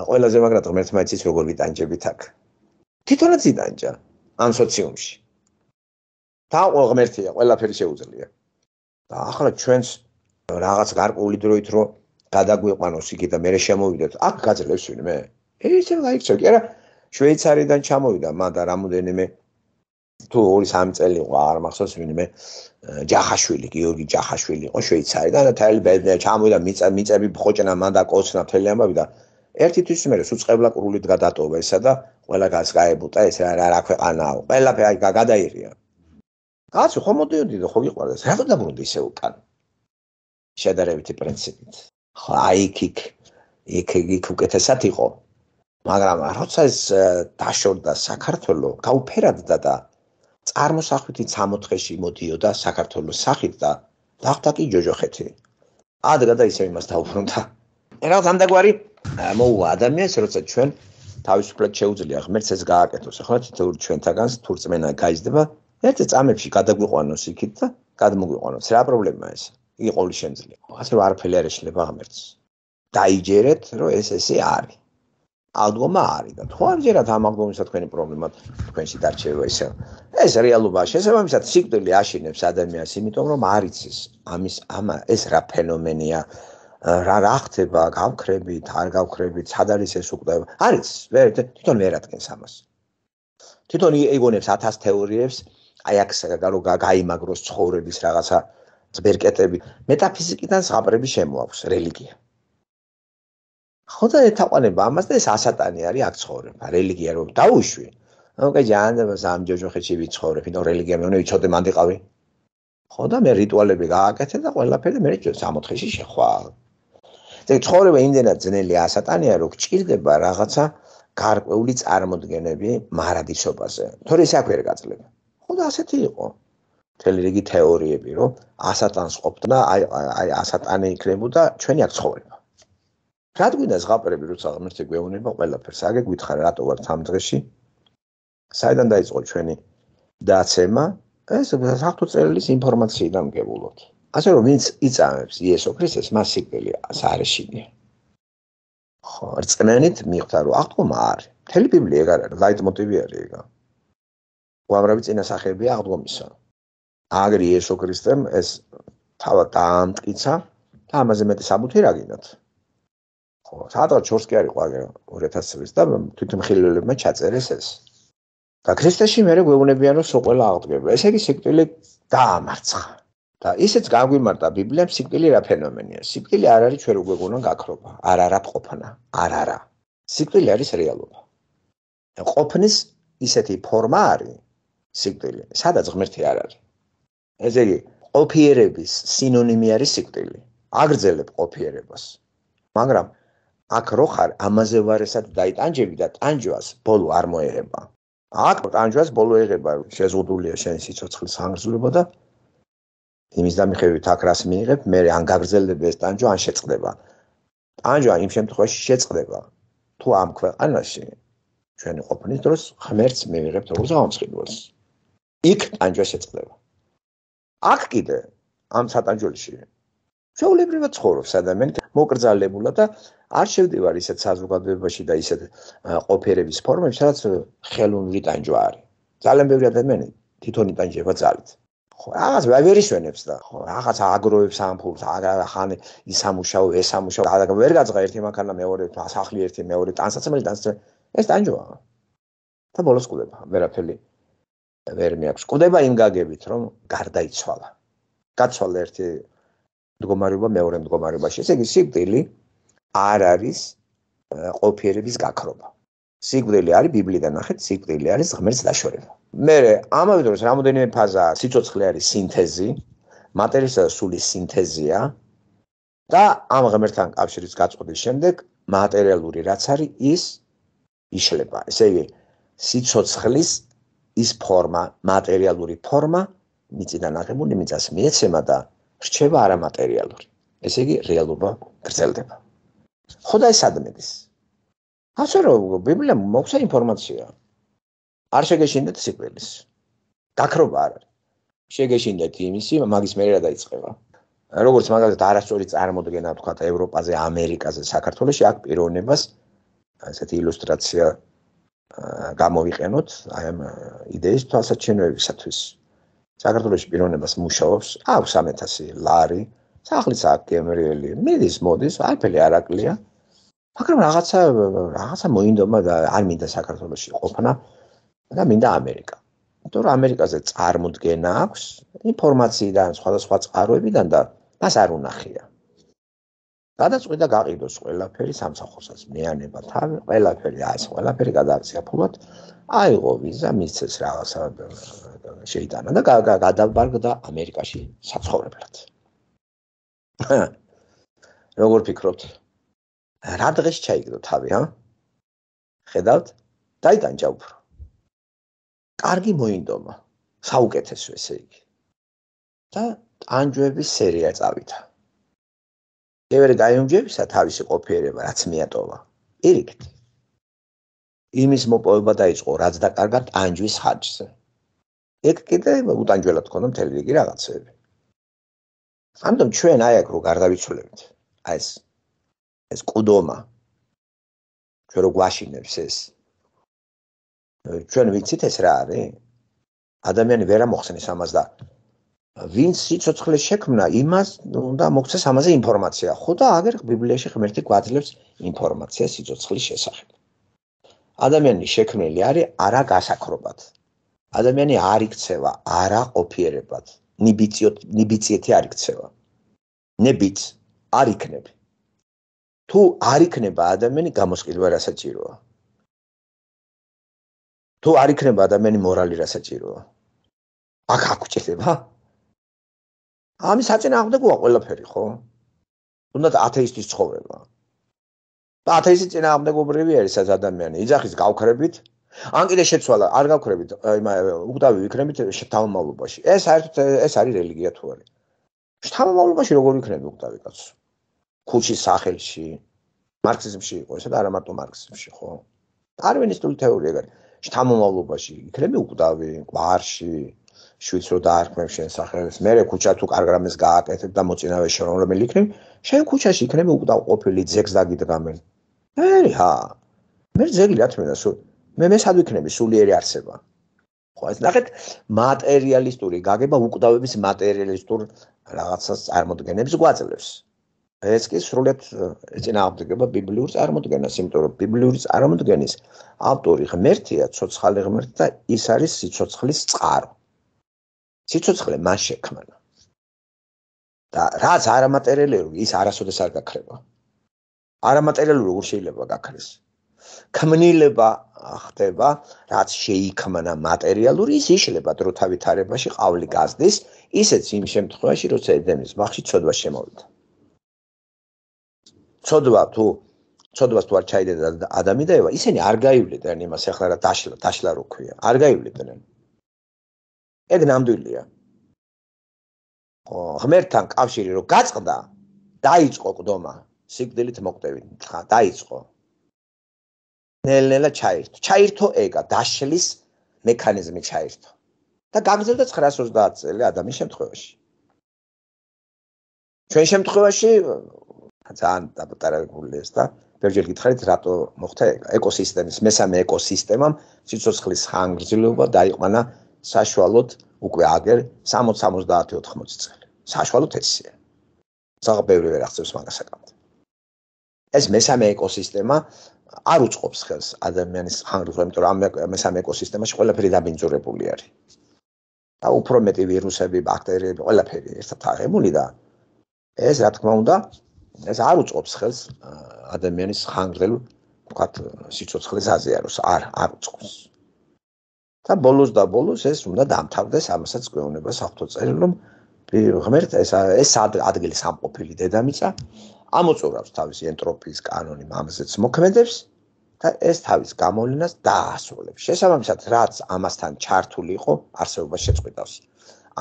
ყველაზე მაგრად ღმერთმა იცის როგორ ვიტანჯებით აქ. თვითონაც იტანჯა ამ სოციუმში. და ღმერთია, ყველაფერი შეუძლია. და ახლა ჩვენს რაღაც გარკვეული დროით რო გადაგვიყვანოს იქ და მე შემოვიდეთ, აქ გაძლევს ვინმე. ისე გაიქცე, კი არა, შვეიცარიდან ჩამოვიდა, მან და რამოდენიმე თუ ორი სამი წელი იყო, არ მახსოვს ვინმე, ჯახაშვილი, გიორგი ჯახაშვილი იყო შვეიცარიდან და თელი ბედნიერი ჩამოვიდა, მიწები ხოჭნა, მან და კოცნა მთელი ამბავი და ერთი თვის მე სუწყებლა კრულით გადატოვა ესა და ყველა გასკაებუტა ეს რა რა ქვეყანაა, ყველაფერი გადაირია. კაცო ხომ მოდიოდი და ხო გიყვარდეს, რატო დაბრუნდი ისე უკან? შედარებითი პრინციპით. ხო აი იქ იქ იქ უკეთესად იყო. მაგრამ როცა ეს დაშორდა საქართველო, გაუფერადდა და წარმოსახვითი სამოთხეში მოდიოდა საქართველოს სახით და დახტა კი ჯოჯოხეთი. ადრე და ისე იმას დაუბრუნდა. რაღაც ამდაგვარი მოუვა ადამიანს, როცა ჩვენ თავისუფლად შეუძლია ღმერთს ეს გააკეთოს. ახლა თითოეული ჩვენთაგანს თუ რწმენა გაიზრდება, ერთ წამებში გადაგვიყვანოს იქით და გადმოგვიყვანოს. რა პრობლემაა ეს? იგი ყოველი შემძლია. ასე რომ არაფერი არ ეშლება ღმერთს. დაიჯერეთ, რომ ეს ესე არის. აღდგომა არის და თუ არ ჯერათ ამ აღდგომისა თქვენი პრობლემა თქვენში დარჩება ისე. ეს რეალობაა. შესაბამისად სიკვდილი აშინებს ადამიანს, იმიტომ რომ არ იცის ამის ამა ეს რა ფენომენია. რა რა ხდება, გავქრებით, არ გავქრებით, სად არის ეს უკვდაება? არ იცის, ვერ თვითონ ვერ ადგენს ამას. თვითონ იგონებს ათას თეორიებს, აი აქ გაიმაგროს ცხოვრების რაღაცა ძბერკეტები. მეტაფიზიკიდან ზღაპრები შემოაქვს რელიგია. ხო და ეთაყვანება ამას და ეს ასატანი არის აქ ცხოვრება. რელიგია რომ დაუშვი. ანუ კაი ჯანდება სამ ჯოჯოხეთში ვიცხოვრებ, იმიტომ რელიგია მე უნდა ვიცოდე მანდიყავი. ხო და მე რიტუალები გააკეთე და ყველაფერი მე სამოთხეში შეხვალ. ეგ ცხოვრება იმდენად ძნელი ასატანია, რომ გჭირდება რაღაცა გარკვეული წარმოდგენები მარადისობაზე. თორე ეს აქ ვერ გაძლება. ხო და ასეთი იყო. მთელი რიგი თეორიები, რომ ასატანს ყოფდა, აი აი ასატანი იქნებოდა ჩვენი აქ ცხოვრება. რა გვინდა ზღაპრები, როცა ღმერთი გვეუბნება ყველაფერს, აგე გითხარ რატო ვართ ამ დღეში? საიდან დაიწყო ჩვენი დაცემა? ეს საფრთხო წერილის ინფორმაციიდან გებულობთ. ასე რომ ვინც იწამებს იესო ქრისტეს, მას სიკვდილი არ ეშინია. ხო, რწმენით მიხვდა რომ აღდგომა არის. მთელი ბიბლია ეგ არის, ლაიტმოტივი არის ეგ. უამრავი წინასახეებია აღდგომისა. აგერ იესო ქრისტემ ეს თავად დაამტკიცა და ამაზე მეტი საბუთი რა გინდათ? ხო, სადღაც ჩორს კი არ იყო აგერ ორი ათასი წლის და თვითმხილველებმა ჩაწერეს ეს. და ქრისტეში მე გვეუბნებიან რომ სულ ყველა აღდგება. ესე იგი სიკვდილი დაამარცხა. და ისიც გაგვიმარტა ბიბლიამ სიკვდილი რა ფენომენია. სიკვდილი არ არის ჩვენ უკვე გონან გაქრობა, არ არა ყოფნა, არ არა. სიკვდილი არის რეალობა. ყოფნის ისეთი ფორმა არის სიკვდილი, სადაც ღმერთი არ არის. ესე იგი, ყოფიერების სინონიმი არის სიკვდილი. აგრძელებ ყოფიერებას. მაგრამ აქ რო ხარ, ამაზე ვარესად დაიტანჯები და ტანჯვას ბოლო არ მოერება. აქ ტანჯვას ბოლო ეღება, შეზღუდულია შენი სიცოცხლის ხანგრძლივობა და იმის დამიხევით აქ რას მიიღებ, მე ან გაგრძელდება ეს ტანჯვა, ან შეწყდება. ტანჯვა იმ შემთხვევაში შეწყდება, თუ ამ ქვეყანაში ჩვენი ყოფნის დროს ღმერთს მივიღებთ როგორც ამსხიდველს. იქ ტანჯვა შეწყდება. აქ კიდე ამ სატანჯველში ჩვეულებრივად ცხოვრობს ადამიანი მოკრძალებულად და არ შევდივარ ისეთ საზოგადოებაში და ისეთ ყოფიერების ფორმებში, სადაც ხელოვნური ტანჯვა არის. ძალიან ბევრი ადამიანი თვითონ იტანჯება ძალით. ხო, რაღაც ვერ ისვენებს და ხო, რაღაც აგროვებს ამ ფულს, ხან ის ამუშაო, ეს ამუშაო, და ვერ გაძღა ერთი მანქანა მეორე, სახლი ერთი მეორე, ტანსაცმელი ტანსაცმელი. ეს ტანჯვაა. და ბოლოს კვდება, ვერაფერი ვერ მეაქვს. კვდება იმ გაგებით, რომ გარდაიცვალა. გაცვალა ერთი მდგომარეობა მეორე მდგომარეობაში. ესე იგი, სიკვდილი არ არის ყოფიერების გაქრობა. სიკვდილი არის ბიბლიიდან ნახეთ, სიკვდილი არის ღმერთს დაშორება. მე ამავე დროს რამოდენიმე ფაზაა, სიცოცხლე არის სინთეზი, მატერიისა და სულის სინთეზია და ამ ღმერთთან კავშირის გაწყვეტის შემდეგ მატერიალური რაც არის, ის იშლება. ესე იგი, სიცოცხლის ის ფორმა, მატერიალური ფორმა მიწიდან აღებული მიწას მიეცემა და რჩება არამატერიალური. ესე იგი, რეალობა გრძელდება. ხო და ეს ადმედის. ასე რომ ბიბლიამ მოგცა ინფორმაცია. არ შეგეშინდეთ სიკვდილის. გაქრობა არ არის. შეგეშინდეთ იმისი, მაგის მერე რა დაიწყება. როგორც მაგალითად არასწორი წარმოდგენა თქვა ევროპაზე, ამერიკაზე, საქართველოში აქ პიროვნებას ესეთი ილუსტრაცია გამოვიყენოთ აი ამ იდეის თვალსაჩინოებისათვის. საქართველოში პიროვნებას მუშაობს, აქვს სამი ათასი ლარი, სახლიც აქვს გემრიელი, მიდის მოდის, არაფერი არ აკლია. მაგრამ რაღაცა რაღაცა მოინდომა და არ მინდა საქართველოში ყოფნა და მინდა ამერიკა. იმიტომ რომ ამერიკაზე წარმოდგენა აქვს ინფორმაციიდან, სხვადასხვა წყაროებიდან და მას არ უნახია. გადაწყვიტა გაყიდოს ყველაფერი სამსახურსაც, მეანება, თავი, ყველაფერი, აი ეს ყველაფერი გადააქცია ფულად, აიღო ვიზა, მისცეს რაღაცა შეიტანა და გადაბარგდა ამერიკაში საცხოვრებლად. როგორ ფიქრობთ? რა დღეს ჩაიგდო თავი, ჰა? ხედავთ? დაიტანჯა უფრო. კარგი მოინდომა, საუკეთესო ესე იგი. და ტანჯვების სერია წავიდა. მერე გაიუმჯებისა თავისი ყოფიერება, რაც მიატოვა. პირიქით. იმის მოპოვება დაიწყო, რაც დაკარგა ტანჯვის ხარჯზე. ეგ კიდე უტანჯველად ქონდა მთელი რიგი რაღაცები. ამიტომ ჩვენ აი აქ რო გარდავიცვლებთ, აი ეს ეს ყუდომა ჩვენ რო გვაშინებს ეს ჩვენ ვიცით ეს რა არის? ადამიანი ვერ ამოხსნის ამას და ვინც სიცოცხლე შექმნა, იმას უნდა მოგცეს ამაზე ინფორმაცია. ხო და აგერ ბიბლიაში ღმერთი გვაძლევს ინფორმაციას სიცოცხლის შესახებ. ადამიანი შექმნილი არის არა გასაქრობად. ადამიანი არ იქცევა არა ყოფიერებად. ნიბიციოთ ნიბიციეთი არ იქცევა. ნებიც არ იქნება. თუ არ იქნება ადამიანი გამოსყიდვა რა საჭიროა. თუ არ იქნება ადამიანი მორალი რა საჭიროა. აქ აკუჭება. ამის საწინააღმდეგოა ყველაფერი, ხო? თუნდაც ათეისტის ცხოვრება. და ათეისტის წინააღმდეგობრივი არის ეს ადამიანი. იძახის გავქრებით, ან კიდე შეცვალა, არ გავქრებით, უკვდავი ვიქნებით შთამომავლობაში. ეს საერთოდ ეს არის რელიგია თუ არის. შთამომავლობაში როგორ ვიქნები უკვდავი კაცო? ქუჩის სახელში, მარქსიზმში იყო ესა და არა მარტო მარქსიზმში, ხო? დარვინისტული თეორია გარი. შთამომავლობაში იქნები უკვდავი, კვარში, შვიდს რო დაარქმევ შენ სახელს, მე ქუჩა თუ კარგ რამეს გააკეთებ და მოწინავე შენ რომელი იქნები, შენ ქუჩაში იქნები უკვდავ ყოფილი ძეგს დაგიდგამენ. მე ჰა. მე ძეგლი რა თქმა უნდა, მე მე სად ვიქნები სულიერი არსება. ხო, ეს ნახეთ მატერიალისტური გაგება უკვდავების მატერიალისტურ რაღაცას წარმოდგენებს გვაძლევს. ეს კი სრულად ეწინააღმდეგება ბიბლიურ წარმოდგენას, იმიტომ რომ ბიბლიური წარმოდგენის ავტორი ღმერთია, ცოცხალი ღმერთი და ის არის სიცოცხლის წყარო. სიცოცხლე მას შექმნა. და რაც არამატერიალური ის არასოდეს არ გაქრება. არამატერიალური როგორ შეიძლება გაქრეს? ქმნილება ხდება, რაც შეიქმნა მატერიალური, ის იშლება დროთა ვითარებაში ყავლი გაზდის, ისეც იმ შემთხვევაში, როცა ედემის ბაღში ცოდვა შემოვიდა. ცოდვა თუ ცოდვას თუ არ ჩაიდედა ადამი და ევა, ისინი არ გაივლიდნენ იმას, ახლა რა დაშლა, დაშლა რო ქვია. არ გაივლიდნენ. ეგ ნამდვილია. ხო, ღმერთთან კავშირი რო გაწყდა, დაიწყო ყდომა, სიკვდილით მოკვდებით, დაიწყო. ნელ-ნელა ჩაირთო. ჩაირთო ეგა, დაშლის მექანიზმი ჩაირთო. და გაგრძელდა ცხრაას ოცდაათ წელი ადამიანის შემთხვევაში. ჩვენ შემთხვევაში ძალიან დაპატარებული ეს და ბევრჯერ გითხარით რატო მოხდა ეგა. ეკოსისტემის მესამე ეკოსისტემამ სიცოცხლის ხანგრძლივობა დაიყვანა საშუალოდ უკვე აგერ სამოცი სამოცდაათი ოთხმოცი წელი. საშუალოდ ესეა. ძალიან ბევრი ვერ აღწევს მაგას საკამთ. ეს მესამე ეკოსისტემა არ უწყობს ხელს ადამიანის ხანგრძლივობას, იმიტომ რომ ამ მესამე ეკოსისტემაში ყველაფერი დაბინძურებული არის. და უფრო მეტი ვირუსები, ბაქტერიები, ყველაფერი ერთად აღებული და ეს რა თქმა უნდა, ეს არ უწყობს ხელს ადამიანის ხანგრძლივ, ვთქვათ, სიცოცხლის აზიაროს, არ არ უწყობს. და ბოლოს და ბოლოს ეს უნდა დამთავრდეს, ამასაც გვეუბნება საფრთხო წერილი, რომ ღმერთ ეს ეს ადგილი სამყოფილი დედამიწა ამოწურავს თავისი ენტროპიის კანონი მამზეც მოქმედებს და ეს თავის გამოვლენას დაასრულებს. შესაბამისად, რაც ამასთან ჩართული იყო, არსებობას შეწყვეტავს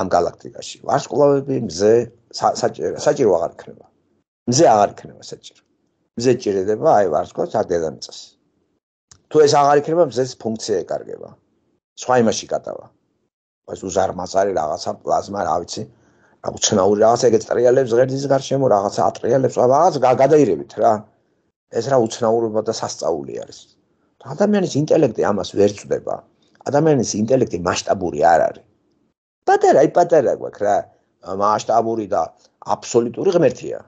ამ galaktikაში. ვარსკვლავები, მზე, საჭირო აღარ იქნება. მზე აღარ იქნება საჭირო. მზე ჭირდება აი ვარსკვლავს არ დედამიწას. თუ ეს აღარ იქნება, მზეს ფუნქცია ეკარგება. სხვა იმაში გადავა. ეს უზარმაზარი რაღაცა პლაზმა, რა ვიცი, რა უცნაური რაღაცა ეგეც ტრიალებს ღერძის გარშემო, რაღაცა ატრიალებს, რაღაც გადაირებით რა. ეს რა უცნაურობა და სასწაული არის. ადამიანის ინტელექტი ამას ვერ წვდება. ადამიანის ინტელექტი მასშტაბური არ არის. პატარა, აი პატარა გვაქვს რა, მასშტაბური და აბსოლუტური ღმერთია.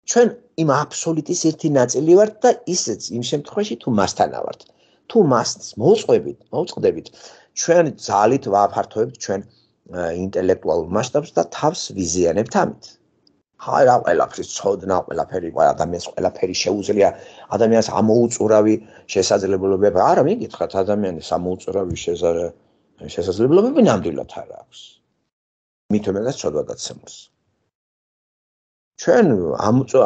ჩვენ იმ აბსოლუტის ერთი ნაწილი ვართ და ისეც იმ შემთხვევაში თუ მასთან ავართ. თუ მას მოუწყებით, მოუწყდებით, ჩვენ ძალით ვაფართოებთ ჩვენ ინტელექტუალურ მასშტაბს და თავს ვიზიანებთ ამით. აი რა ყველაფრის ცოდნა, ყველაფერი ადამიანს ყველაფერი შეუძლია, ადამიანს ამოუწურავი შესაძლებლობები. არა, მიგითხრათ, ადამიანის ამოუწურავი შესაძლებლობები ნამდვილად არ აქვს. მით უმეტეს ცოდვა დაცემულს. ჩვენ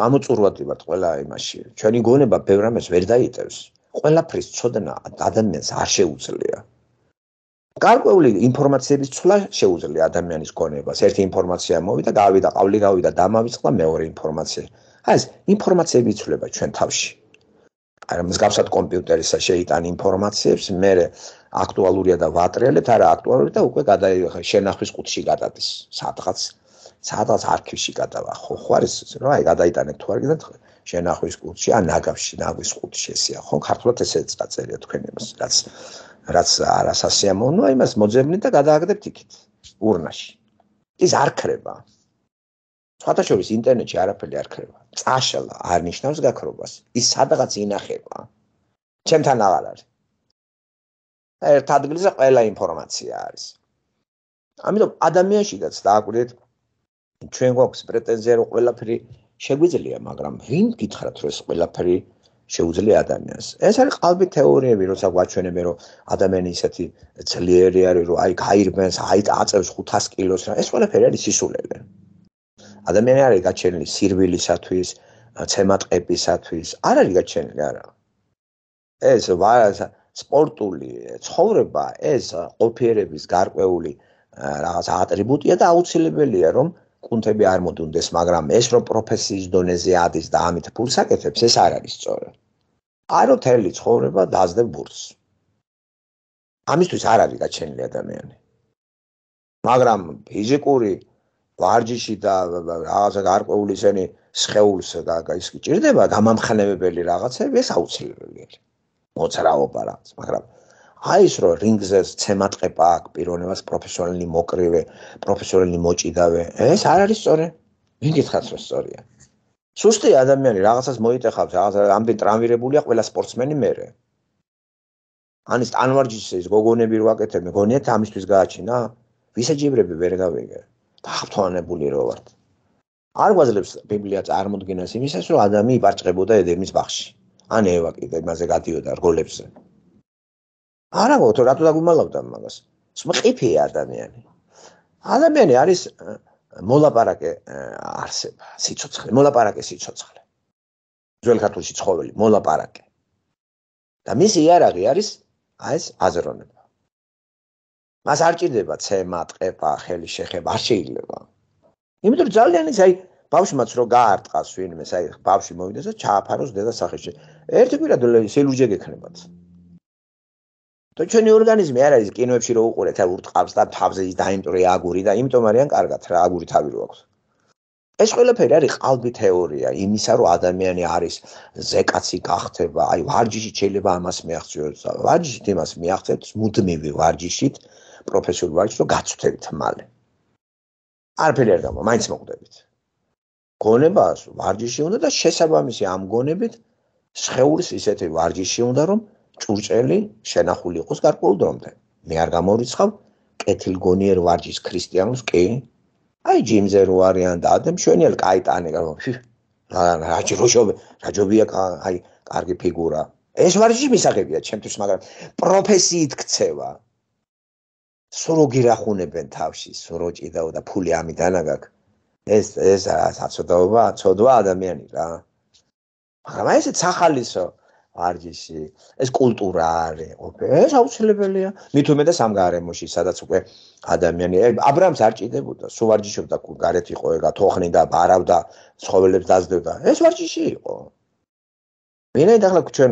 ამოწურვადი ვართ ყველა იმაში. ჩვენი გონება ბევრ რამეს ვერ დაიტევს. ყველაფრის ცოდნა ადამიანს არ შეუძლია. გარკვეული ინფორმაციების ცვლა შეუძლია ადამიანის გონებას. ერთი ინფორმაცია მოვიდა, გავიდა, ყავლი გავიდა, დამავიწყდა მეორე ინფორმაცია. აი ეს ინფორმაციები იცვლება ჩვენ თავში. აი მსგავსად კომპიუტერისა შეიტან ინფორმაციებს, მე აქტუალურია და ვატრიალებთ, არა აქტუალური და უკვე გადაიღე შენახვის ყუთში გადადის. სადღაც სადღაც არქივში გადავა. ხო, ხო არის რა, აი გადაიტანეთ თუ არ გინდათ შენახვის ყუთში, ან ნაგავში, ნაგვის ყუთში ესეა. ხო, ქართულად ესეც დაწერია თქვენ იმას, რაც რაც არასასიამოვნოა, იმას მოძებნით და გადააგდებთ იქით, ურნაში. ის არ ქრება. სხვათა შორის ინტერნეტში არაფერი არ ქრება. წაშლა არ ნიშნავს გაქრობას. ის სადღაც ინახება. ჩემთან აღარ არის. და ერთ ადგილზე ყველა ინფორმაცია არის. ამიტომ ადამიანშიდაც დააკვირდეთ, ჩვენ გვაქვს პრეტენზია, რომ ყველაფერი შეგვიძლია, მაგრამ ვინ გითხრათ, რომ ეს ყველაფერი შეუძლია ადამიანს. ეს არის ყალბი თეორიები, როცა გვაჩვენებენ, რომ ადამიანი ისეთი ძლიერი არის, რომ აი გაირბენს, აი აწევს ხუთას კილოს რა. ეს ყველაფერი არის სისულელე. ადამიანი არის გაჩენილი სირბილისათვის, ცემატყეპისათვის, არ არის გაჩენილი არა. ეს სპორტული ცხოვრება, ეს ყოფიერების გარკვეული რაღაც ატრიბუტია და აუცილებელია, რომ კუნთები არ მოდუნდეს, მაგრამ ეს რომ პროფესიის დონეზე ადის და ამით ფულს აკეთებს, ეს არ არის სწორი. არ მთელი ცხოვრება დაძდებ ბურთს. ამისთვის არ არის გაჩენილი ადამიანი. მაგრამ ფიზიკური ვარჯიში და რაღაცა გარკვეული ისენი სხეულს ის გჭირდება გამამხნევებელი რაღაცები, ეს აუცილებელია. მოძრაობა რაღაც, მაგრამ აი ის რომ რინგზე ცემატყეპა აქვს, პიროვნებას პროფესიონალი მოკრივე, პროფესიონალი მოჭიდავე, ეს არ არის სწორი. ვინ გითხრათ რომ სწორია? სუსტი ადამიანი რაღაცას მოიტეხავს, რაღაცა ამდენ ტრამვირებულია ყველა სპორტსმენი მერე. ანის ტანვარჯიშის გოგონები რო აკეთებ, მეგონიათ ამისთვის გააჩინა? ვისაჯიბრები ვერ გავიგე. დაავადებული რო ვართ. არ გვაძლევს ბიბლია წარმოდგენას იმისას, რომ ადამიანი იპარჭყებოდა ედემის ბაღში. ან ევა კიდე იმაზე გადიოდა რგოლებზე. არა გო, რატო დაგუმალავდა მაგას? მყიფეა ადამიანი. ადამიანი არის მოლაპარაკე არსება, სიცოცხლე, მოლაპარაკე სიცოცხლე. ძველ ქართულში ცხოველი, მოლაპარაკე. და მისი იარაღი არის აი ეს აზროვნება. მას არ ჭირდება ცემა, ტყეპა, ხელი შეხება, არ შეიძლება. იმიტომ რომ ძალიან ის აი ბავშვმაც რო გაარტყას ვინმე, აი ბავშვი მოვიდეს და ჩააფაროს დედა სახეში. ერთი კვირა სილურჯე გექნებათ. და ჩვენი ორგანიზმი არ არის კინოებში რო უყურეთ, აი ურტყავს და თავზე ის დაიმტვრე აგური და იმიტომ არიან კარგად რა აგური თავი რო აქვს. ეს ყველაფერი არის ყალბი თეორია იმისა, რომ ადამიანი არის ზეკაცი გახდება, აი ვარჯიშით შეიძლება ამას მიაღწიოს. ვარჯიშით იმას მიაღწევთ მუდმივი ვარჯიშით, პროფესიული ვარჯიშით, რომ გაცვთებით მალე. არაფერი არ გამა, მაინც მოკვდებით. გონებას ვარჯიში უნდა და შესაბამისი ამ გონებით სხეულის ისეთი ვარჯიში უნდა, რომ ჭურჭელი შენახული იყოს გარკვეულ დრომდე. მე არ გამორიცხავ კეთილგონიერ ვარჯიშს ქრისტიანულს კი. აი ჯიმზე რო არიან და ადემ შვენიელ კაიტანი რა ჯროშობ რა ჯობია აი კარგი ფიგურა. ეს ვარჯიში მისაღებია ჩემთვის, მაგრამ პროფესიით ქცევა. სულ გირახუნებენ თავში, სულ ჭიდაო და ფული ამიდან აგაკ. ეს ეს საწოდაობა, ცოდვა ადამიანი რა. მაგრამ აი ესეც ახალისო ვარჯიში, ეს კულტურა არის, ეს აუცილებელია. მით უმეტეს ამ გარემოში, სადაც უკვე ადამიანი აბრამს არ ჭიდებოდა, სულ ვარჯიშობდა, გარეთ იყო ეგა, თოხნიდა, ბარავდა, ცხოველებს დაძდევდა. ეს ვარჯიში იყო. ვინაიდან ახლა ჩვენ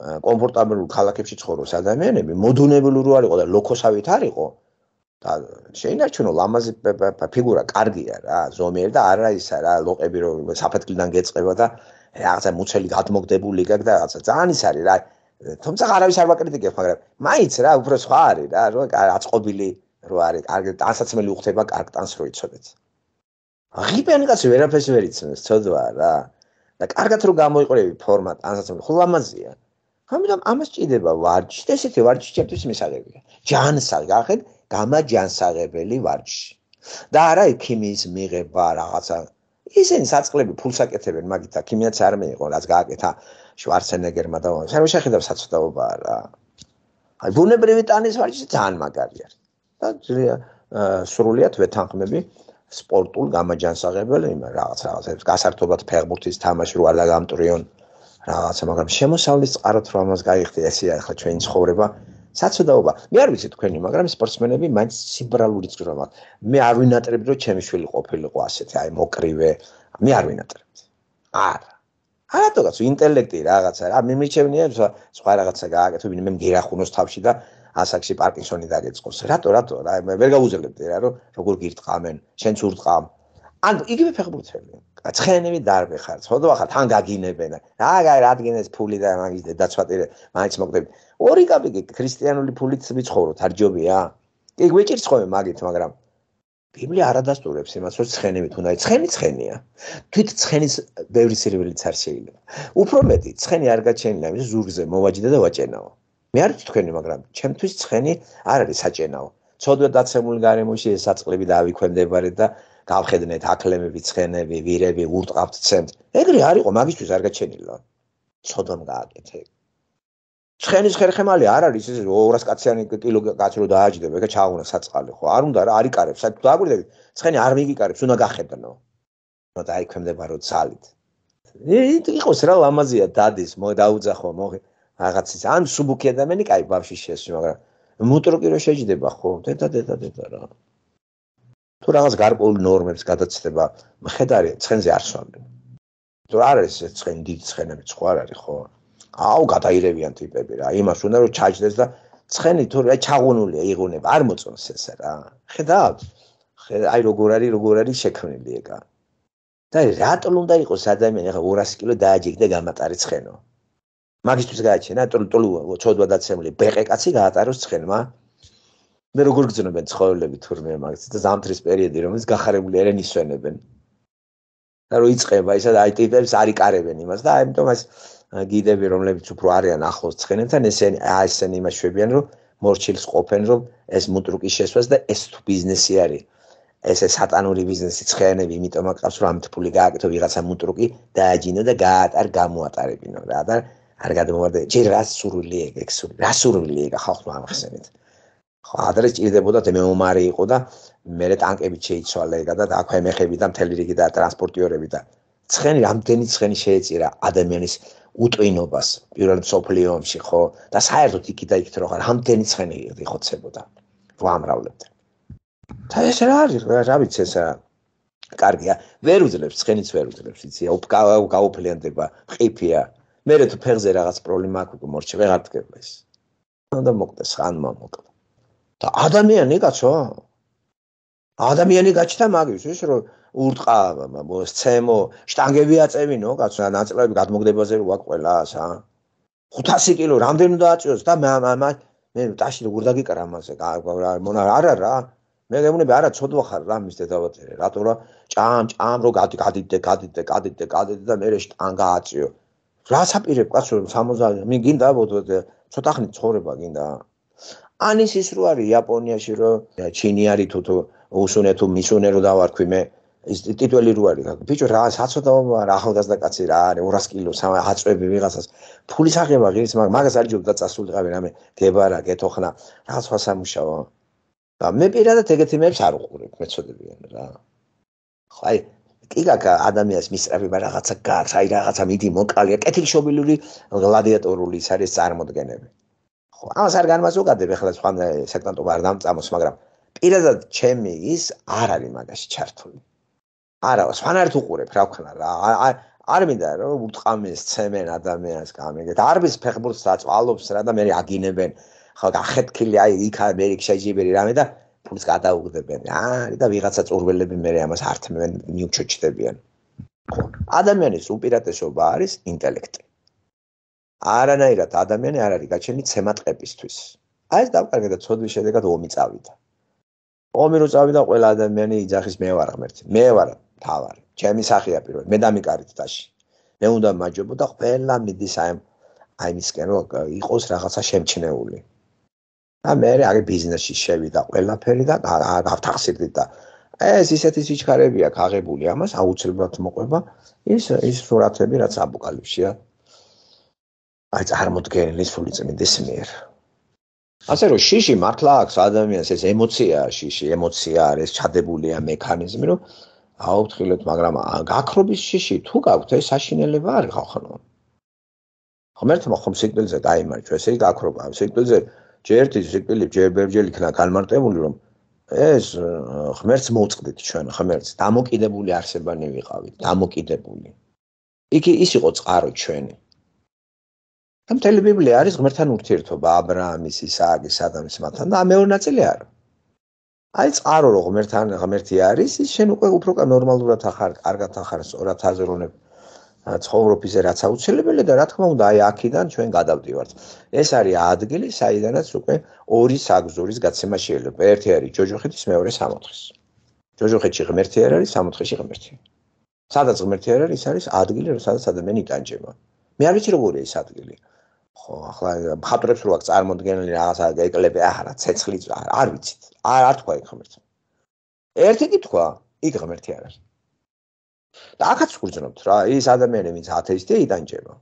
კომფორტაბელურ ქალაქებში ცხოვრობს ადამიანები, მოდუნებული რო არ იყო და ლოქოსავით არ იყო და შეინარჩუნო ლამაზი ფიგურა კარგია რა, ზომიერი და არა ისა რა, ლოყები რო საფეთქლიდან გეწყება და რაღაცა მუცელი გადმოგდებული გაქვს და რაღაცა ძალიან ის არის რა. თუმცა არავის არ ვაკრიტიკებ, მაგრამ მაინც რა უფრო სხვა არის რა, რომ აწყობილი რო არის, კარგი ტანსაცმელი უხდება, კარგ ტანს რო იცოდეთ. ღიპიანი კაცი ვერაფერს ვერ იცნობს, ცოდვა რა. და კარგად რო გამოიყურები ფორმა ტანსაცმელი, ხო ლამაზია. ამიტომ ამას ჭირდება ვარჯიში, ესეთი ვარჯიში ჩემთვის მისაღებია. ჯანსაღი, გახეთ, გამაჯანსაღებელი ვარჯიში. და არა ქიმიის მიღება რაღაცა. ისინი საწყლები ფულს აკეთებენ, მაგით ქიმიაც არ მეიყო, რაც გააკეთა შვარცენეგერმა და სულ შეხედავს საცოდაობაა რა. აი ბუნებრივი ტანის ვარჯიში ძალიან მაგარია. და სრულიად ვეთანხმები სპორტულ გამაჯანსაღებელ იმ რაღაც რაღაცებს, გასართობად ფეხბურთის თამაში რო არ დაგამტრიონ რაღაცა, მაგრამ შემოსავლის წყაროთ რომ ამას გაიხდი, ესეა ახლა ჩვენი ცხოვრება, საცოდაობა. მე არ ვიცი თქვენი, მაგრამ სპორტსმენები მაინც სიბრალური წვრა მაქვს. მე არ ვინატრებდი რომ ჩემი შვილი ყოფილიყო ასეთი, აი მოკრივე. მე არ ვინატრებდი. არა. არათოგაც ინტელექტი რაღაცა რა, მე მიჩვენია სხვა რაღაცა გააკეთო, ვინმე მგერახუნოს თავში და ასაკში პარკინსონი დაგეწყოს. რატო, რატო? რა მე ვერ გავუძლებდი რა, რომ როგორ გირტყამენ, შენც ურტყამ. ან იგივე ფეხბურთელი. ცხენები დარბე ხარ, ცოდვა ხარ, თან გაგინებენ. რა რადგენეს ფული და მაგის დაცვატირე, მაინც მოგდები. ორი კაპიკი ქრისტიანული ფულით ვიცხოვროთ, არ ჯობია? კი გვიჭირს ხოლმე მაგით, მაგრამ ბიბლია არ ადასტურებს იმას, რომ ცხენებით უნდა, ცხენი ცხენია. თვით ცხენის ბევრი სირველიც არ შეიძლება. უფრო მეტი, ცხენი არ გაჩენილა, იმის ზურგზე მოვაჯდა და ვაჭენაო. მე არ ვიცი თქვენი, მაგრამ ჩემთვის ცხენი არ არის საჭენაო. ცოდვა დაცემული გარემოში ეს საწყლები დაავიქვემდებარე და გავხედნეთ აკლემები, ცხენები, ვირები, ურტყავთ ცემთ. ეგრე არ იყო, მაგისთვის არ გაჩენილა. ცოდვამ გააკეთე. ცხენის ხერხემალი არ არის ეს ორას კაციანი კილო კაცი რო დააჯდება, ეგა ჩააღუნა საწყალი ხო? არ უნდა რა, არ იკარებს. საერთოდ დააგვირდები, ცხენი არ მიიგიკარებს, უნდა გახედნო. ნუ დაიქვემდებარო ძალით. იყოს რა ლამაზია დადის, მო დაუძახო, მოღი რაღაცის. ან სუბუქი ადამიანი კაი ბავში შეესვი, მაგრამ მუტროკი რო შეჯდება ხო? დედა დედა დედა რა. თუ რაღაც გარკვეულ ნორმებს გადაცდება, მხედარი ცხენზე არ სვამენ. თუ არ არის ცხენი დიდი ცხენები სხვა არ არის ხო? აუ გადაირევიან ტიპები რა. იმას უნდა რომ ჩაჯდეს და ცხენი თუ რა ჩაღუნულია, იღუნება, არ მოწონს ეს რა. ხედავთ? აი როგორ არის, როგორ არის შექმნილი ეგა. და რატომ უნდა იყოს ადამიანი ახლა ორასი კილო დააჯიქ და გამატარი ცხენო. მაგისთვის გააჩენა, ტოლ ტოლ ცოდვა დაცემული ბეყე კაცი გაატაროს ცხენმა. მე როგორ გძნობენ ცხოველები თურმე მაგის და ზამთრის პერიოდი რომელიც გახარებული არიან ისვენებენ. და რო იწება ისა და აი ტიპებს არ იკარებენ იმას და ამიტომ ეს გიდები რომლებიც უფრო არიან ახლოს ცხენებთან ესენი აი ესენი იმას შვებიან რომ მორჩილს ყოფენ რომ ეს მუტრუკი შესვას და ეს თუ ბიზნესი არის. ესე სატანური ბიზნესი ცხენები, იმიტომ აკავს რომ ამით ფული გააკეთო ვიღაცა მუტრუკი დააჯინო და გაატარ გამოატარებინო რა და არ გადმოვარდე ჯერ რა სურვილი ეგ სურვილი რა სურვილი ეგ ხალხმა ამახსენეთ ხო ადრე ჭირდებოდა მეომარი იყო და მერე ტანკებით შეიცვალა ეგა და აქვე მეხები და მთელი რიგი და ტრანსპორტიორები და ცხენი რამდენი ცხენი შეეწირა ადამიანის უტვინობას პირველ მსოფლიო ომში ხო და საერთოდ იქ და იქით რო ხარ რამდენი ცხენი იხოცებოდა ვამრავლებდა და ეს რა არის რა ვიცი ეს კარგია ვერ უძლებს ცხენიც ვერ უძლებს იცი გაუფლიანდება ყიფია მერე თუ ფეხზე რაღაც პრობლემა აქვს მორჩე ვეღარ დგება ეს და მოკდეს ხანმა მოკდა და ადამიანი კაცო ადამიანი გაჩნდა მაგის ის რომ ურტყა სცემო შტანგები აწევინო კაცო ნაწილები გადმოგდებაზე რო გვაქვს ყველას ა ხუთასი კილო რამდენი უნდა აწიოს და მე მე ტაში როგორ დაგიკარა ამაზე მონა არა რა მე გემუნები არა ცოდვა ხარ რა მის დედავაწერე რატო რა ჭამ ჭამ რო გადი გადიდე გადიდე გადიდე გადიდე და მე შტანგა აწიო რა საპირებ კაცო სამოცდაათი მე გინდა ცოტა ხნით ცხოვრება გინდა ანის ის რო არის იაპონიაში რო ჩინი არის თუ თუ უსუნე თუ მისუნე რო დავარქვი მე ის ტიტველი რო არის ბიჭო რა საცოდაობა რა ახალგაზრდა კაცი რა არის ორასი კილო აწვევი ვიღაცას ფულის აღება ღირს მაგას არ ჯობდა წასულიყავი რამე გებარა გეთოხნა რა სხვა სამუშაო და მე პირადად ეგეთი მეებს არ უყურებ მეწოდებიან რა ხო აი კიგაკა ადამიანს მისწრაფება რაღაცა გარს აი რაღაცა მიდი მოკალია კეთილშობილური გლადიატორული ის არის წარმოდგენები ხო ამას არ განმაზოგადებ ახლა სხვა სექტანტობა არ დამწამოს მაგრამ პირადად ჩემი ის არ არის მაგაში ჩართული არა სხვანაირად უყურებ რა ვქნა რა არ მინდა რომ ურტყამეს ცემენ ადამიანს გამიგეთ არბის ფეხბურთს აწვალობს რა და მე აგინებენ ხო გახეთქილი აი იქ ამერიკ შეჯიბერი რამე და ფულს გადაუგდებენ აი და ვიღაცა წურველები მე ამას ართმევენ მიუჩოჩდებიან ხო ადამიანის უპირატესობა არის ინტელექტი არანაირად ადამიანი არ არის გაჩენილი ცემატყებისთვის აი ეს დავკარგე და ცოდვის შედეგად ომი წავიდა ომი რო წავიდა ყველა ადამიანი იძახის მე ვარ ღმერთი მე ვარ თავარი ჩემი სახეა პირველ მე დამიკარით დაში მე უნდა მაჯობო და ყველა მიდის აი აი მისკენ რო იყოს რაღაცა შემჩნეული და მე აი ბიზნესში შევიდა ყველაფერი და გავთახსირდი და ეს ისეთი სიჩქარები აქვს აღებული ამას აუცილებლად მოყვება ის ის სურათები რაც აპოკალიფსია აი წარმოდგენილი სული წმინდის მიერ ასე რომ შიში მართლა აქვს ადამიანს ეს ემოცია შიში ემოცია არის ჩადებულია მექანიზმი რომ აუფრთხილეთ მაგრამ გაქრობის შიში თუ გაქვთ ეს საშინელება არის ხალხო ღმერთმა ხომ სიკვდილზე დაიმარჯვა ესე იგი გაქრობა სიკვდილზე ჯერ ერთი სიკვდილი ჯერ ბერჯერ იქნა განმარტებული რომ ეს ღმერთს მოუწყდით ჩვენ ღმერთს დამოკიდებული არსებანი ვიყავით დამოკიდებული იქ ის იყო წყარო ჩვენი და მთელი ბიბლია არის ღმერთთან ურთიერთობა აბრაამის ისააკის ადამის მათთან და მეორე ნაწილი არა აი წყარო რო ღმერთთან ღმერთი არის ის შენ უკვე უფრო ნორმალურად ახარ კარგად ახარ სწორად აზროვნებ ცხოვრობაზე რაც აუცილებელია და რა თქმა უნდა აი აქედან ჩვენ გადავდივართ ეს არის ადგილი საიდანაც უკვე ორი საგზურის გაცემა შეიძლება ერთი არის ჯოჯოხეთის მეორე სამოთხის ჯოჯოხეთში ღმერთი არ არის სამოთხეში ღმერთი სადაც ღმერთი არ არის ის არის ადგილი სადაც ადამიანი იტანჯება მე არ ვიცი როგორია ეს ადგილი ხო ახლა მხატვრებს რო აქვს წარმოდგენილი რაღაცა ეკლები ახლა ცეცხლი არ ვიცით არ არ თქვა იქ ღმერთი ერთი კითხვა იქ ღმერთი არ არის და აქაც ვგრძნობთ რა ის ადამიანი ვინც ათეისტია იტანჯება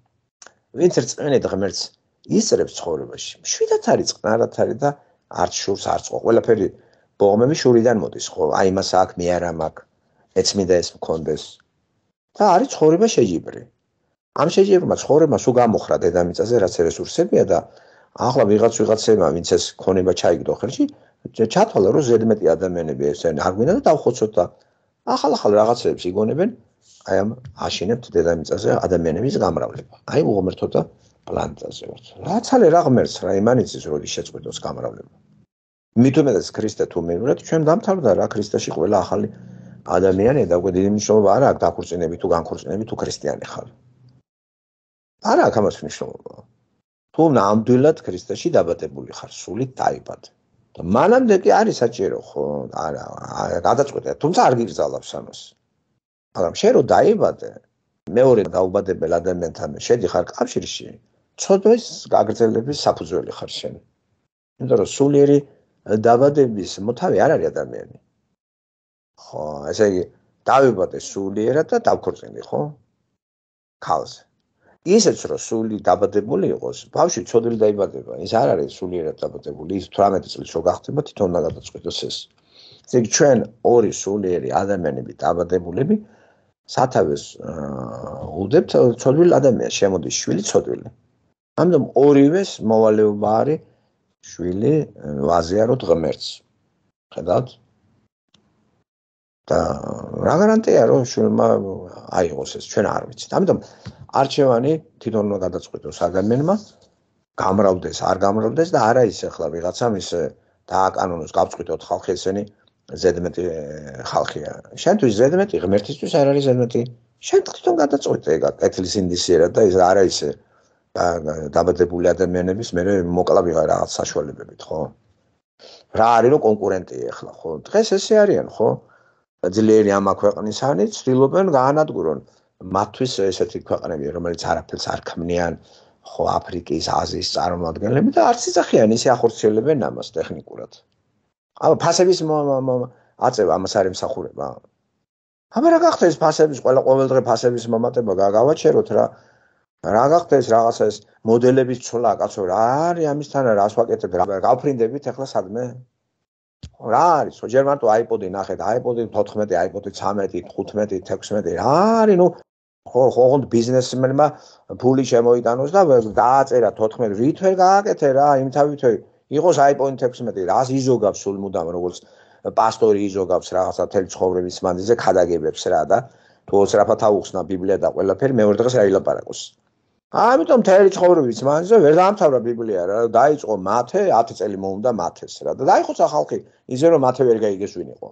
ვინც რწმენად ღმერთს ისწრებს ცხოვრებაში შვიდათ არის წყნარად არის და არც შურს არც ყო ყველაფერი ბოღმები შურიდან მოდის ხო აი მას აქ მე არა მაქვს ეცმინდა ეს მქონდეს და არის ცხოვრება შეჯიბრი ამ შეჯიბრმა ცხოვრება სულ გამოხრა დედამიწაზე რაც რესურსებია და ახლა ვიღაც ვიღაცემა ვინც ეს ქონება ჩაიგდო ხელში ჩათვალა რომ ზედმეტი ადამიანები ესენ არ გვინდა და დავხოცოთ და ახალ-ახალ რაღაცებს იგონებენ აი ამ აშენებთ დედამიწაზე ადამიანების გამრავლება აი უღმერთოთა პლანეტაზე ვართ რაც არის რა ღმერთს რა იმანიცის როდის შეწყვეტოს გამრავლება მით უმეტეს ქრისტე თუ მივიღეთ ჩვენ დამთავრდა რა ქრისტეში ყველა ახალი ადამიანი და უკვე დიდი მნიშვნელობა არ აქვს დაქორწინები თუ განქორწინები თუ ქრისტიანი ხარ არა აქვს ამას მნიშვნელობა თუ ნამდვილად ქრისტეში დაბადებული ხარ სულით დაიბადე და მანამდე კი არის საჭირო ხო არა გადაწყვეტა თუმცა არ გიგზავნებს ამას მაგრამ შენ რო დაიბადე მეორე დაუბადებელ ადამიანთან შედიხარ კავშირში ცოდვის გაგრძელების საფუძველი ხარ შენ იმიტომ რომ სულიერი დაბადების მოთავე არ არის ადამიანი ხო, ესე იგი დავიბადე სულიერად და დავქორწინდი, ხო? ქალზე. ისეც რომ სული დაბადებული იყოს, ბავშვი ცოდვილი დაიბადება, ის არ არის სულიერად დაბადებული, ის თვრამეტი წლის რო გახდება, თვითონ უნდა გადაწყვიტოს ეს. ესე იგი ჩვენ ორი სულიერი ადამიანები დაბადებულები სათავეს უდებთ ცოდვილ ადამიანს, შემოდის შვილი ცოდვილი. ამიტომ ორივეს მოვალეობა არის შვილი ვაზიაროთ ღმერთს. ხედავთ? და რა გარანტია რომ შვილმა აიღოს ეს, ჩვენ არ ვიცით. ამიტომ არჩევანი თვითონ უნდა გადაწყვიტოს ადამიანმა, გამრავდეს, არ გამრავდეს და არა ის ახლა ვიღაცამ ის დააკანონოს გავწყვიტოთ ხალხი ესენი ზედმეტი ხალხია. შენთვის ზედმეტი, ღმერთისთვის არ არის ზედმეტი. შენ თვითონ გადაწყვეტე ეგ კეთილის ინდისიერად და ეს არა ისე დაბადებული ადამიანების მე მოკლა ვიღარ რაღაც საშუალებებით, ხო? რა არის რომ კონკურენტია ახლა, ხო? დღეს ესე არიან, ხო? ძლიერი ამა ქვეყნისანი ცდილობენ გაანადგურონ მათთვის ესეთი ქვეყნები, რომელიც არაფერს არ ქმნიან, ხო, აფრიკის, აზიის წარმომადგენლები და არც იცახიან ისე ახორციელებენ ამას ტექნიკურად. აბა ფასების აწევა ამას არ ემსახურება. აბა რა გახდა ეს ფასების ყველა ყოველდღე ფასების მომატება გავაჩეროთ რა. რა გახდა ეს რაღაცა ეს მოდელების ცვლა, კაცო, რა არის ამისთან რას ვაკეთებ, რა გავფრინდებით ახლა სადმე? რა არის? ხო ჯერ მარტო აიპოდი ნახეთ, აიპოდი თოთხმეტი, აიპოდი ცამეტი, ხუთმეტი, თექვსმეტი, რა არის ნუ ხო ხო ბიზნესმენმა ფული შემოიტანოს და დააწერა თოთხმეტი, რით ვერ გააკეთე რა, იმთავით იყოს აიპოდი თექვსმეტი, რას იზოგავს სულ მუდამ როგორც პასტორი იზოგავს რაღაცა თელ ცხოვრების მანძილზე ქადაგებებს რა და თუ ოცრაფად აუხსნა ბიბლია და ყველაფერი მეორე დღეს რა ილაპარაკოს. ამიტომ თელი ცხოვრების მანძილზე ვერ დაამთავრა ბიბლია რა, დაიწყო მათე, ათი წელი მოუნდა მათეს რა და დაიხოცა ხალხი, ისე რომ მათე ვერ გაიგეს ვინ იყო.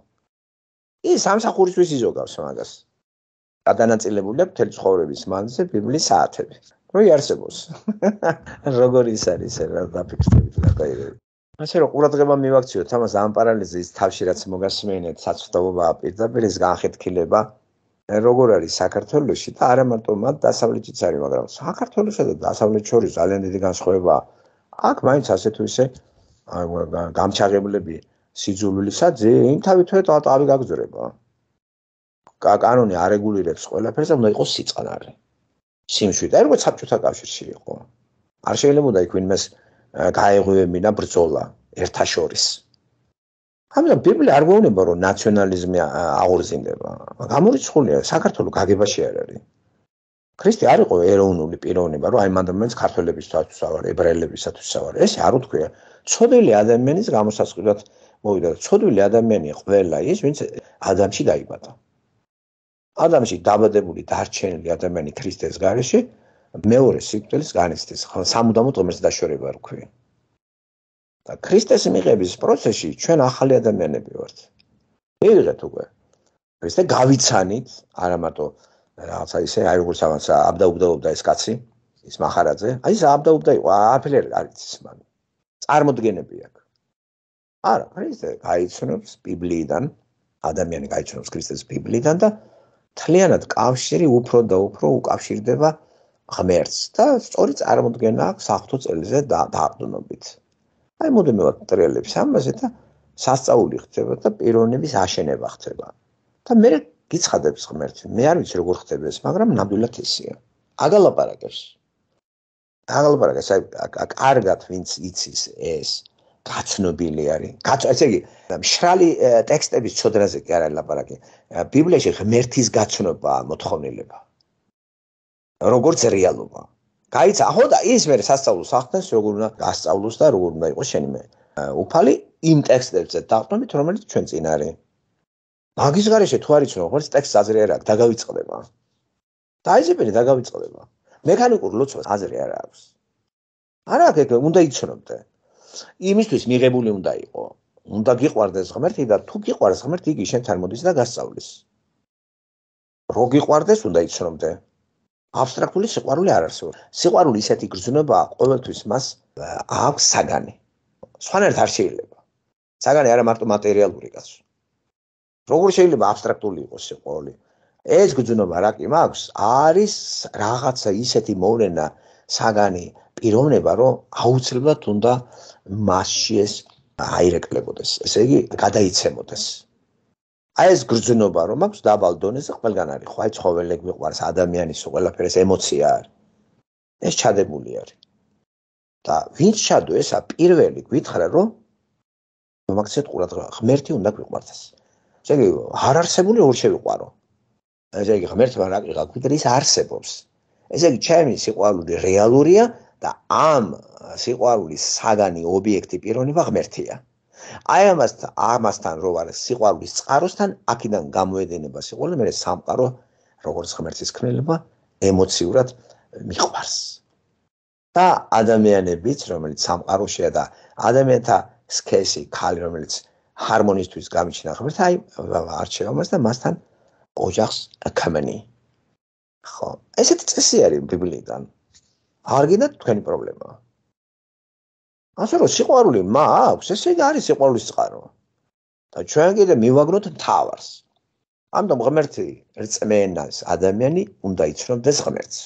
ის სამსახურისთვის იზოგავს მაგას. გადანაწილებულია თელი ცხოვრების მანძილზე ბიბლიის საათები. რო იარსებოს. როგორ ის არის რა დაფიქსირებით და გაიგეთ. ასე რომ ყურადღება მივაქციოთ ამას ამ პარალელიზის თავში რაც მოგასმენეთ საცვდაობაა პირდაპირ ეს განხეთქილება როგორ არის საქართველოში და არა მარტო მათ დასავლეთიც არის, მაგრამ საქართველოსა და დასავლეთს შორის ძალიან დიდი განსხვავებაა. აქ მაინც ასე თუ ისე გამჩაღებლები სიძულვილისა ძიმ თავითვე თავი გაგზრება. კანონი არეგულირებს ყველაფერს და უნდა იყოს სიწყნარე. სიმშვიდე, აი როგორც საბჭოთა კავშირში იყო. არ შეიძლება იქ ვინმეს გაეღვივებინა ბრძოლა ერთაშორის. ამიტომ ბიბლია არ გვეუბნება რომ ნაციონალიზმი აღორძინდება. გამორიცხულია საქართველოს გაგებაში არ არის. ქრისტე არ იყო ეროვნული პიროვნება, რომ აი მანდამენს ქართველებისთვის ავარ, ებრაელებისათვის ავარ. ეს არ უთქვია. ცოდვილი ადამიანის გამოსასყიდად მოვიდა. ცოდვილი ადამიანი ყველა ის, ვინც ადამიანში დაიბადა. ადამიანში დაბადებული დარჩენილი ადამიანი ქრისტეს გარეშე მეორე სიკვდილის განიცდის. სამუდამოდ ღმერთს დაშორება რქვი. და ქრისტეს მიღების პროცესში ჩვენ ახალი ადამიანები ვართ. მივიღეთ უკვე. ქრისტე გავიცანით, არა მარტო რაღაცა ისე, აი როგორც ამას აბდაუბდაობდა ეს კაცი, ის მახარაძე, აი ეს აბდაუბდა იყო, აფერ არ იცის მან. წარმოდგენები აქვს. არა, ქრისტე გაიცნობს ბიბლიიდან, ადამიანი გაიცნობს ქრისტეს ბიბლიიდან და თლიანად კავშირი უფრო და უფრო უკავშირდება ღმერთს და სწორი წარმოდგენა აქვს საღვთო წელზე დაყრდნობით. აი მოდემევად ტრიალებს ამაზე და სასწაული ხდება და პიროვნების აშენება ხდება. და მე გიცხადებს ღმერთი, მე არ ვიცი როგორ ხდება ეს, მაგრამ ნამდვილად ისეა. აგალაპარაკებს. აგალაპარაკებს, აი კარგად ვინც იცის ეს, გაცნობილი არის. ესე იგი, მშრალი ტექსტების ცოდნაზე კი არ არის ლაპარაკი. ბიბლიაში ღმერთის გაცნობა მოთხოვნილება. როგორც რეალობა. გაიცა, ხო და ის მე სასწაულს ახდენს, როგორ უნდა გასწავლოს და როგორ უნდა იყოს შენი მე. უფალი იმ ტექსტებზე დაყრდნობით, რომელიც ჩვენ წინ არის. მაგის გარეშე თუ არ იცნო, როგორც ტექსტს აზრი არ აქვს, დაგავიწყდება. დაიზებენი დაგავიწყდება. მექანიკურ ლოცვას აზრი არ აქვს. არა აქ უნდა იცნობდე. იმისთვის მიღებული უნდა იყო. უნდა გიყვარდეს ღმერთი და თუ გიყვარს ღმერთი, იგი შენთან მოდის და გასწავლის. რო გიყვარდეს, უნდა იცნობდე. აბსტრაქტული სიყვარული არ არსებობს. სიყვარული ისეთი გრძნობა, ყოველთვის მას აქვს საგანი. სხვანაირად არ შეიძლება. საგანი არა მარტო მატერიალური კაცო. როგორ შეიძლება აბსტრაქტული იყოს სიყვარული? ეს გრძნობა რა კი მაქვს, არის რაღაცა ისეთი მოვლენა, საგანი, პიროვნება, რომ აუცილებლად უნდა მასში ეს აირეკლებოდეს. ესე იგი, გადაიცემოდეს. აი ეს გრძნობა რომ აქვს დაბალ დონეზე ყველგან არის ხო აი ცხოველები მიყვარს ადამიანის ყველაფერს ემოცია არის ეს ჩადებული არის და ვინც ჩადო ესა პირველი გვითხრა რომ მაგცეთ ყურადღება ღმერთი უნდა გვიყვარდეს ესე იგი არ არსებული ორ შევიყვარო ესე იგი ღმერთმა რა კი გაგვიდრე ის არსებობს ესე იგი ჩემი სიყვარული რეალურია და ამ სიყვარულის საგანი ობიექტი პიროვნება ღმერთია აი ამასთან ამასთან რო არის სიყვარულის წყაროსთან აქედან გამოედინება სიყვარული მე სამყარო როგორც ღმერთის ქმნილება ემოციურად მიყვარს და ადამიანებიც რომელიც სამყაროშია და ადამიანთა სქესი ქალი რომელიც ჰარმონიისთვის გამიჩნდა ღმერთს აი არჩევა მას და მასთან ოჯახს ქმნი ხო ესეთი წესი არის ბიბლიიდან არ გინდათ თქვენი პრობლემაა ასე რომ სიყვარული მაქვს ესე იგი არის სიყვარულის წყარო და ჩვენ კიდე მივაგნოთ მთავარს ამიტომ ღმერთი რწმენას ადამიანი უნდა იცნობდეს ღმერთს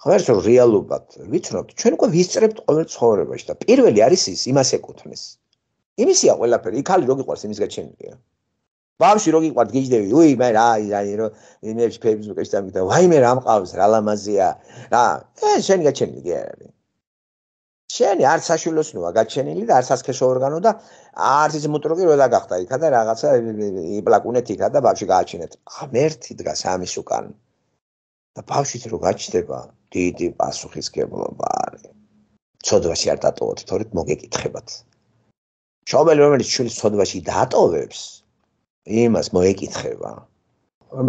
ღმერთს რომ რეალობად ვიცნობთ ჩვენ უკვე ვისწრებთ ყოველ ცხოვრებაში და პირველი არის ის იმას ეკუთვნის იმისია ყველაფერი იქალი რო გიყვარს იმის გაჩენილია ბავშვი რო გიყვართ გიждდები უი მე რა აი რო მე ფეისბუქში დამიგდა ვაიმე რა მყავს რა ლამაზია რა ეს შენი გაჩენილი კი არ არის შენი არ საშვილოსნოა გაჩენილი და არ სასქესო ორგანო და არც ის მუტროკი რო დაგახდა იქა და რაღაცა იპლაკუნეთ იქა და ბავშვი გააჩინეთ ღმერთი დგას ამის უკან და ბავშვით რო გაჩნდება დიდი პასუხისგებლობა არის ცოდვაში არ დატოვოთ თორედ მოგეკითხებათ შობელი რომელიც შვილს ცოდვაში დატოვებს იმას მოეკითხება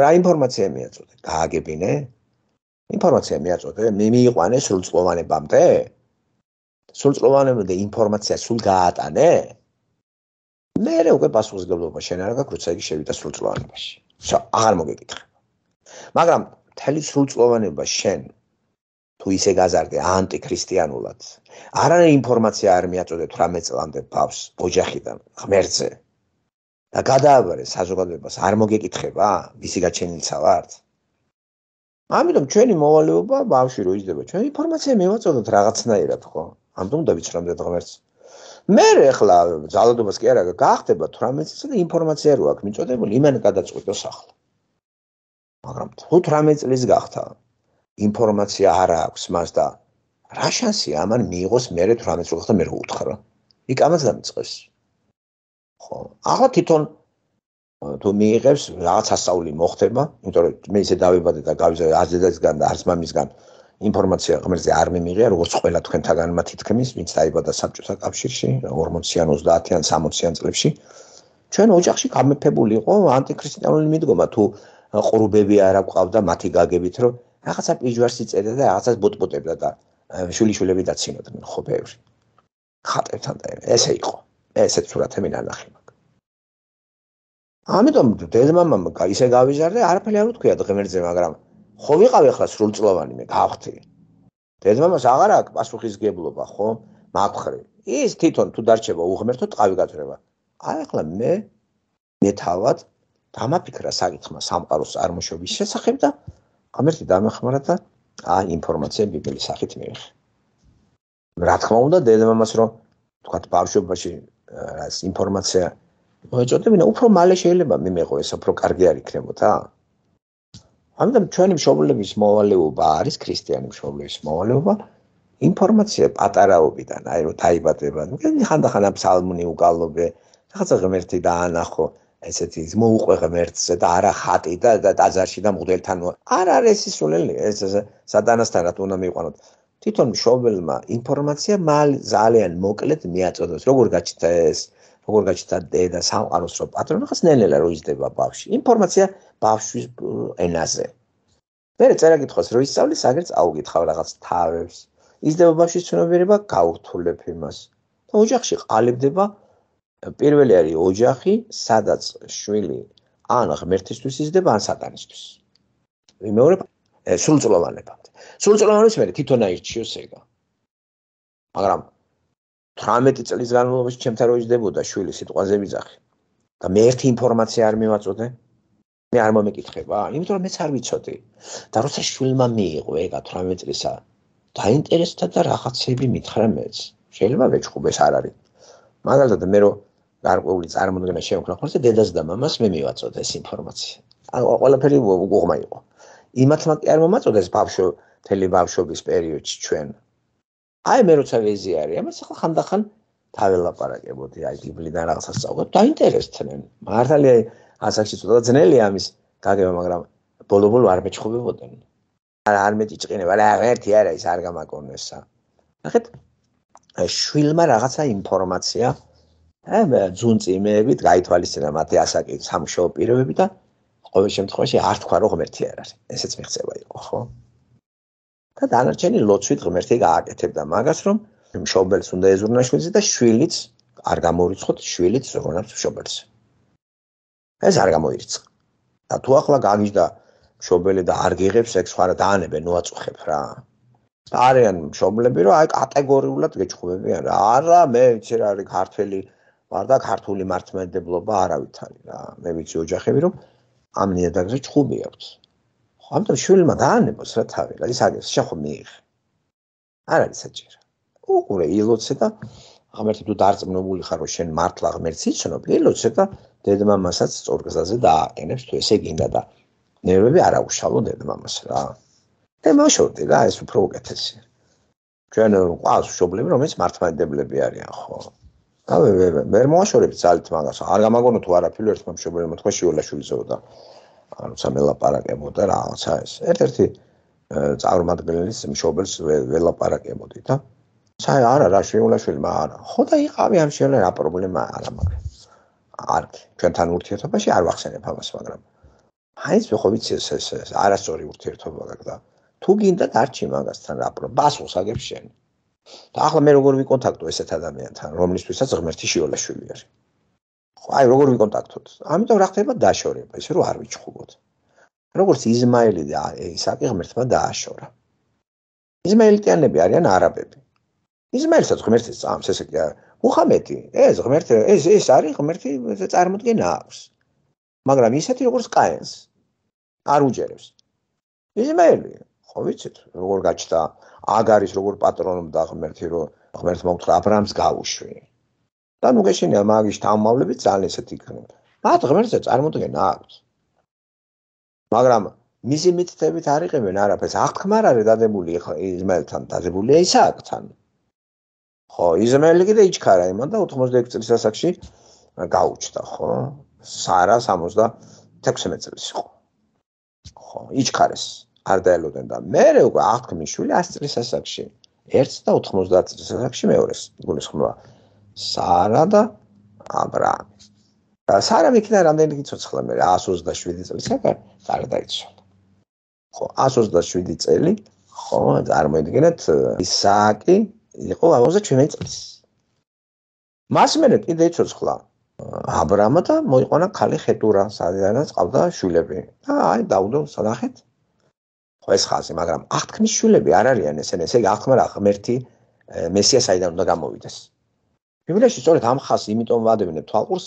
რა ინფორმაცია მიაწოდე გააგებინე ინფორმაცია მიაწოდე მიიყვანე სრულწლოვანებამდე სრულწლოვანებამდე ინფორმაცია სულ გაატანე მე უკვე პასუხისგებლობა შენ არ გაქვს როცა იგი შევიდა სრულწლოვანებაში აღარ მოგეკითხება მაგრამ მთელი სრულწლოვანება შენ თუ ისე გაზარდე ანტიქრისტიანულად არანაირი ინფორმაცია არ მიაწოდე თვრამეტ წლამდე ბავშვს ოჯახიდან ღმერთზე და გადააბარე საზოგადოებას არ მოგეკითხება ვისი გაჩენილსა ვართ ამიტომ ჩვენი მოვალეობა ბავშვი რო იჯდება ჩვენ ინფორმაცია მივაწოდოთ რაღაცნაირად ხო ამიტომ უნდა ვიცნობდეთ ღმერთს მე ახლა ძალადობას კი არა გახდება თვრამეტ წელს და ინფორმაცია რო აქვს მიწოდებული იმან გადაწყვიტოს ახლა მაგრამ თუ თვრამეტ წლის გახდა ინფორმაცია არ აქვს მას და რა შანსია ამან მიიღოს მე თვრამეტ წელს გახდა მე რო უთხრა იქ ამას დამიწყეს ხო ახლა თვითონ თუ მიიღებს რაღაც ასწავლი მოხდება იმიტომ რომ მე ისე დავიბადე და გავიზარდე არც დედასგან და არც მამისგან ინფორმაცია ღმერთზე არ მიმიღია როგორც ყველა თქვენთაგანმა თითქმის ვინც დაიბადა საბჭოთა კავშირში ორმოციან ოცდაათიან სამოციან წლებში ჩვენ ოჯახში გამეფებული იყო ანტიქრისტიანული მიდგომა თუ ყრუბები არ აყვავდა მათი გაგებით რომ რაღაცა პიჯვარს იწერდა და რაღაცას ბოტბოტებდა და შვილიშვილები დაცინოდნენ ხო ბევრი ხატებთან და ესე იყო ესეც სურათი მე ნანახი მაქვს ამიტომ დედმამამ ისე გავიზარდე არაფერი არ უთქვია ღმერთზე მაგრამ ხო ვიყავი ახლა სრულწლოვანი მე გავხდი დედმამას აღარ აქვს პასუხისგებლობა ხო მაგხრი ის თვითონ თუ დარჩება უღმერთო ტყავი გაწრება აი ახლა მე მე თავად დამაფიქრა საკითხმა სამყაროს წარმოშობის შესახებ და ღმერთი დამეხმარა და აი ინფორმაცია ბიბლის სახით მივიღე რა თქმა უნდა დედმამას რომ თქვათ ბავშვობაში ეს ინფორმაცია მოეწოდებინა უფრო მალე შეიძლება მიმეღო ეს უფრო კარგი არ იქნებოდა ამიტომ ჩვენი მშობლების მოვალეობა არის ქრისტიანი მშობლების მოვალეობა ინფორმაცია პატარაობიდან აი რომ დაიბადება ხანდახან ფსალმუნი უკალობე რაღაცა ღმერთი დაანახო ესეთი მოუყვე ღმერთზე და არა ხატი და ტაძარში და მღვდელთან არ არის ის სულელი ეს სატანასთანაც უნდა მიიყვანოთ თვითონ მშობელმა ინფორმაცია ძალიან მოკლედ მიაწოდოს როგორ გაჩნდა ეს როგორ გაჩნდა დედა სამყაროს რო პატრონი ხას ნელ-ნელა რო იზრდება ბავშვი ინფორმაცია ბავშვის ენაზე მე წერა კითხავს რო ისწავლის აგერ წაუგითხავ რაღაც თავებს იზრდება ბავშვის ცნობიერება გაურთულებ იმას და ოჯახში ყალიბდება პირველი არის ოჯახი სადაც შვილი ან ღმერთისთვის იზრდება ან სატანისთვის მეორე სრულწლოვანებამდე სრულწლოვანების მე თვითონ აირჩიოს ეგა მაგრამ თვრამეტი წლის განმავლობაში ჩემთან რო იზრდებოდა შვილი სიტყვაზე ვიძახი და მე ერთი ინფორმაცია არ მივაწოდე მე არ მომეკითხება იმიტომ რომ მეც არ ვიცოდი და როცა შვილმა მიიღო ეგა თვრამეტ წლისა დაინტერესდა და რაღაცები მითხრა მეც შეიძლება ვეჭყობ ეს არ არის მაგალითად მე რო გარკვეული წარმოდგენა შემოქმნა ხოლმე დედას და მამას მე მივაწოდე ეს ინფორმაცია. ანუ ყველაფერი უღმა იყო. იმათმა კი არ მომაწოდეს ბავშვო თელი ბავშვობის პერიოდში ჩვენ. აი მე როცა ვეზიარი, ამას ახლა ხანდახან თაველაპარაკებოდი, აი ბიბლიდან რაღაცას წავდებ, დაინტერესდნენ. მართალია ასაკში ცოტა ძნელი ამის გაგება, მაგრამ ბოლო-ბოლო არ მეჩხუბებოდნენ. არ არ მეტიჭყინება, რა ერთი არა ის არ გამაკონესა. ნახეთ, შვილმა რაღაცა ინფორმაცია, აი ძუნწიმეებით გაითვალისწინა მათი ასაკი, სამშობლო პირობები და ყოველ შემთხვევაში არ თქვა რომ ღმერთი არ არის. ესეც მიღწევა იყო, ხო? და დანარჩენი ლოცვით ღმერთი გააკეთებდა მაგას, რომ მშობელს უნდა ეზურნა შვილზე და შვილიც არ გამორიცხოთ, შვილიც ზრუნავს მშობელს. ეს არ გამოირიცხა. და თუ ახლა გაგიჟდა მშობელი და არ გიღებს, ეგ სხვა რა დაანებენ, უაწუხებ რა. და არიან მშობლები, რომ აი კატეგორიულად გეჩხუბებიან რა. არა, მე ვიცი რა არის ქართველი, ვარ და ქართული მართლმადიდებლობა არავით არის რა. მე ვიცი ოჯახები, რომ ამ ნიადაგზე ჩხუბი აქვს. ხო, ამიტომ შვილმა დაანებოს რა თავი, რა ის აგეს, შეხო მიიღე. არ არის საჭირო. უყურე ილოცე და ღმერთი თუ დარწმუნებული ხარ რომ შენ მართლა ღმერთს იცნობ, ილოცე და დედმამასაც სწორგზაზე დააყენებს თუ ესე გინდა და ნერვები არ აუშალო დედმამას რა. და მოშორდი რა, ეს უფრო უკეთესია. ჩვენ ყავს მშობლები, რომელიც მართლმადიდებლები არიან, ხო? და ვერ მოაშორებთ ძალით მაგას. არ გამაგონო თუ არაფერი ერთმა მშობელმა თქვა შიოლაშვილზეო და როცა მელაპარაკებოდა რაღაცა ეს. ერთ-ერთი წარმომადგენლის მშობელს ველაპარაკებოდი და საი არა რა შიოლაშვილმა არა. ხო და იყავი ამ შიოლა რა პრობლემა არა მაგრამ. არ ჩვენთან ურთიერთობაში არ ვახსენებ ამას, მაგრამ აი ეს ხო ვიცი ეს ეს არასწორი ურთიერთობა გაქვს და თუ გინდა დარჩი მაგასთან რა პრობლემა. ბასულს აგებ შენ. და ახლა მე როგორ ვიკონტაქტო ესეთ ადამიანთან, რომლისთვისაც ღმერთი შიოლაშვილი არის. ხო, აი როგორ ვიკონტაქტოთ? ამიტომ რა ხდება დაშორება, ისე რომ არ ვიჩხუბოთ. როგორც იზმაელი და ისააკი ღმერთმა დააშორა. იზმაელიტიანები არიან არაბები. იზმაელსაც ღმერთი წამს, ესე კი არა. მუჰამედი, ეს ღმერთი, ეს ეს არის ღმერთი წარმოდგენა აქვს. მაგრამ ისეთი როგორც კაენს არ უჯერებს. იზმაელი, ხო ვიცით, როგორ გაჩნდა აგარის როგორ პატრონობდა ღმერთი, რომ ღმერთმა უთხრა აბრაამს გაუშვი. და ნუ გეშინია მაგის თავმავლები ძალიან ესეთი იქნება. მათ ღმერთზე წარმოდგენა აქვს. მაგრამ მისი მითითებით არ იყებენ არაფერს. აღთქმა არ არის დადებული იზმაელთან, დადებულია ისააკთან. ხო, იზმაელი კიდე იჩქარა იმან და ოთხმოცდაექვსი წლის ასაკში გაუჩნდა, ხო? სარა სამოცდათექვსმეტ წლის იყო. ხო, იჩქარეს. არ დაელოდნენ და მე უკვე აღთქმის შვილი ასი წლის ასაკში. ერთს და ოთხმოცდაათი წლის ასაკში მეორეს გულისხმობა. სარა და აბრაამი. და სარა მიქნა რამდენი გიცოცხლა მე ასი ოცდაშვიდი წლის აკარ სარა დაიცვალა. ხო, ასი ოცდაშვიდი წელი, ხო, წარმოიდგინეთ ისააკი იყო ოცდაშვიდი წლის. მას მერე კიდე იცოცხლა აბრაამა და მოიყვანა ქალი ხეტურა, სადაც ყავდა შვილები. და აი დაუდო სანახეთ. ხო ეს ხაზი, მაგრამ აღთქმის შვილები არ არიან ესენი, ესე იგი აღთქმა რა ღმერთი მესია საიდან უნდა გამოვიდეს. ბიბლიაში სწორედ ამ ხაზს იმიტომ ვადევნებ თვალყურს,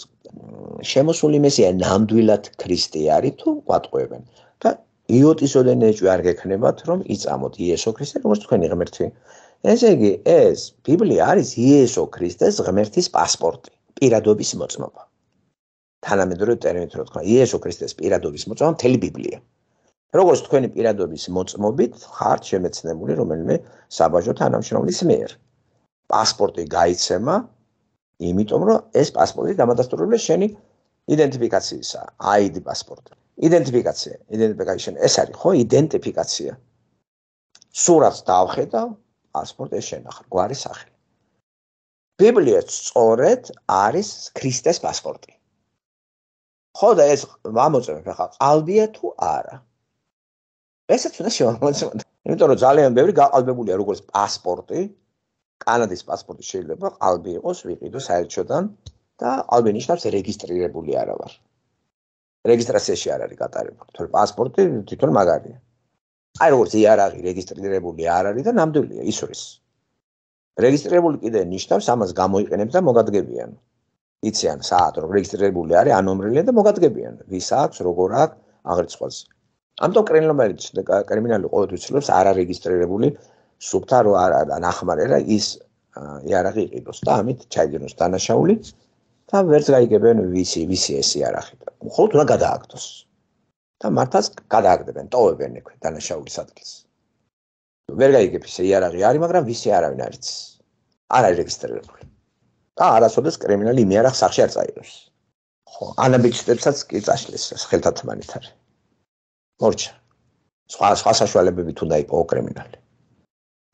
შემოსული მესია ნამდვილად ქრისტე არის თუ გვატყუებენ. და იოტისოდენ ეჭვი არ გექნებათ, რომ იწამოთ იესო ქრისტე, როგორც თქვენი ღმერთი. ესე იგი, ეს ბიბლია არის იესო ქრისტეს ღმერთის პასპორტი, პირადობის მოწმობა. თანამედროვე ტერმინით რო თქვა, იესო ქრისტეს პირადობის მოწმობა მთელი ბიბლია. როგორც თქვენი პირადობის მოწმობით ხართ შემეცნებული რომელიმე საბაჟო თანამშრომლის მიერ. პასპორტი გაიცემა, იმიტომ რომ ეს პასპორტი დამადასტურებულია შენი იდენტიფიკაციისა, აი დი პასპორტი. იდენტიფიკაცია, იდენტიფიკაცია ეს არის ხო იდენტიფიკაცია. სურათს დავხედა, პასპორტი შენახა, გვარი სახელი. ბიბლია სწორედ არის ქრისტეს პასპორტი. ხო და ეს ამოწმებ ახლა ყალბია თუ არა. ესეც უნდა შევამოწმოთ. იმიტომ რომ ძალიან ბევრი გაყალბებულია როგორც პასპორტი, კანადის პასპორტი შეიძლება ყალბი იყოს ვიყიდო საელჩოდან და ყალბი ნიშნავს რეგისტრირებული არა ვარ. რეგისტრაციაში არ არის გატარებული, თორე პასპორტი თვითონ მაგარია. აი როგორც იარაღი რეგისტრირებული არ არის და ნამდვილია ისურის. რეგისტრირებული კიდე ნიშნავს ამას გამოიყენებს და მოგადგებიან. იციან საათ რომ რეგისტრირებული არის ანომრილია და მოგადგებიან. ვის აქვს, როგორ აქვს, აღრიცხვაზე. ამიტომ კრიმინალი ყოველთვის ცდილობს არარეგისტრირებული სუბთა რო არა ნახმარერა ის იარაღი იყიდოს და ამით ჩაიგენოს დანაშაული და ვერც გაიგებენ ვისი ვისი ეს იარაღი. მხოლოდ უნდა გადააგდოს. და მართლაც გადააგდებენ, ტოვებენ ექვე დანაშაულის ადგილს. ვერ გაიგებ ისე იარაღი არის, მაგრამ ვისი არავინ არ იცის. არ არის რეგისტრირებული. და არასოდეს კრიმინალი იმ იარაღს სახში არ წაიღებს. ხო, ანაბეჭდებსაც კი წაშლის ხელთათმანით არის. მორჩა. სხვა სხვა საშუალებებით უნდა იყო კრიმინალი.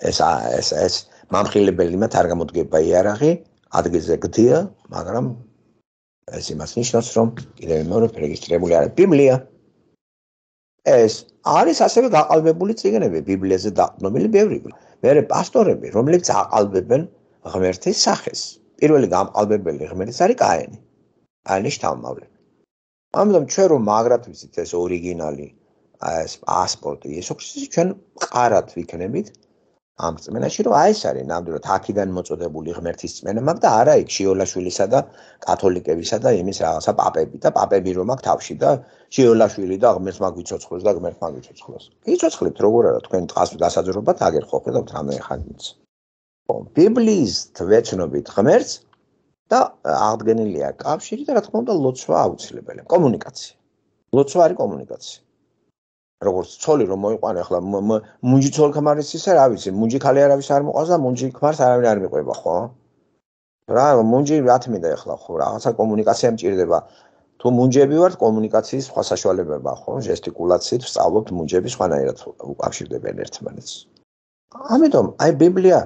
ეს ეს ეს მამხილებელი მათ არ გამოდგება იარაღი, ადგილზე გდია, მაგრამ ეს იმას ნიშნავს, რომ კიდევ მეორე რეგისტრირებული არის ბიბლია. ეს არის ასევე გაყალბებული წიგნები, ბიბლიაზე დაყრდნობილი ბევრი. მერე პასტორები, რომლებიც აყალბებენ ღმერთის სახეს. პირველი გამყალბებელი ღმერთის არის კაენი. კაენის შთამომავლები. ამიტომ ჩვენ რომ მაგრად ვიცით ეს ორიგინალი, ეს პასპორტი, იესო ქრისტეს ჩვენ მყარად ვიქნებით ამ წმენაში, რომ აი ეს არის ნამდვილად აქედან მოწოდებული ღმერთის წმენა, მაგ და არა იქ შიოლაშვილისა და კათოლიკებისა და იმის რაღაცა პაპები და პაპები რომ აქ თავში და შიოლაშვილი და ღმერთს მაგ ვიცოცხლოს და ღმერთს მაგ ვიცოცხლოს. იცოცხლებთ როგორ არა თქვენ დღას გასაძრობად აგერ ხო ხედავთ რამე ხანიც. ბიბლიის თვეცნობით ღმერთს და აღდგენილია კავშირი და რა თქმა უნდა ლოცვა აუცილებელია. კომუნიკაცია. ლოცვა არის კომუნიკაცია. როგორც ცოლი რომ მოიყვანე ახლა მუნჯი ცოლ ქმარის ისე რა ვიცი, მუნჯი ხალი არავის არ მოყავს და მუნჯი ქმარს არავინ არ მიყვება, ხო? რა მუნჯი რაც მინდა ახლა ხო რაღაცა კომუნიკაცია მჭირდება. თუ მუნჯები ვართ კომუნიკაციის სხვა საშუალებება, ხო? ჟესტიკულაციით ვსწავლობთ მუნჯები სხვანაირად უკავშირდებიან ერთმანეთს. ამიტომ აი ბიბლია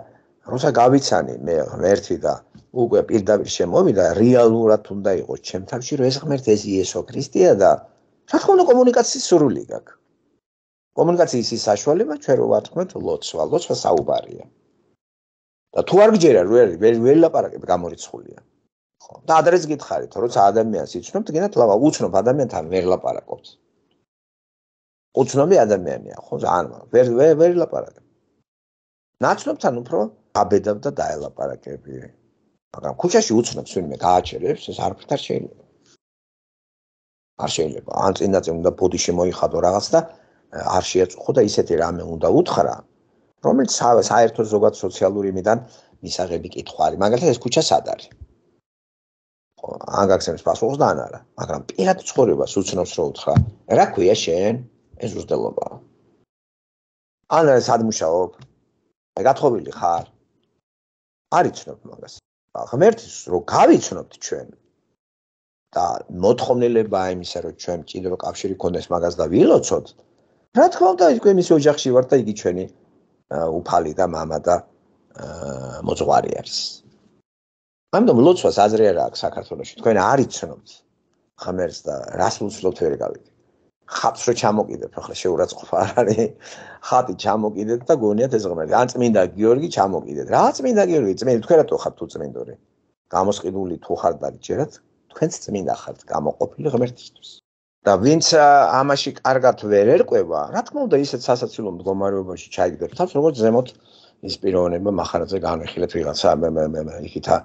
როცა გავიცანი მე ღმერთი და უკვე პირდაპირ შემოვიდა რეალურად უნდა იყოს ჩემ თავში რომ ეს ღმერთი ეს იესო ქრისტეა და რა თქმა უნდა კომუნიკაციის სურვილი გაქვს. კომუნიკაციის ის საშუალება ჩვენ რო ვათქმეთ ლოცვა, ლოცვა საუბარია. და თუ არ გჯერა ვერ ვერ ლაპარაკებ გამორიცხულია. ხო. და ადრეც გითხარით, როცა ადამიანს იცნობთ, გინდათ ლაპა უცნობ ადამიანთან ვერ ლაპარაკობთ. უცნობი ადამიანია, ხო, ან ვერ ვერ ვერ ლაპარაკებ. ნაცნობთან უფრო აბედავ და დაელაპარაკები. მაგრამ ქუჩაში უცნობს ვინმე გააჩერებს, ეს არაფრით არ შეიძლება. არ შეიძლება. ან წინდაც უნდა ბოდიში მოიხადო რაღაც და არ შეაწუხო და ისეთი რამე უნდა უთხრა, რომელიც საერთო ზოგად სოციალური იმიდან მისაღები კითხვა არის. მაგალითად ეს ქუჩა სად არის? ხო, ან გაგცემს პასუხს და ან არა. მაგრამ პირად ცხოვრებას უცნობს რო უთხრა, რა ქვია შენ? ეს უზრდელობაა. ან სად მუშაობ? აი გათხოვილი ხარ? არ იცნობ მაგას. ღმერთის რო გავიცნობთ ჩვენ და მოთხოვნილება იმისა რომ ჩვენ კიდევ კავშირი გქონდეს მაგას და ვილოცოთ. რა თქმა უნდა თქვენ მის ოჯახში ვართ და იგი ჩვენი უფალი და მამა და მოძღვარი არის. ამიტომ ლოცვას აზრი არ აქვს საქართველოში. თქვენ არ იცნობთ ღმერთს და რას უცნობთ ვერ გავიგე. ხატს რო ჩამოკიდებ, ახლა შეურაცხყოფა არ არის. ხატი ჩამოკიდეთ და გონიათ ეს ღმერთი. ან წმინდა გიორგი ჩამოკიდეთ. რა წმინდა გიორგი? წმინდა თქვენ რატო ხართ თუ წმინდური? გამოსყიდული თუ ხართ და ჯერათ თქვენც წმინდა ხართ გამოყოფილი ღმერთისთვის. და ვინც ამაში კარგად ვერ ერკვევა, რა თქმა უნდა ისეთ სასაცილო მდგომარეობაში ჩაიგდებს თავს, როგორც ზემოთ ის პიროვნება მახარაძე განვიხილეთ ვიღაცა იქითა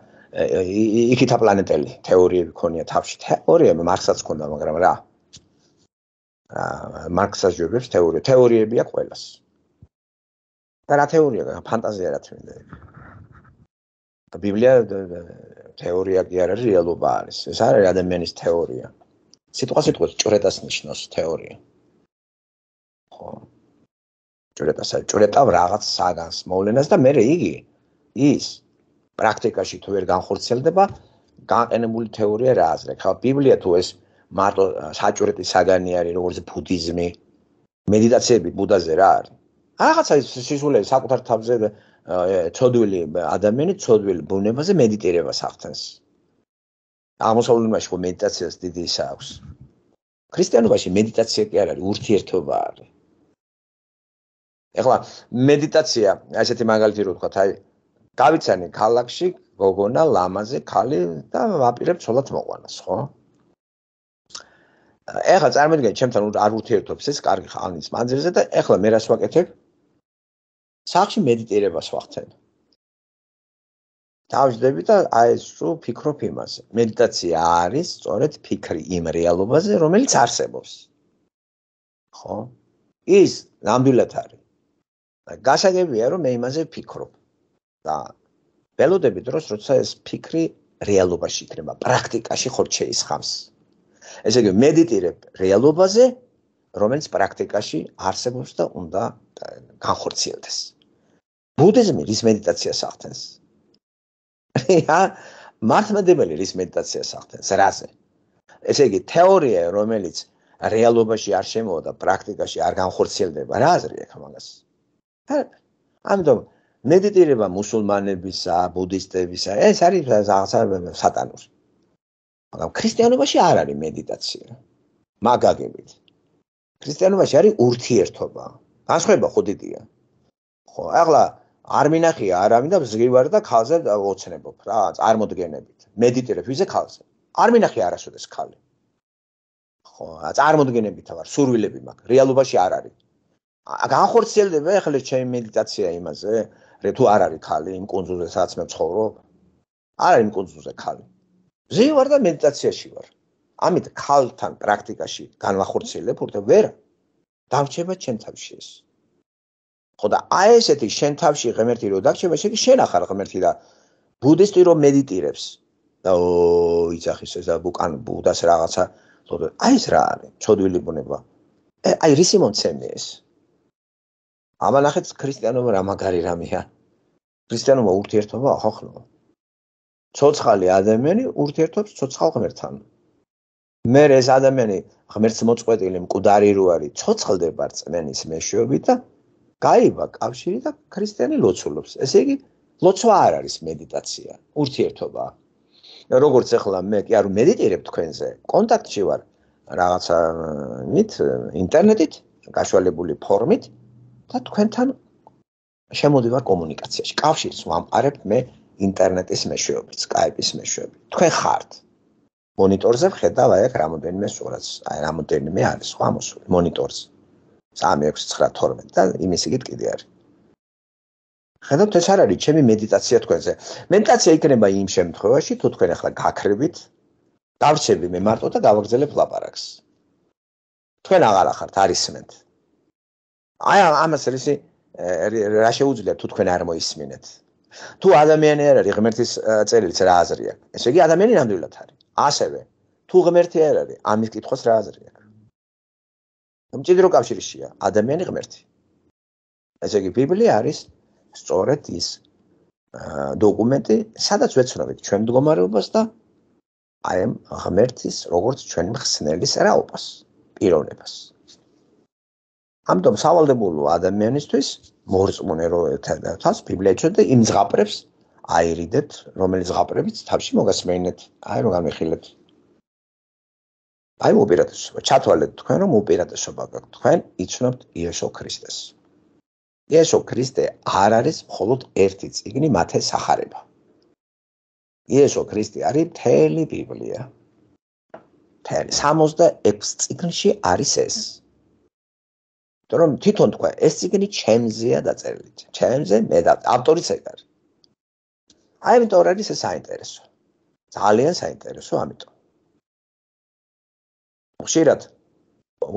იქითა პლანეტელი თეორიები ქონია თავში. თეორიები მარქსაც ქონდა, მაგრამ რა მარქსას ჯობებს თეორია. თეორიები აქვს ყველას. და რა თეორია? ფანტაზია რა თქმა. ბიბლია თეორია კი არ არის, რეალობა არის. ეს არის ადამიანის თეორია. სიტყვა სიტყვით ჭვრეტას ნიშნავს თეორია. ხო. ჭვრეტასა, ჭვრეტა რაღაც საგანს მოვლენას და მე იგი ის პრაქტიკაში თუ ვერ განხორციელდება, განყენებული თეორია რა აზრი. ხა ბიბლია თუ ეს მარტო საჭვრეტი საგანი არის, როგორც ბუდიზმი, მედიტაციები ბუდაზე რა არის. რაღაცა სისულელე საკუთარ თავზე ცოდვილი ადამიანი ცოდვილი ბუნებაზე მედიტირებას ახდენს. აღმოსავლურობაში ხო მედიტაციას დიდი ისა აქვს. ქრისტიანობაში მედიტაცია კი არ არის, ურთიერთობა არის. ეხლა მედიტაცია, ასეთი მაგალითი რო ვთქვათ, აი გავიცანი ქალაქში გოგონა ლამაზე ქალი და ვაპირებ ცოლად მოყვანას, ხო? ეხლა წარმოიდგინე, ჩემთან არ ურთიერთობს ეს კარგი ხანის მანძილზე და ეხლა მე რას ვაკეთებ? სახში მედიტირებას ვახდენ. დავждები და აი ეს რო ფიქრობ იმაზე. მედიტაცია არის სწორედ ფიქრი იმ რეალობაზე, რომელიც არსებობს. ხო? ის ნამდვილად არის. გასაგებია რომ მე იმაზე ვფიქრობ. და ველოდები დროს როცა ეს ფიქრი რეალობაში იქნება, პრაქტიკაში ხორ შეისხამს. ესე იგი, მედიტირებ რეალობაზე, რომელიც პრაქტიკაში არსებობს და უნდა განხორციელდეს. ბუდიზმი რის მედიტაციას ახდენს? რა, მართლმადიდებელი რის მედიტაციას ახდენს? რაზე? ესე იგი, თეორია, რომელიც რეალობაში არ შემოვა და პრაქტიკაში არ განხორციელდება, რა აზრი აქვს მაგას? ამიტომ მედიტირება მუსულმანებისა, ბუდისტებისა, ეს არის რაღაცა სატანური. მაგრამ ქრისტიანობაში არ არის მედიტაცია. მაგაგებით. ქრისტიანობაში არის ურთიერთობა. განსხვავება ხო დიდია. ხო, ახლა არ მინახია არავინ და ზღივარ და ქალზე ოცნებობ რა, წარმოდგენებით. მედიტირებ ვიზე ქალზე. არ მინახია არასოდეს ქალი. ხო, წარმოდგენებით ვარ, სურვილები მაქვს. რეალობაში არ არის. განხორციელდება ახლა ჩემი მედიტაცია იმაზე, თუ არ არის ქალი იმ კუნძულზე, სადაც მე ვცხოვრობ. არ არის იმ კუნძულზე ქალი. ზივარ და მედიტაციაში ვარ. ამით ქალთან პრაქტიკაში განვახორციელებ და ვერ დამრჩება ჩემ თავში ეს. ხო და აი ესეთი შენ თავში ღმერთი რო დარჩება, ესე იგი შენ ახარ ღმერთი და ბუდისტი რო მედიტირებს და ო იცახის ეს უკან ბუდას რაღაცა, აი ეს რა არის? ჩოდვილი ბუნება. აი რისი მომცემი ეს? ამანახეთ ქრისტიანობა რა მაგარი რამეა. ქრისტიანობა ურთიერთობა ახახლა. ცოცხალი ადამიანი ურთიერთობს ცოცხალ ღმერთთან. მე ეს ადამიანი ღმერთს მოწყვეტილი მკვდარი რო არის, ცოცხლდება რწმენის მეშვეობით და გაივა კავშირი და ქრისტიანი ლოცულობს. ესე იგი, ლოცვა არ არის მედიტაცია, ურთიერთობა. როგორც ახლა მე კი არ მედიტირებ თქვენზე, კონტაქტში ვარ რაღაცა მით ინტერნეტით, გაშვალებული ფორმით და თქვენთან შემოდივარ კომუნიკაციაში. კავშირს ვამყარებ მე ინტერნეტის მეშვეობით, სკაიპის მეშვეობით. თქვენ ხართ. მონიტორზე ვხედავ აი აქ რამოდენიმე სურათს, აი რამოდენიმე არის სხვა მოსული მონიტორზე. სამი ექვსი ცხრა თორმეტი და იმის იგივე კიდე არის. ხედავთ ეს არ არის ჩემი მედიტაცია თქვენზე. მედიტაცია იქნება იმ შემთხვევაში, თუ თქვენ ახლა გაქრებით, დავრჩები მე მარტო და გავაგრძელებ ლაპარაკს. თქვენ აღარ ახართ, არ ისმენთ. აი ამას რისი რა შეუძლია თუ თქვენ არ მოისმინეთ. თუ ადამიანი არ არის ღმერთის წერილიც რა აზრი აქვს. ესე იგი ადამიანი ნამდვილად არის. ასევე თუ ღმერთი არ არის, ამის კითხვას რა აზრი აქვს. მჭიდრო კავშირშია ადამიანი ღმერთი. ესე იგი ბიბლია არის სწორედ ის დოკუმენტი, სადაც ვეცნობთ ჩვენ მდგომარეობას და აი ამ ღმერთის როგორც ჩვენი მხსნელის რაობას, პიროვნებას. ამიტომ სავალდებულო ადამიანისთვის მორწმუნე რო ერთადაც ბიბლია იცოდა იმ ზღაპრებს აირიდეთ, რომელიც ზღაპრებიც თავში მოგასმენეთ, აი რომ გამიხილეთ. აი უპირატესობა, ჩათვალეთ თქვენ რომ უპირატესობა გაქვთ, თქვენ იცნობთ იესო ქრისტეს. იესო ქრისტე არ არის მხოლოდ ერთი წიგნი მათე სახარება. იესო ქრისტე არის მთელი ბიბლია. მთელი სამოცდაექვსი წიგნში არის ეს. რომ თვითონ თქვა ეს წიგნი ჩემზეა დაწერილი. ჩემზე მე და ავტორიც ეგ არის. აი ამიტომ არის ეს საინტერესო. ძალიან საინტერესო ამიტომ. ხშირად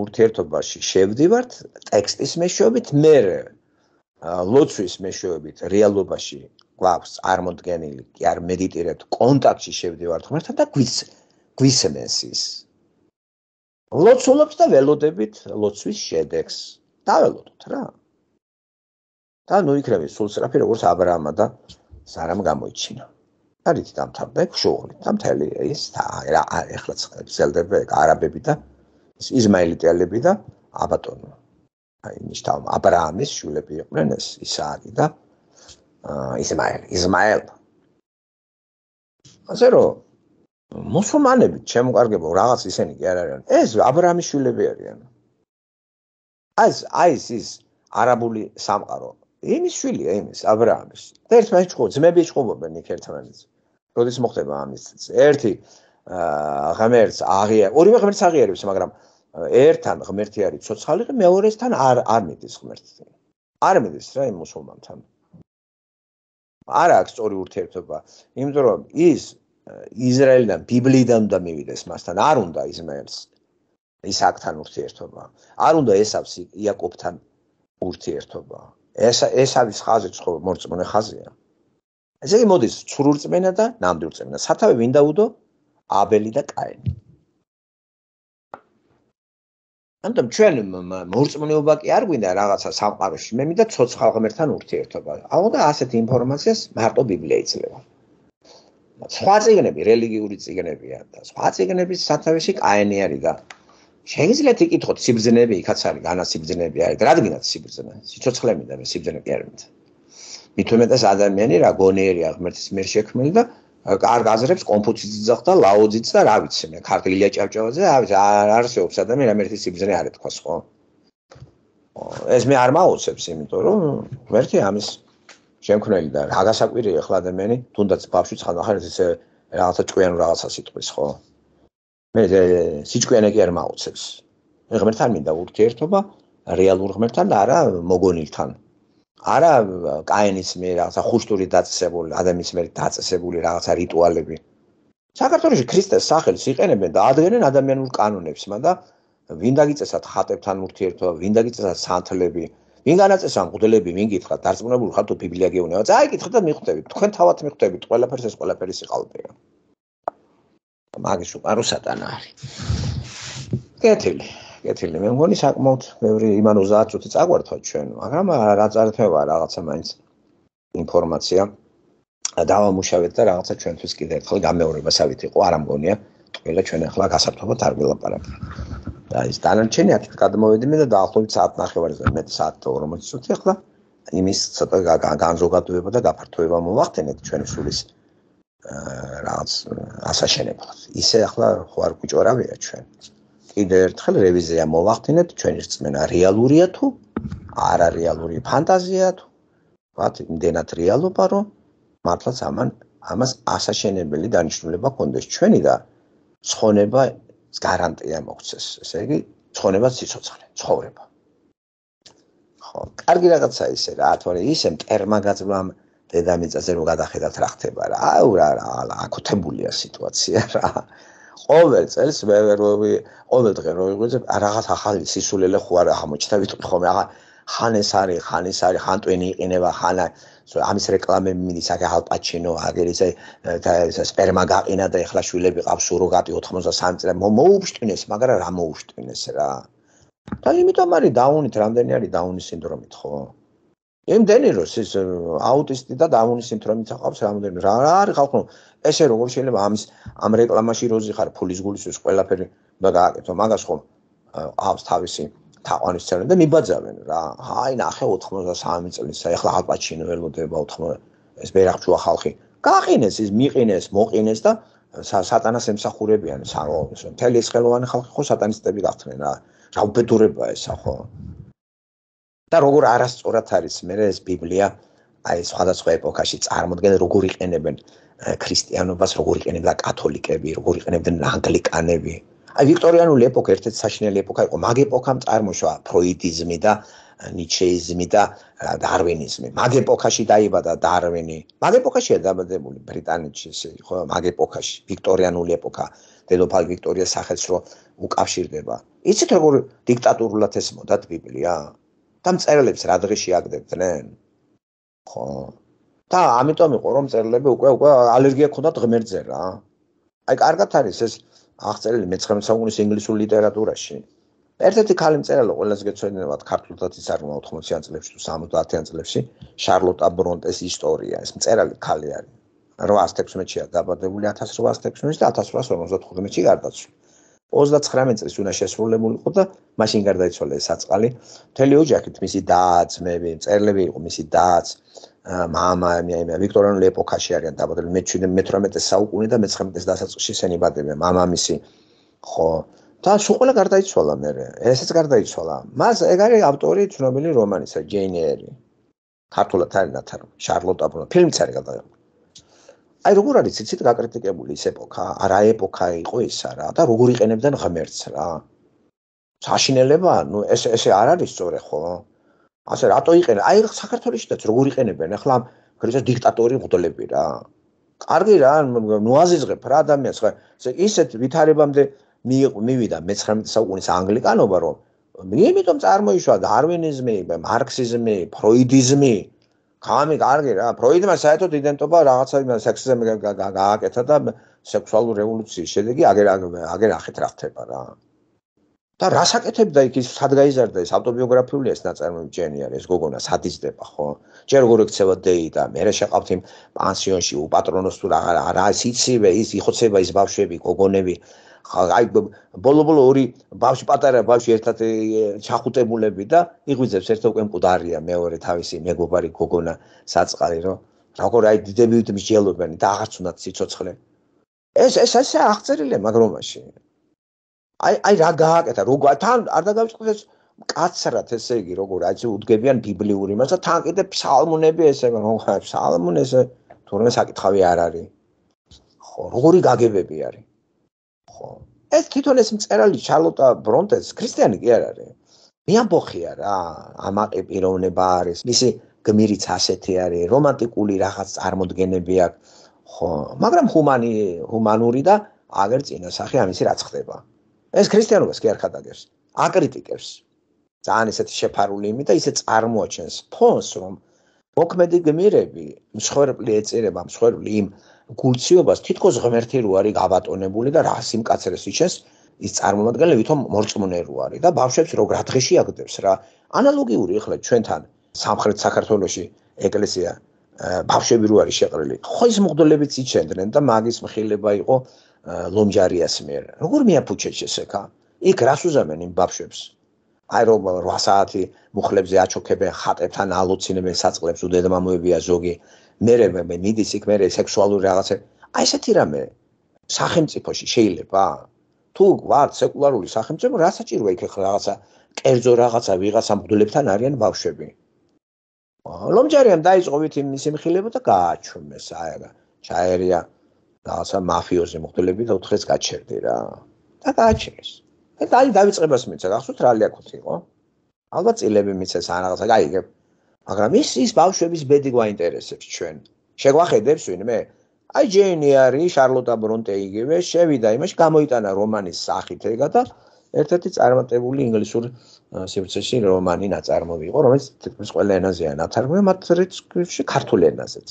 ურთიერთობაში შევდივართ ტექსტის მეშვეობით, მე ლოცვის მეშვეობით რეალობაში გვაქვს წარმოდგენილი, კი არ მედიტირებთ, კონტაქტში შევდივართ ღმერთთან და გვის გვისმენს ის. ლოცულობთ და ველოდებით ლოცვის შედეგს. დაველოდოთ რა. და ნუ იქნები სულ სწრაფი როგორც აბრაამა და სარამ გამოიჩინა. არის დამთავრდა შოღლი და მთელი ის რა ეხლაც გრძელდება არაბები და იზმაელიტელები და აბატონო. აი ნიშნავ აბრაამის შვილები იყვნენ ეს ისააკი და ისმაელი, ისმაელ. ასე რომ მუსულმანები შემოკარგებო რაღაც ისენი კი არ არიან. ეს აბრაამის შვილები არიან. ეს აი ის არაბული სამყარო იმის შვილია იმის აბრაამის. და ერთმანეთს ჭყობ, ძმები ჭყობობენ იქ ერთმანეთს. როდის მოხდება ამის? ერთი ღმერთს აღიარ, ორივე ღმერთს აღიარებს, მაგრამ ერთთან ღმერთი არის ცოცხალი, მეორესთან არ არ მიდის ღმერთი. არ მიდის რა იმ მუსულმანთან. არ აქვს სწორი ურთიერთობა, იმიტომ რომ ის ისრაელიდან ბიბლიიდან უნდა მივიდეს მასთან, არ უნდა ისმაელს ისააკთან ურთიერთობა. არ უნდა ესავს იაკობთან ურთიერთობა. ეს ესავის ხაზი ხო მორწმუნე ხაზია. ესე იგი მოდის ცრურწმენა და ნამდვილწმენა. სათავე ვინ დაუდო? აბელი და კაინი. ამიტომ ჩვენ მორწმუნეობა კი არ გვინდა რაღაცა სამყაროში, მე მინდა ცოცხალ ღმერთთან ურთიერთობა. აუ და ასეთ ინფორმაციას მარტო ბიბლია იძლევა. სხვა წიგნები, რელიგიური წიგნებია და სხვა წიგნების სათავეში კაინი არის და შეგიძლიათ იკითხოთ სიბრძნეები, იქაც არის განასიბრძნეები არის. რადგანაც სიბრძნე, სიცოცხლე მინდა, მე სიბრძნე კი არ მინდა. მით უმეტეს ადამიანი რა გონიერია ღმერთის მიერ შექმნილი და კარგ აზრებს კონფუციუსიც და ლაოძიც და რა ვიცი მე ქართლ ილია ჭავჭავაძე არ არსებობს ადამიანი რა მერტის სიბრძნე არ ეთქვას ხო ეს მე არ მაოცებს იმიტომ რომ ღმერთი ამის შემქმნელი და რა გასაკვირია ახლა ადამიანი თუნდაც ბავშვი ხანდახან ესე რაღაცა ჭკვიანო რაღაცას იტყვის ხო მე სიჭკვიანე კი არ მაოცებს მე ღმერთთან მინდა ურთიერთობა რეალურ ღმერთთან და არა მოგონილთან არა კაინის მიერ რაღაცა ხუშტური დაწესებული ადამიანის მიერ დაწესებული რაღაცა რიტუალები. საქართველოში ქრისტეს სახელს იყენებენ და ადგენენ ადამიანურ კანონებს, მაგრამ ვინ დაგიწესათ ხატებთან ურთიერთობა, ვინ დაგიწესათ სანთლები, ვინ განაწესა მღვდლები, ვინ გითხრათ, დარწმუნებული ხარ თუ ბიბლია გეუბნება. წაიკითხეთ და მიხვდებით. თქვენ თავად მიხვდებით, ყველაფერს ეს ყველაფერი სიყალბეა. მაგის უკარო სატანა არის. კეთილი კეთილი მე მგონი საკმაოდ ბევრი იმან ოცდაათ წუთი წაგვართვა ჩვენ მაგრამ რა წარეთმევა რაღაცა მაინც ინფორმაცია დავამუშავეთ და რაღაცა ჩვენთვის კიდე ერთხელ გამეორებასავით იყო არ ამგონია ყველა ჩვენ ახლა გასართობად არ ვილაპარაკ და ის დანარჩენი აქეთ გადმოვედი მე და დაახლოებით საათ ნახევარზე მეტ საათ ორმოცი წუთი ახლა იმის ცოტა განზოგადოება და გაფართოება მოვახდენეთ ჩვენი სულის რაღაც ასაშენებლად ისე ახლა ხო არ გვიჭორავია ჩვენ კიდე ერთხელ რევიზია მოვახდინეთ ჩვენი რწმენა რეალურია თუ არა რეალური ფანტაზია თუ ვთქვათ იმდენად რეალობა რომ მართლაც ამან ამას ასაშენებელი დანიშნულება ჰქონდეს ჩვენი და ცხონება გარანტია მოგცეს ესე იგი ცხონება სიცოცხლე ცხოვრება ხო კარგი რაღაცა ისე რა თორე ისე მტერმა გაძლამ დედამიწაზე რომ გადახედათ რა ხდება რა აუ რა აკუთებულია სიტუაცია რა ყოველ წელს მე ყოველ დღე რო ვიღვიძებ რაღაც ახალი სისულელე ხო არ აღმოჩნდა ვიტყვი ხოლმე ახლა ხან ეს არის ხან ეს არის ხან ტვენი იყინება ხან ამის რეკლამები მიდის აქ ალპაჩინო აგერ ისე სპერმა გაყინა და ეხლა შვილები ყავს სუროგატი ოთხმოცდასამი წელი მოუშვტინეს მაგრამ რა მოუშვტინეს რა და იმიტომ არის დაუნით რამდენი არის დაუნის სინდრომით ხო იმდენი რომ ის აუტისტი და დაუნის სინდრომით აქვს რამდენი რა არის ხალხო ესე როგორ შეიძლება ამის ამ რეკლამაში როზი ხარ ფულის გულისთვის ყველაფერი და გააკეთო მაგას ხომ აქვს თავისი თაყვანის ცერენ და მიბაძავენ რა აი ნახე ოთხმოცდასამი წლის ეხლა ალპაჩინო ველოდება ოთხმოცდა ეს ბერახჩუა ხალხი გაყინეს ის მიყინეს მოყინეს და სატანას ემსახურებიან საღოლოს მთელი ეს ხელოვანი ხალხი ხო სატანისტები გახდნენ რა რა უბედურებაა ესა ხო და როგორ არასწორად არის მე ეს ბიბლია აი სხვადასხვა ეპოქაში წარმოდგენ როგორ იყენებენ ქრისტიანობას როგორ იყენებდა კათოლიკები როგორ იყენებდნენ ანგლიკანები აი ვიქტორიანული ეპოქა ერთ-ერთი საშინელი ეპოქა იყო მაგ ეპოქამ წარმოშვა ფროიდიზმი და ნიჩეიზმი და დარვინიზმი მაგ ეპოქაში დაიბადა დარვინი მაგ ეპოქაშია დაბადებული ბრიტანეთში ხო მაგ ეპოქაში ვიქტორიანული ეპოქა დედოფალ ვიქტორიას სახელს რო უკავშირდება იცით როგორ დიქტატურულად ესმოდათ ბიბლია და მწერლებს რა დღეში აგდებდნენ ხო და ამიტომ იყო რომ მწერლები უკვე უკვე ალერგია ჰქონდათ ღმერთზე რა აი კარგად არის ეს აღწერილი მეცხრამეტე საუკუნის ინგლისურ ლიტერატურაში ერთ-ერთი ქალი მწერალი ყველას გეცოდინებათ ქართულთაც იცარმა ოთხმოციან წლებში თუ სამოცდაათიან წლებში შარლოტა ბრონტეს ისტორია ეს მწერალი ქალი არის რვაას თექვსმეტშია დაბადებული ათას რვაას თექვსმეტში და ათას რვაას ორმოცდათხუთმეტში გარდაცვალა ოცდაცხრამეტ წლის უნდა შესრულებული იყო და მაშინ გარდაიცვალა ეს საწყალი მთელი ოჯახით მისი და-ძმები მწერლები იყო მისი და-ც მამა ვიქტორიანული ეპოქაში არიან დაბადებული მეთვრამეტე საუკუნე და მეცხრამეტე დასაწყისში სენიბადებიან მამამისი ხო და სულ ყველა გარდაიცვალა მე ესეც გარდაიცვალა მას ეგ არის ავტორი ცნობილი რომანისა ჯეინ ეირი ქართულად არის ნათარგმნი შარლოტა ბრონტე ფილმიც არის გადაღებული აი როგორ არის იცით გაკრიტიკებული ის ეპოქა რა ეპოქა იყო ისა რა და როგორ იყენებდნენ ღმერთს რა საშინელება ნუ ეს ესე არ არის სწორე ხო ასე რატო იყენე აი საქართველოშიც როგორ იყენებენ ახლა ქრისტეს დიქტატორი მღვდლები რა კარგი რა ნუ აზიზღებ რა ადამიანს ხა ისეთ ვითარებამდე მივიდა მეცხრამეტე საუკუნის ანგლიკანობა რომ იმიტომ წარმოიშვა დარვინიზმი მარქსიზმი ფროიდიზმი ხამი კარგი რა ფროიდმა საერთოდ იდენტობა რაღაცა იმ სექსზე გააკეთა და სექსუალური რევოლუციის შედეგი აგერ აგერ ახეთ რა ხდება რა და რას აკეთებდა იქ ის სად გაიზარდა ეს ავტობიოგრაფიული ეს ნაწარმოები ჯენი არის ეს გოგონა სად იზრდება ხო ჯერ როგორ ექცევა დეი და მე შეყავთ იმ პანსიონში უპატრონოს თუ რა რა სიცივე ის იხოცება ის ბავშვები გოგონები აი ბოლო-ბოლო ორი ბავშვი პატარა ბავშვი ერთად ჩახუტებულები და იღვიძებს ერთო უკვე მკვდარია მეორე თავისი მეგობარი გოგონა საწყალი რომ როგორ აი დიდები მსჯელობენ და აღარც უნდათ სიცოცხლე ეს ეს ესე აღწერილია მაგ რომანში აი აი რა გააკეთა როგორ თან არ დაგავიწყდეს ეს კაცრად ესე იგი როგორ აი უდგებიან ბიბლიური მას და თან კიდე ფსალმუნები ესე როგორ ფსალმუნ ესე თურმე საკითხავი არ არის ხო როგორი გაგებები არის ხო ეს თვითონ ეს მწერალი შარლოტა ბრონტეს ქრისტიანი კი არ არის მეამბოხია რა ამაყი პიროვნება არის მისი გმირიც ასეთი არის რომანტიკული რაღაც წარმოდგენები აქვს ხო მაგრამ ჰუმანი ჰუმანური და აგერ წინასახი ამისი რაც ხდება ეს ქრისტიანობას კი არ ხადაგებს აკრიტიკებს ძალიან ესეთი შეფარული იმით და ისე წარმოაჩენს ფონს რომ მოქმედი გმირები მსხვერპლი ეწირება მსხვერპლი იმ გულციობას თითქოს ღმერთი რო არის გაბატონებული და რა სიმკაცრეს იჩენს ის წარმომადგენელი ვითომ მორწმუნე რო არის და ბავშვებს რო რა დღეში აგდებს რა ანალოგიური ახლა ჩვენთან სამხრეთ საქართველოში ეკლესია ბავშვები რო არის შეყრილი ხო ის მღვდლებიც იჩენდნენ და მაგის მხილება იყო ლომჯარიას მიერ როგორ მიაფუჩეს ესექა იქ რას უზამენ იმ ბავშვებს აი რომ რვა საათი მუხლებზე აჩოქებენ ხატებთან ალოცინებენ საწყლებს უდედმამოებია ზოგი მერე მე მიდის იქ მერე სექსუალური რაღაცა აი ესეთი რამე სახელმწიფოში შეიძლება თუ ვარ სეკულარული სახელმწიფო რა საჭიროა იქ რაღაცა კერძო რაღაცა ვიღაცა მღვდლებთან არიან ბავშვები ლომჯარიამ დაიწყო ვითი მისი მხილება და გააჩვენეს აი რა ჩაერია რაღაცა მაფიოზი მღვდლები და ოთხ დღეს გაჩერდი რა და გააჩერეს და აი დავიწყებას მიცა გახსოვთ რა ლიაკოთი იყო ალბათ წილები მიცეს ან რაღაცა გაიგებ მაგრამ ის ის ბავშვების ბედი გვაინტერესებს ჩვენ შეგვახედებს ვინმე აი ჯენი არის შარლოტა ბრონტე იგივე შევიდა იმაში გამოიტანა რომანის სახით ეგა და ერთ-ერთი წარმატებული ინგლისურ სივრცეში რომანი ნაწარმოები იყო რომელიც თითქმის ყველა ენაზეა ნათარგმნი მათ რიცხვში ქართულ ენაზეც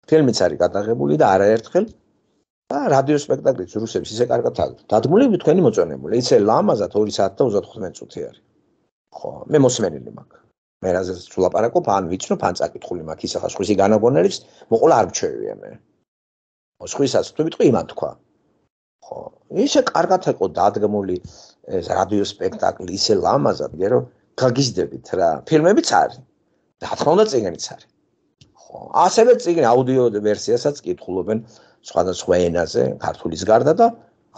ფილმიც არის გადაღებული და არაერთხელ და რადიო სპექტაკლიც რუსებს ისე კარგად აქვს დადგმული თქვენი მოწონებული იცი ლამაზად ორი საათი და ოცდათხუთმეტი წუთი არის ხო მე მოსმენილი მაქვს მე რაზეც ვლაპარაკობ ან ვიცნობ ან წაკითხული მაქვს ის ახლა სხვისი განაგონელებს მოყოლა არ მჩვევია მე სხვისაც თუ ვიტყვი იმან თქვა ხო ისე კარგად იყო დადგმული ეს რადიო სპექტაკლი ისე ლამაზად რომ გაგიზდებით რა ფილმებიც არის და რა თქმა უნდა წიგნიც არის ხო ასევე წიგნი აუდიო ვერსიასაც კითხულობენ სხვადასხვა ენაზე ქართულის გარდა და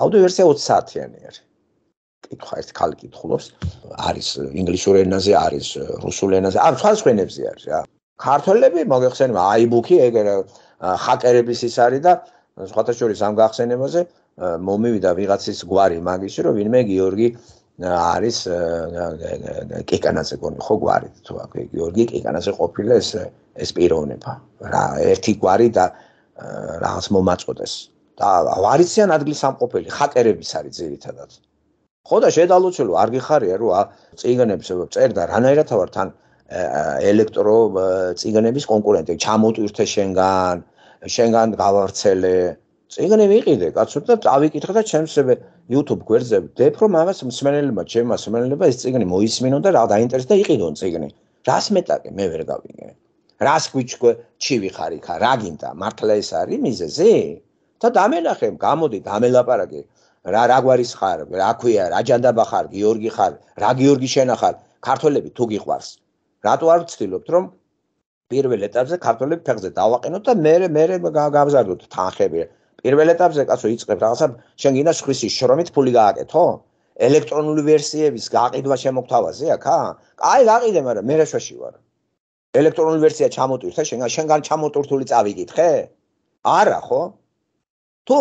აუდიო ვერსია ოცი საათიანი არის კითხვა ერთ ხალი კითხულობს არის ინგლისურ ენაზე არის რუსულ ენაზე არ სხვადასხვა ენებზე არის რა ქართველები მოგეხსენება აიბუქი ეგ ჰაკერების ის არის და სხვათა შორის ამ გახსენებაზე მომივიდა ვიღაცის გვარი მაგისი რომ ვინმე გიორგი არის კიკანაზე გონი ხო გვარი თუ აქ გიორგი კიკანაზე ყოფილა ეს ეს პიროვნება რა ერთი გვარი და რაღაც მომაწოდეს და ვარიციან ადგლის სამყოფელი ჰაკერების არის ძირითადად ხო და შედალოცილო არ გიხარია რომ წიგნებს წერდა რანაირად ვარ თან ელექტრო წიგნების კონკურენტი ჩამოტვირთე შენგან შენგან გავარცელე წიგნი ვიყიდე კაცო და წავიკითხე და ჩემს YouTube გვერდზე ვდებ რომ ამას მსმენელებმა ჩემმა მსმენელებმა ეს წიგნი მოისმინონ და რა დაინტერესდა იყიდონ წიგნი რას მეტაკე მე ვერ გავიგე რას გვიჩქო ჩივი ხარ იქა რა გინდა მართლა ეს არის მიზეზი და დამენახე გამოდი დამელაპარაკე რა რა გვარის ხარ რა ქვია რა ჯანდაბა ხარ გიორგი ხარ რა გიორგი შენახარ ქართველები თუ გიყვარს რატო არ ვცდილობთ რომ პირველ ეტაპზე ქართველები ფეხზე დავაყენოთ და მე მე გავზარდოთ თანხები პირველ ეტაპზე კაცო იწყებ რაღაცა შენ გინდა სხვისი შრომით ფული გააკეთო ელექტრონული ვერსიების გაყიდვა შემოგთავაზე აქა აი გაყიდე მაგრამ მე რაშვაში ვარ ელექტრონული ვერსია ჩამოტვირთე შენგან შენგან ჩამოტვირთული წავიკითხე არა ხო თუ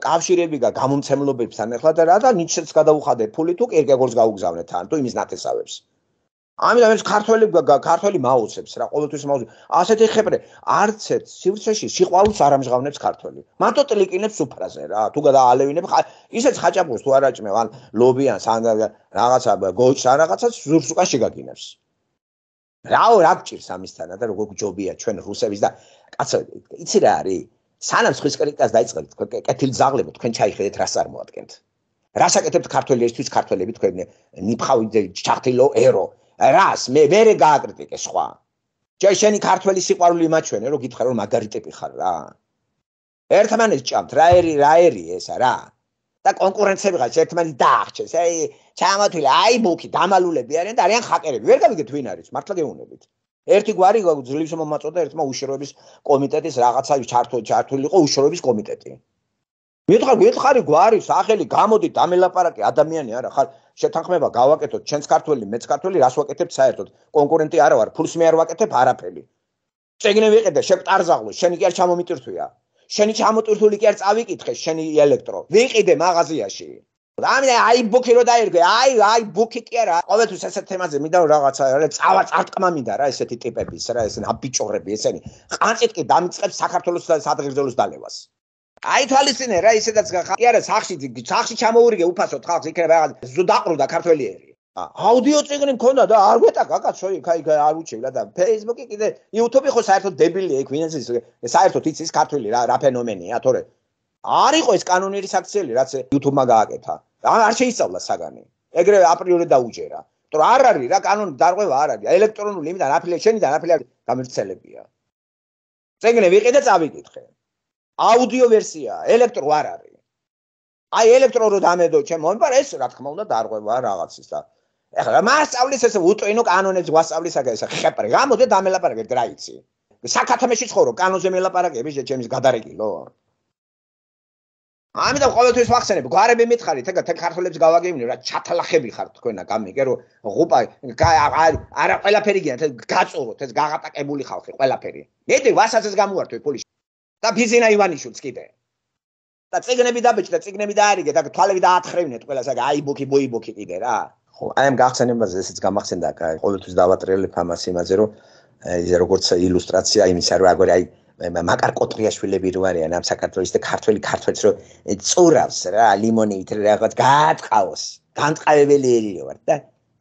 კავშირები და გამომცემლობებთან ახლა და რა და ნიჩეც გადაუხადე ფული თუ კირკეგორს გაუგზავნე თან თუ იმის ნათესავებს ამიტომ ეს ქართველი ქართველი მაუცებს რა ყოველთვის მაუცებს ასეთი ხეპრე არც ერთ სივრცეში სიყვარულს არ ამჟღავნებს ქართველი მარტო ტლიკინებს უფრაზე რა თუ გადაალევინებ ისეც ხაჭაპურს თუ არ აჭმევ ან ლობიანს ან რაღაცა გოჩს ან რაღაცას ზურს უკან შეგაგინებს რა რა გჭირს ამისთანა და როგორ გჯობია ჩვენ რუსების და კაცო იცი რა არის სანამ სხვის კრიტიკას დაიწყებთ კეთილი ზაღლებო თქვენ ჩაიხედეთ რას წარმოადგენთ რას აკეთებთ ქართველებისთვის ქართველები თქვენ ნიფხავი ჩახტილო ერო რას მე ვერე გააკრიტიკე სხვა ჯერ შენი ქართველი სიყვარული მაჩვენე რომ გითხრა რომ მაგარი ტიპი ხარ რა ერთმანეთს ჭამთ რა ერი რა ერი ესა რა და კონკურენციები ხარ ერთმანეთს დაახჩეს აი ჩამოთვილი აი ბუქი დამალულები არიან და არიან ხაკერები ვერ გავიგეთ ვინ არის მართლა გეუბნებით ერთი გვარი ძლივს მომაწოდა ერთმა უშიშროების კომიტეტის რაღაცა ჩართული ჩართული იყო უშიშროების კომიტეტი მითხარ გითხარი გვარი სახელი გამოდი დამელაპარაკე ადამიანი არა ხარ შეთანხმება გავაკეთოთ ჩვენს ქართველი მეც ქართველი რას ვაკეთებთ საერთოდ კონკურენტი არა ვარ ფულს მე არ ვაკეთებ არაფერი წეგნე ვიყიდე შეკტარზაღლო შენი კი არ ჩამომიტვირთვია შენი ჩამოტვირთული კი არ წავიკითხე შენი ელექტრო ვიყიდე მაღაზიაში ამიტომ აი ბუქი რო დაერგე აი აი ბუქი კი არა ყოველთვის ესეთ თემაზე მინდა რაღაცა რა წავა წარტყმა მინდა რა ესეთი ტიპების რა ესენი აბიჭორები ესენი ყანწით კი დამიწყებს საქართველოს სადღერძელოს დალევას აი თვალისწინე რა ისედაც კი არა სახში სახში ჩამოურიგე უფასოდ ხალხს იქნება რაღაც ზუდაყრუდა ქართველიერი აუდიო წიგნი მქონდა და არ გვეტაკა კაცო იქ აი არ უჩევლა და Facebook-ი კიდე YouTube-ი ხო საერთოდ დებილია იქ ვინც ის საერთოდ იცის ქართველი რა რა ფენომენია თორე არ იყო ეს კანონიერი საქციელი რაც YouTube-მა გააკეთა არ შეისწავლა საგანი ეგრევე აპრიორი დაუჯერა იმიტომ რომ არ არის რა კანონი დარღვევა არ არის ელექტრონული იმიდან აფილე შენიდან აფილე გამირცელებია წიგნი ვიყიდე წავიკითხე აუდიო ვერსია ელექტრო არ არის აი ელექტრო რო დამედო ჩემ მომპარ ეს რა თქმა უნდა დარღვევა რაღაცის და ეხლა მასწავლის ესე უტვინო კანონებს გვასწავლის აქ ესე ხეპრე გამოდე დამელაპარაკეთ რა იცი საქართველოში ცხოვრობ კანონზე მელაპარაკები ჩემის გადარეკილო ამიტომ ყოველთვის ვახსენებ გვარები მითხარით ეგ ქართველებს გავაგებინე რა ჩათალახები ხართ თქვენა გამიგე რომ ღუპა არა ყველაფერი გინათ გაწუროთ ეს გაღატაკებული ხალხი ყველაფერი მეტი ვასაცეს გამოვართვე პოლიში და ფიზინა ივანიშვილს კიდე და წიგნები დაბეჭდა და წიგნები დაარიგე და თვალები დაათხრევინეთ ყველას აი აი ბუქი ბუი ბუქი კიდე რა ხო აი ამ გახსენებაზე ესეც გამახსენდა ყოველთვის დავატრიალებ ამას იმაზე რომ ეს როგორც ილუსტრაცია იმისა რომ აგორ აი მაკარ კოტრიაშვილები რო არიან ამ საქართველოს და ქართველი ქართველს რო წურავს რა ლიმონით რაღაც გაატყავოს განტყავებელი ერიო ვარ და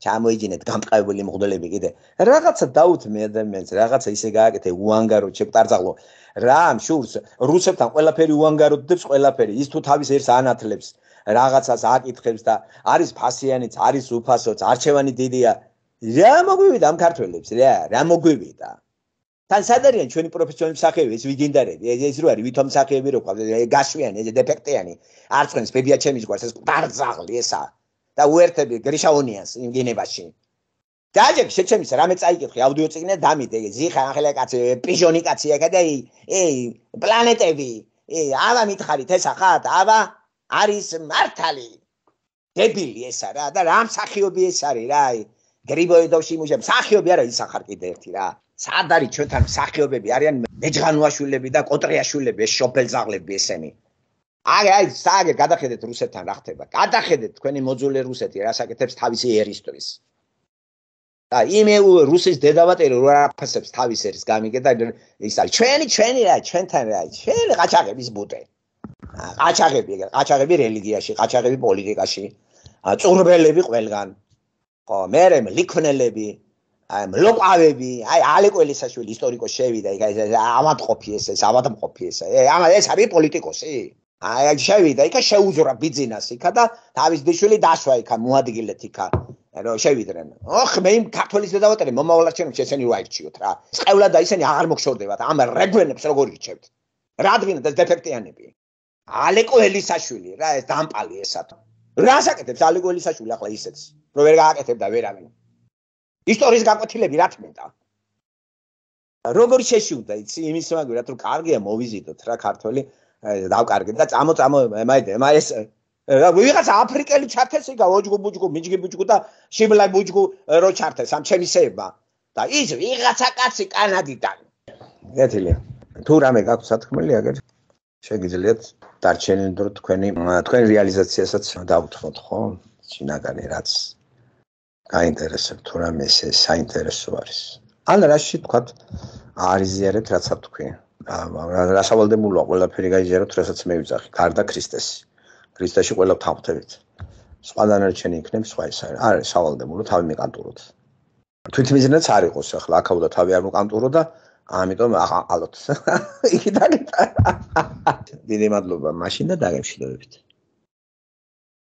ჩამოიჯინეთ განტყავებული მღვდლები კიდე რაღაცა დაუთმე ადამიანს რაღაცა ისე გააკეთე უანგარო ჩეკტარძაღლო რა შურს რუსებთან ყველაფერი უანგაროდებს ყველაფერი ის თუ თავის ერთს ანათლებს რაღაცას აკითხებს და არის ფასიანიც არის უფასოც არჩევანი დიდია რა მოგვივიდა ამ ქართველებს რა რა მოგვივიდა თან სად არიან ჩვენი პროფესიონალი მსახიობები ეს ვიგინდარები ეს რო არის ვითომ მსახიობები რო ყავს გაშვიანი ეს დეფექტიანი არ წვენს ბებია ჩემის გვარს ეს დარძაღლი ესა და უერთები გრიშაონიანს იმ გინებაში დაჯეკ შეჩემის რამე წაიკითხე აუდიო წიგნი დამიდე ზიხა ახლა კაცი პიჟონი კაცი აკა და ey პლანეტები ey ავა მითხარით ესა ხათ ავა არის მართალი დებილი ესა რა და რა მსახიობი ეს არის რა გრიბოედოვში მუშა მსახიობი არა ისახარ კიდე ერთი რა სად არის ჩვენთან მსახიობები არიან მეჯღანუაშვილები და კოტრიაშვილები ეს შოფელზაღლები ესენი აი აი საგე გადახედეთ რუსეთთან რა ხდება გადახედეთ თქვენი მოძულე რუსეთი რას აკეთებს თავისი ერისთვის და იმე რუსის დედავატერი რა აფასებს თავის ერს გამიგე და ის არის ჩვენი ჩვენი რა ჩვენთან რა ჩვენი ყაჩაღების ბუტე ყაჩაღები ყაჩაღები რელიგიაში ყაჩაღები პოლიტიკაში წურბელები ყველგან ხო მერე ლიქონელები აი მლოყავები აი ალეკველისაშვილი ისტორიკოს შევიდა იქ ამატყოფი ეს ეს ამატყოფი ეს ამ ეს არის პოლიტიკოსი აი შევიდა იქ შეუძურა ბიზნეს იქ და თავის დიშვილი დაშვა იქ მოადგილეთ იქ რომ შევიდნენ ოხ მე იმ ქართველის დედავატერი მომავალად ჩემს ესენი რა ირჩიოთ რა წევლა და ისინი აღარ მოგშორდებათ ამ რეგვენებს როგორ ირჩევთ რადგან ეს დეფექტიანები ალეკველისაშვილი რა ეს დამპალი ესა რას აკეთებს ალეკველისაშვილი ახლა ისეც რომ ვერ გააკეთებდა ვერავინ ისტორიის გაკვეთილები რა თმედა როგორ შეშუდა იცი იმის მაგერად რომ კარგია მოვიზიტოთ რა ქართველი დავკარგეთ და წამო წამო მაიდე მა ეს რა ვიღაცა აფრიკელი ჩართეს იგა ოჯგუ ბუჯგუ მიჯგი ბუჯგუ და შიბლა ბუჯგუ რო ჩართეს ამ ჩემისეებმა და ის ვიღაცა კაცი კანადიდან გეთილი თუ რამე გაქვს სათქმელი აგერ შეგიძლიათ დარჩენილ დრო თქვენი თქვენი რეალიზაციასაც დავუთმოთ ხო შინაგანი რაც გაინტერესებთ თუ რამე ეს საინტერესო არის ან რაში თქვათ არიზიარეთ რაც თქვი რა სავალდებულოა ყველაფერი გაიზიაროთ რასაც მე ვიძახი გარდა ქრისტესი ქრისტეში ყველა თავთებით სხვა დანარჩენი იქნებს სხვა ის არის სავალდებულო თავი მიყანტუროთ თვითმიზნეც არ იყოს ახლა აქაუდა თავი არ მოკანტურო და ამიტომ ალბათ იქი დაგეტა. დიდი მადლობა მაშინ და დაგემშვიდობებით.